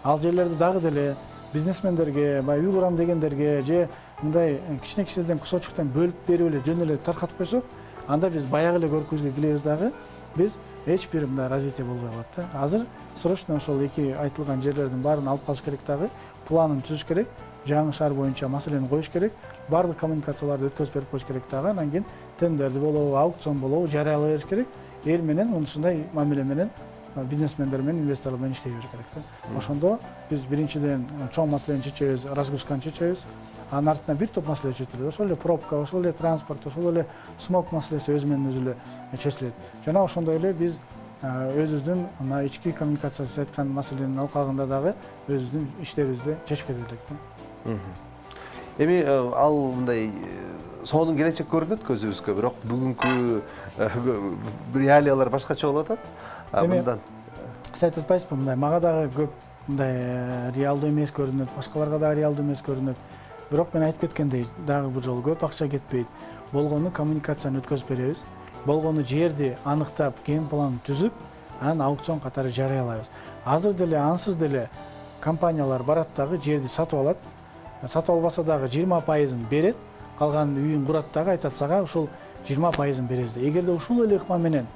ал жерлерди дагы деле бизнесмендерге, үй курам дегендерге же мындай кичинекейден кусочуктан бөлүп берип эле жөн эле таркатып койсок, анда биз баягы эле көркүбүзгө келебиз дагы, биз эч бир мындай развитие болбой калат да. Азыр срочно ошол эки айтылган жерлердин баарын алып калыш керек дагы, планын түзүш керек, жаңы шаар боюнча маселени коюш керек, баардык коммуникацияларды өткөзүп берип коюш керек дагы, анан кийин тендерди болобу, аукцион болобу жарыялай бериш керек. Эл менен ушундай мамиле менен бизнесмендер менен, инвесторлор менен иштей бериш керек да. Ошондо биз биринчиден чоң маселени чечебиз, разгрузканы чечебиз. Анын артынан бир топ маселе чечилет. Ошол эле пробка, ошол эле транспорт, ошол эле смог маселеси өзү менен өзү эле чечилет. Жана ошондой эле биз өзүбүздүн мына ички коммуникация айткан маселенин алкагында дагы өзүбүздүн иштерибизди чечип кете элек да. Эми ал мындай сонун келечек көрүнөт көзүбүзгө, бирок бүгүнкү реалиялар башкача болуп атат. Мындан сиз айтып атпайсызбы, мындай мага дагы көп мындай реалдуу эмес көрүнөт, башкаларга дагы реалдуу эмес көрүнөт. Бирок мен айтып кеткендей, дагы бир жолу көп акча кетпейт. Болгону коммуникацияны өткөзүп беребиз. Болгону жерди аныктап, ген планын түзүп, анан аукцион катары жарыялайбыз. Азыр деле ансыз деле компаниялар барат дагы жерди сатып алат. Сатып албаса дагы 20%-ын берет, калган үйүн курат дагы, айтат сага ушул 20%-ын беребиз. Эгерде ушул эле ыкма менен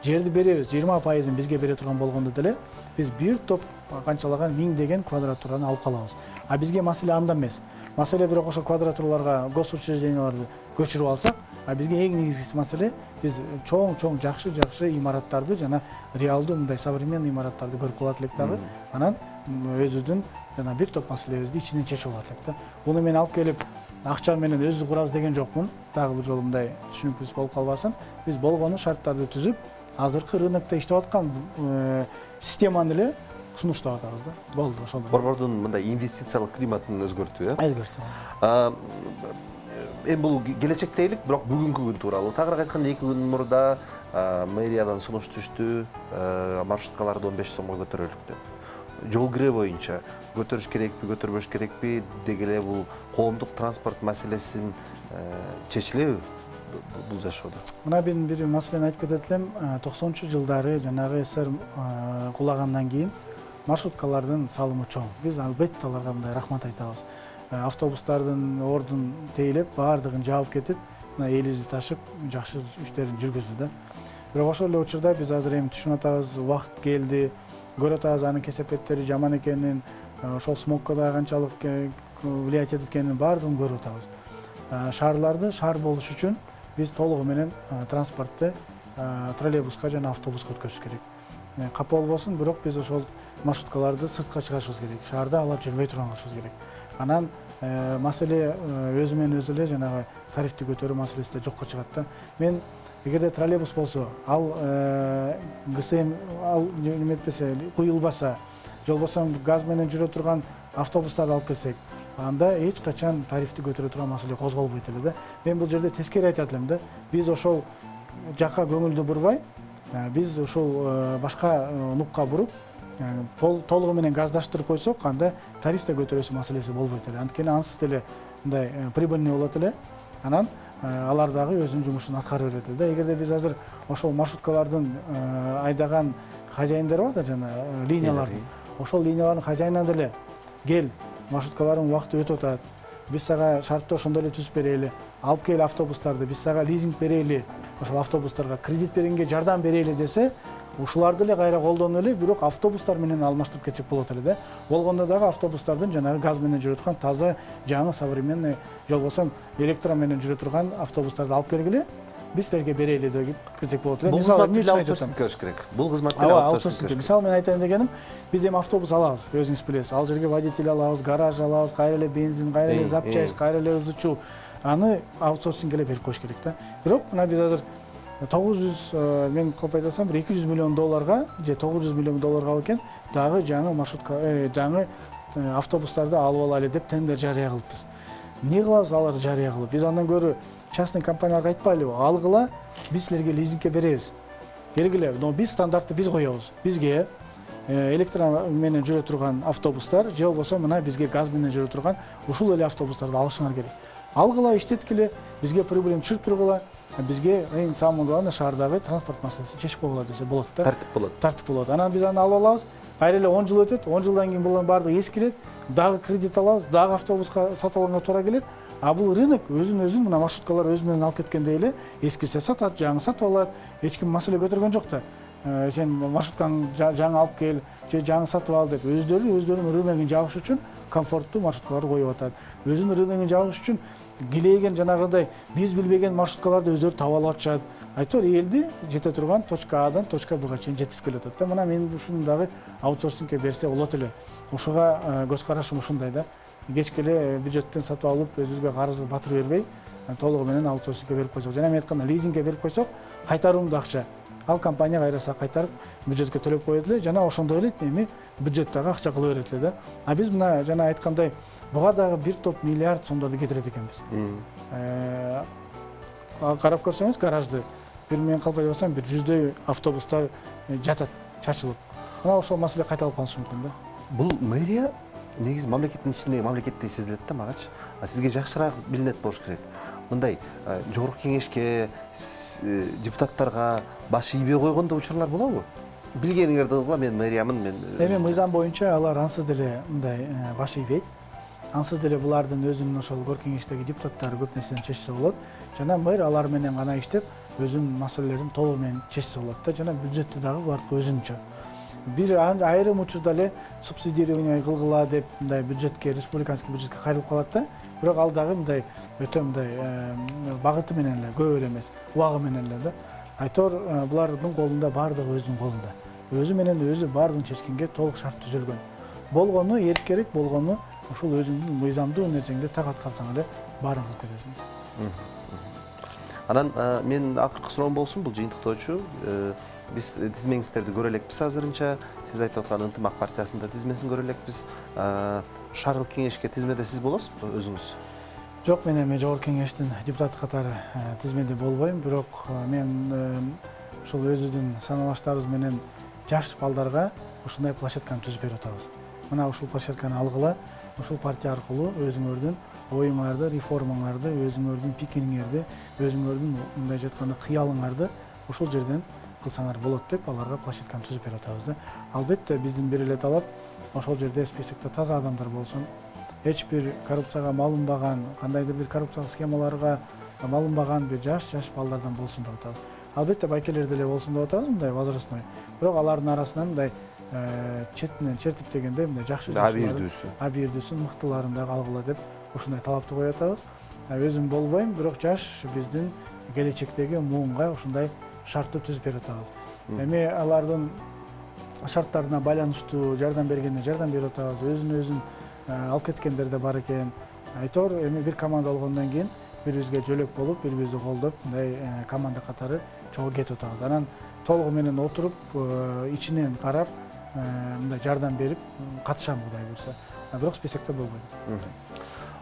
жерди беребиз, 20%-ын бизге бере турган болгондо деле биз бир топ канчалаган миңдеген квадратураны алып калабыз. А бизге маселе анда эмес. Маселе бирок ошо квадратураларга госучрежденияларды көчүрүп алсак, а бизге эң негизгиси маселе биз чоң жакшы имараттарды жана реалдуу мындай современный имараттарды көрүп калат элек дагы. Анан өзүбүздүн жана бир топ маселебизди ичинен чечип алат элек да. Буну мен алып келип акча менен өзүбүз курабыз деген жокмун. Дагы бул жолу мындай түшүнүксүз болуп калбасын. Биз болгону шарттарды түзүп, азыркы рынокто иштеп аткан системаны эле сунуштап атабыз да. Болду ошол. Борбордун мындай инвестициялык климатын өзгөртүү, Өзгөртүү. Эми бул келечек дейлик, бирок бүгүнкү күн тууралуу. Тагыраак айтканда 2 күн мурда мэриядан сунуш түштү, маршруткаларды 15 сомго көтөрөлүк деп. Жол кире боюнча көтөрүш керекпи, көтөрбөш керекпи, деги эле бул коомдук транспорт маселесин чечилеби бул жашоодо? Мына мен бир маселени айтып кетет элем. 90-жылдары жанагы СССР кулагандан кийин маршруткалардын салымы чоң. Биз албетте аларга мындай рахмат айтабыз. Автобустардын ордун тейлеп, баардыгын жаап кетип, мына элибизди ташып, жакшы иштерин жүргүздү да. Бирок ошол эле учурда биз азыр эми түшүнүп атабыз, убакыт келди, көрүп атабыз анын кесепеттери жаман экенин, ошол смогко да канчалык влиять этет экенин баардыгын көрүп атабыз. Шаарларды шаар болуш үчүн биз толугу менен транспортты троллейбуска жана автобуска өткөзүш керек. Капа болбосун, бирок биз ошол маршруткаларды сыртка чыгарышыбыз керек. Шаарда алар жүрбөй турган кылышыбыз керек. Анан маселе өзү менен өзү эле жанагы тарифти көтөрүү маселеси да жокко чыгат да. Мен эгерде троллейбус болсо, ал ГСМ ал неметпесе, куюлбаса, же болбосо газ менен жүрө турган автобустарды алып келсек, анда эч качан тарифти көтөрө турган маселе козголбойт эле да. Мен бул жерде тескери айтат элем да. Биз ошол жакка көңүлдү бурбай, биз ушул башка нукка буруп, толугу менен газдаштырып койсок, анда тариф да көтөрөсү маселеси болбойт эле. Анткени ансыз деле мындай прибыльный болот эле. Анан алар дагы өзүнүн жумушун аткара берет да. Эгерде биз азыр ошол маршруткалардын айдаган хозяиндери бар да, жана линиялардын, ошол линиялардын хозяинына деле кел, маршруткалардын убакыты өтүп атат, биз сага шартты ошондой эле түзүп берели, алып кел автобустарды, биз сага лизинг берели, ошол автобустарга кредит бергенге жардам берели десе, ушуларды эле кайра колдонуп эле, бирок автобустар менен алмаштырып кетсек болот эле да. Болгондо дагы автобустардын жанагы газ менен жүрө турган таза, жаңы, современный, же болбосо электро менен жүрө турган автобустарды алып келгиле, биз силерге берели деп десек болот эле. Бул кызматты аутсорсинг кылыш керек. Бул кызматты аутсорсинг. Мисалы мен айтайын дегеним, биз эми автобус алабыз, өзүңүз билесиз. Ал жерге водитель алабыз, гараж алабыз, кайра эле бензин, кайра эле запчасть, кайра эле ызычуу. Аны аутсорсингке эле берип коюш керек да. Бирок мына биз азыр 900, мен кылып айтсам, бир 200 миллион долларга же 900 миллион долларга экен, дагы жаңы маршрутка, жаңы автобустарды алып алайлы деп тендер жарыя кылыппыз. Эмне кылабыз аларды жарыя кылып? Биз андан көрө частный компанияларга айтпайлыбы? Алгыла, биз силерге лизингке беребиз. Бергиле, но биз стандартты биз коебуз. Бизге электро менен жүрө турган автобустар, же болбосо мына бизге газ менен жүрө турган ушул эле автобустарды алышыңар керек. Алгыла, иштеткиле, бизге прибыль түшүрүп тургула. Бизге эң самый главный шаардагы транспорт маселесин чечип койгула десе болот да. Тартип болот. Анан биз аны алып алабыз. Кайра эле 10 жыл өтөт. 10 жылдан кийин булардын баардыгы эскирет. Дагы кредит алабыз, дагы автобуска сатып алганга туура келет. А бул рынок өзүн мына маршруткалар өзү менен алып кеткендей эле эскирсе сатат, жаңы сатып алат. Эч ким маселе көтөргөн жок да. Сен маршрутканы жаңы алып кел, же жаңы сатып ал деп өздөрүнүн рыногун жабыш үчүн комфорттуу маршруткаларды коюп атат. Өзүнүн рыногун жабыш үчүн килейген жанагындай биз билбеген маршруткаларды өздөрү таап алып атышат. Айтор элди жете турган точка Адан точка Бга чейин жеткизип келатат да. Мына мен ушуну дагы аутсорсингке берсе болот эле. Ушуга көз карашым ушундай да. Кечке эле бюджеттен сатып алып, өзүбүзгө карызды батырып бербей, толугу менен аутсорсингке берип койсок, жана мен айтканда лизингке берип койсок, кайтарымдуу акча. Ал компания кайраса кайтарып, бюджетке төлөп коет эле, жана ошондой эле эми бюджет дагы акча кыла берет эле да. А биз мына жана айткандай, буга дагы бир топ миллиард сомдорду кетирет экенбиз. Карап көрсөңүз, гаражды бир мен калп айтсам, бир 100дөй автобустар жатат, чачылып. Мына ошол маселе кайталып калышы мүмкүн да. Бул мэрия негизи мамлекеттин ичиндеги мамлекеттей сезилет да магачы. А сизге жакшыраак билинет болуш керек. Мындай жогорку кеңешке, депутаттарга баш ийбей койгондо учурлар болобу? Билгениңерди кылгыла, мен мэриямын, мен. Эми мыйзам боюнча алар ансыз деле мындай баш ийбейт. Ансыз деле булардын өзүнүн ошол көр кеңештеги депутаттары көп нерсени чечсе болот. Жана мэр алар менен гана иштеп, өзүнүн маселелерин толугу менен чечсе болот да. Жана бюджетти дагы булардыкы өзүнчө. Бир айрым учурда эле субсидирование кылгыла деп мындай бюджетке, республиканский бюджетке кайрылып калат да. Бирок ал дагы мындай өтө мындай багыты менен эле, көп эле эмес, убагы менен эле да. Айтор булардын колунда, баардыгы өзүнүн колунда. Өзү менен өзү баардыгын чечкенге толук шарт түзүлгөн. болгону эркерээк болгону ушул өзүңдүн мыйзамдуу нерсеңде так аткарсаң эле баарын кылып кетесиң. Анан мен акыркы суроом болсун, бул жыйынтыктоочу. Биз тизмеңиздерди көрө элекпиз азырынча. Сиз айтып аткан Ынтымак партиясында тизмесин көрө элекпиз. Шаардык кеңешке тизмеде сиз болосузбу өзүңүз? Жок, мен эми жогорку кеңештин депутаты катары тизмеде болбойм, бирок мен ушул өзүбүздүн саналаштарыбыз менен жаш балдарга ушундай площадканы түзүп берип атабыз. Мына ушул площадканы алгыла, ушул партия аркылуу өзүңөрдүн оюңарды, реформаңарды, өзүңөрдүн пикириңерди, өзүңөрдүн мындай жатканда кыялыңарды ушул жерден кылсаңар болот деп аларга площадканы түзүп берип атабыз да. Албетте биздин бир эле талап ошол жерде списокто таза адамдар болсун. Эч бир коррупцияга малынбаган, кандайдыр бир коррупциялык схемаларга малынбаган бир жаш балдардан болсун деп атабыз. Албетте байкелер деле болсун деп атабыз, мындай возрастной. Бирок алардын арасынан мындай четинен чертип дегенде мындай жакшы абийирдүүсүн мыктыларын дагы алгыла деп ушундай талапты коюп атабыз. Өзүм болбойм, бирок жаш биздин келечектеги муунга ушундай шартты түзүп берип атабыз. Эми алардын шарттарына байланыштуу жардам бергенде жардам берип атабыз. Өзүн алып кеткендер да бар экен. Айтор эми бир команда болгондон кийин бири-бирибизге жөлөк болуп, бири-бирибизди колдоп, мындай команда катары чогуу кетип атабыз. Анан толугу менен отуруп, ичинен карап, мындай жардам берип катышам Кудай буйрса. Бирок списокто болбойм.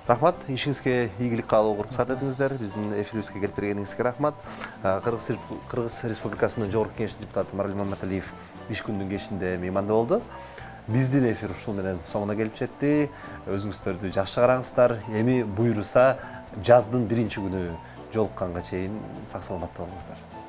Рахмат, ишиңизге ийгилик каалоого уруксат этиңиздер. Биздин эфирибизге келип бергениңизге рахмат. Кыргыз Республикасынын жогорку кеңештин депутаты Маралим Маматалиев иш күндүн кечинде мейманда болду. Биздин эфир ушул менен соңуна келип жетти. Өзүңүздөрдү жакшы караңыздар. Эми буйруса жаздын 1-күнү жолукканга чейин сак саламатта болуңуздар.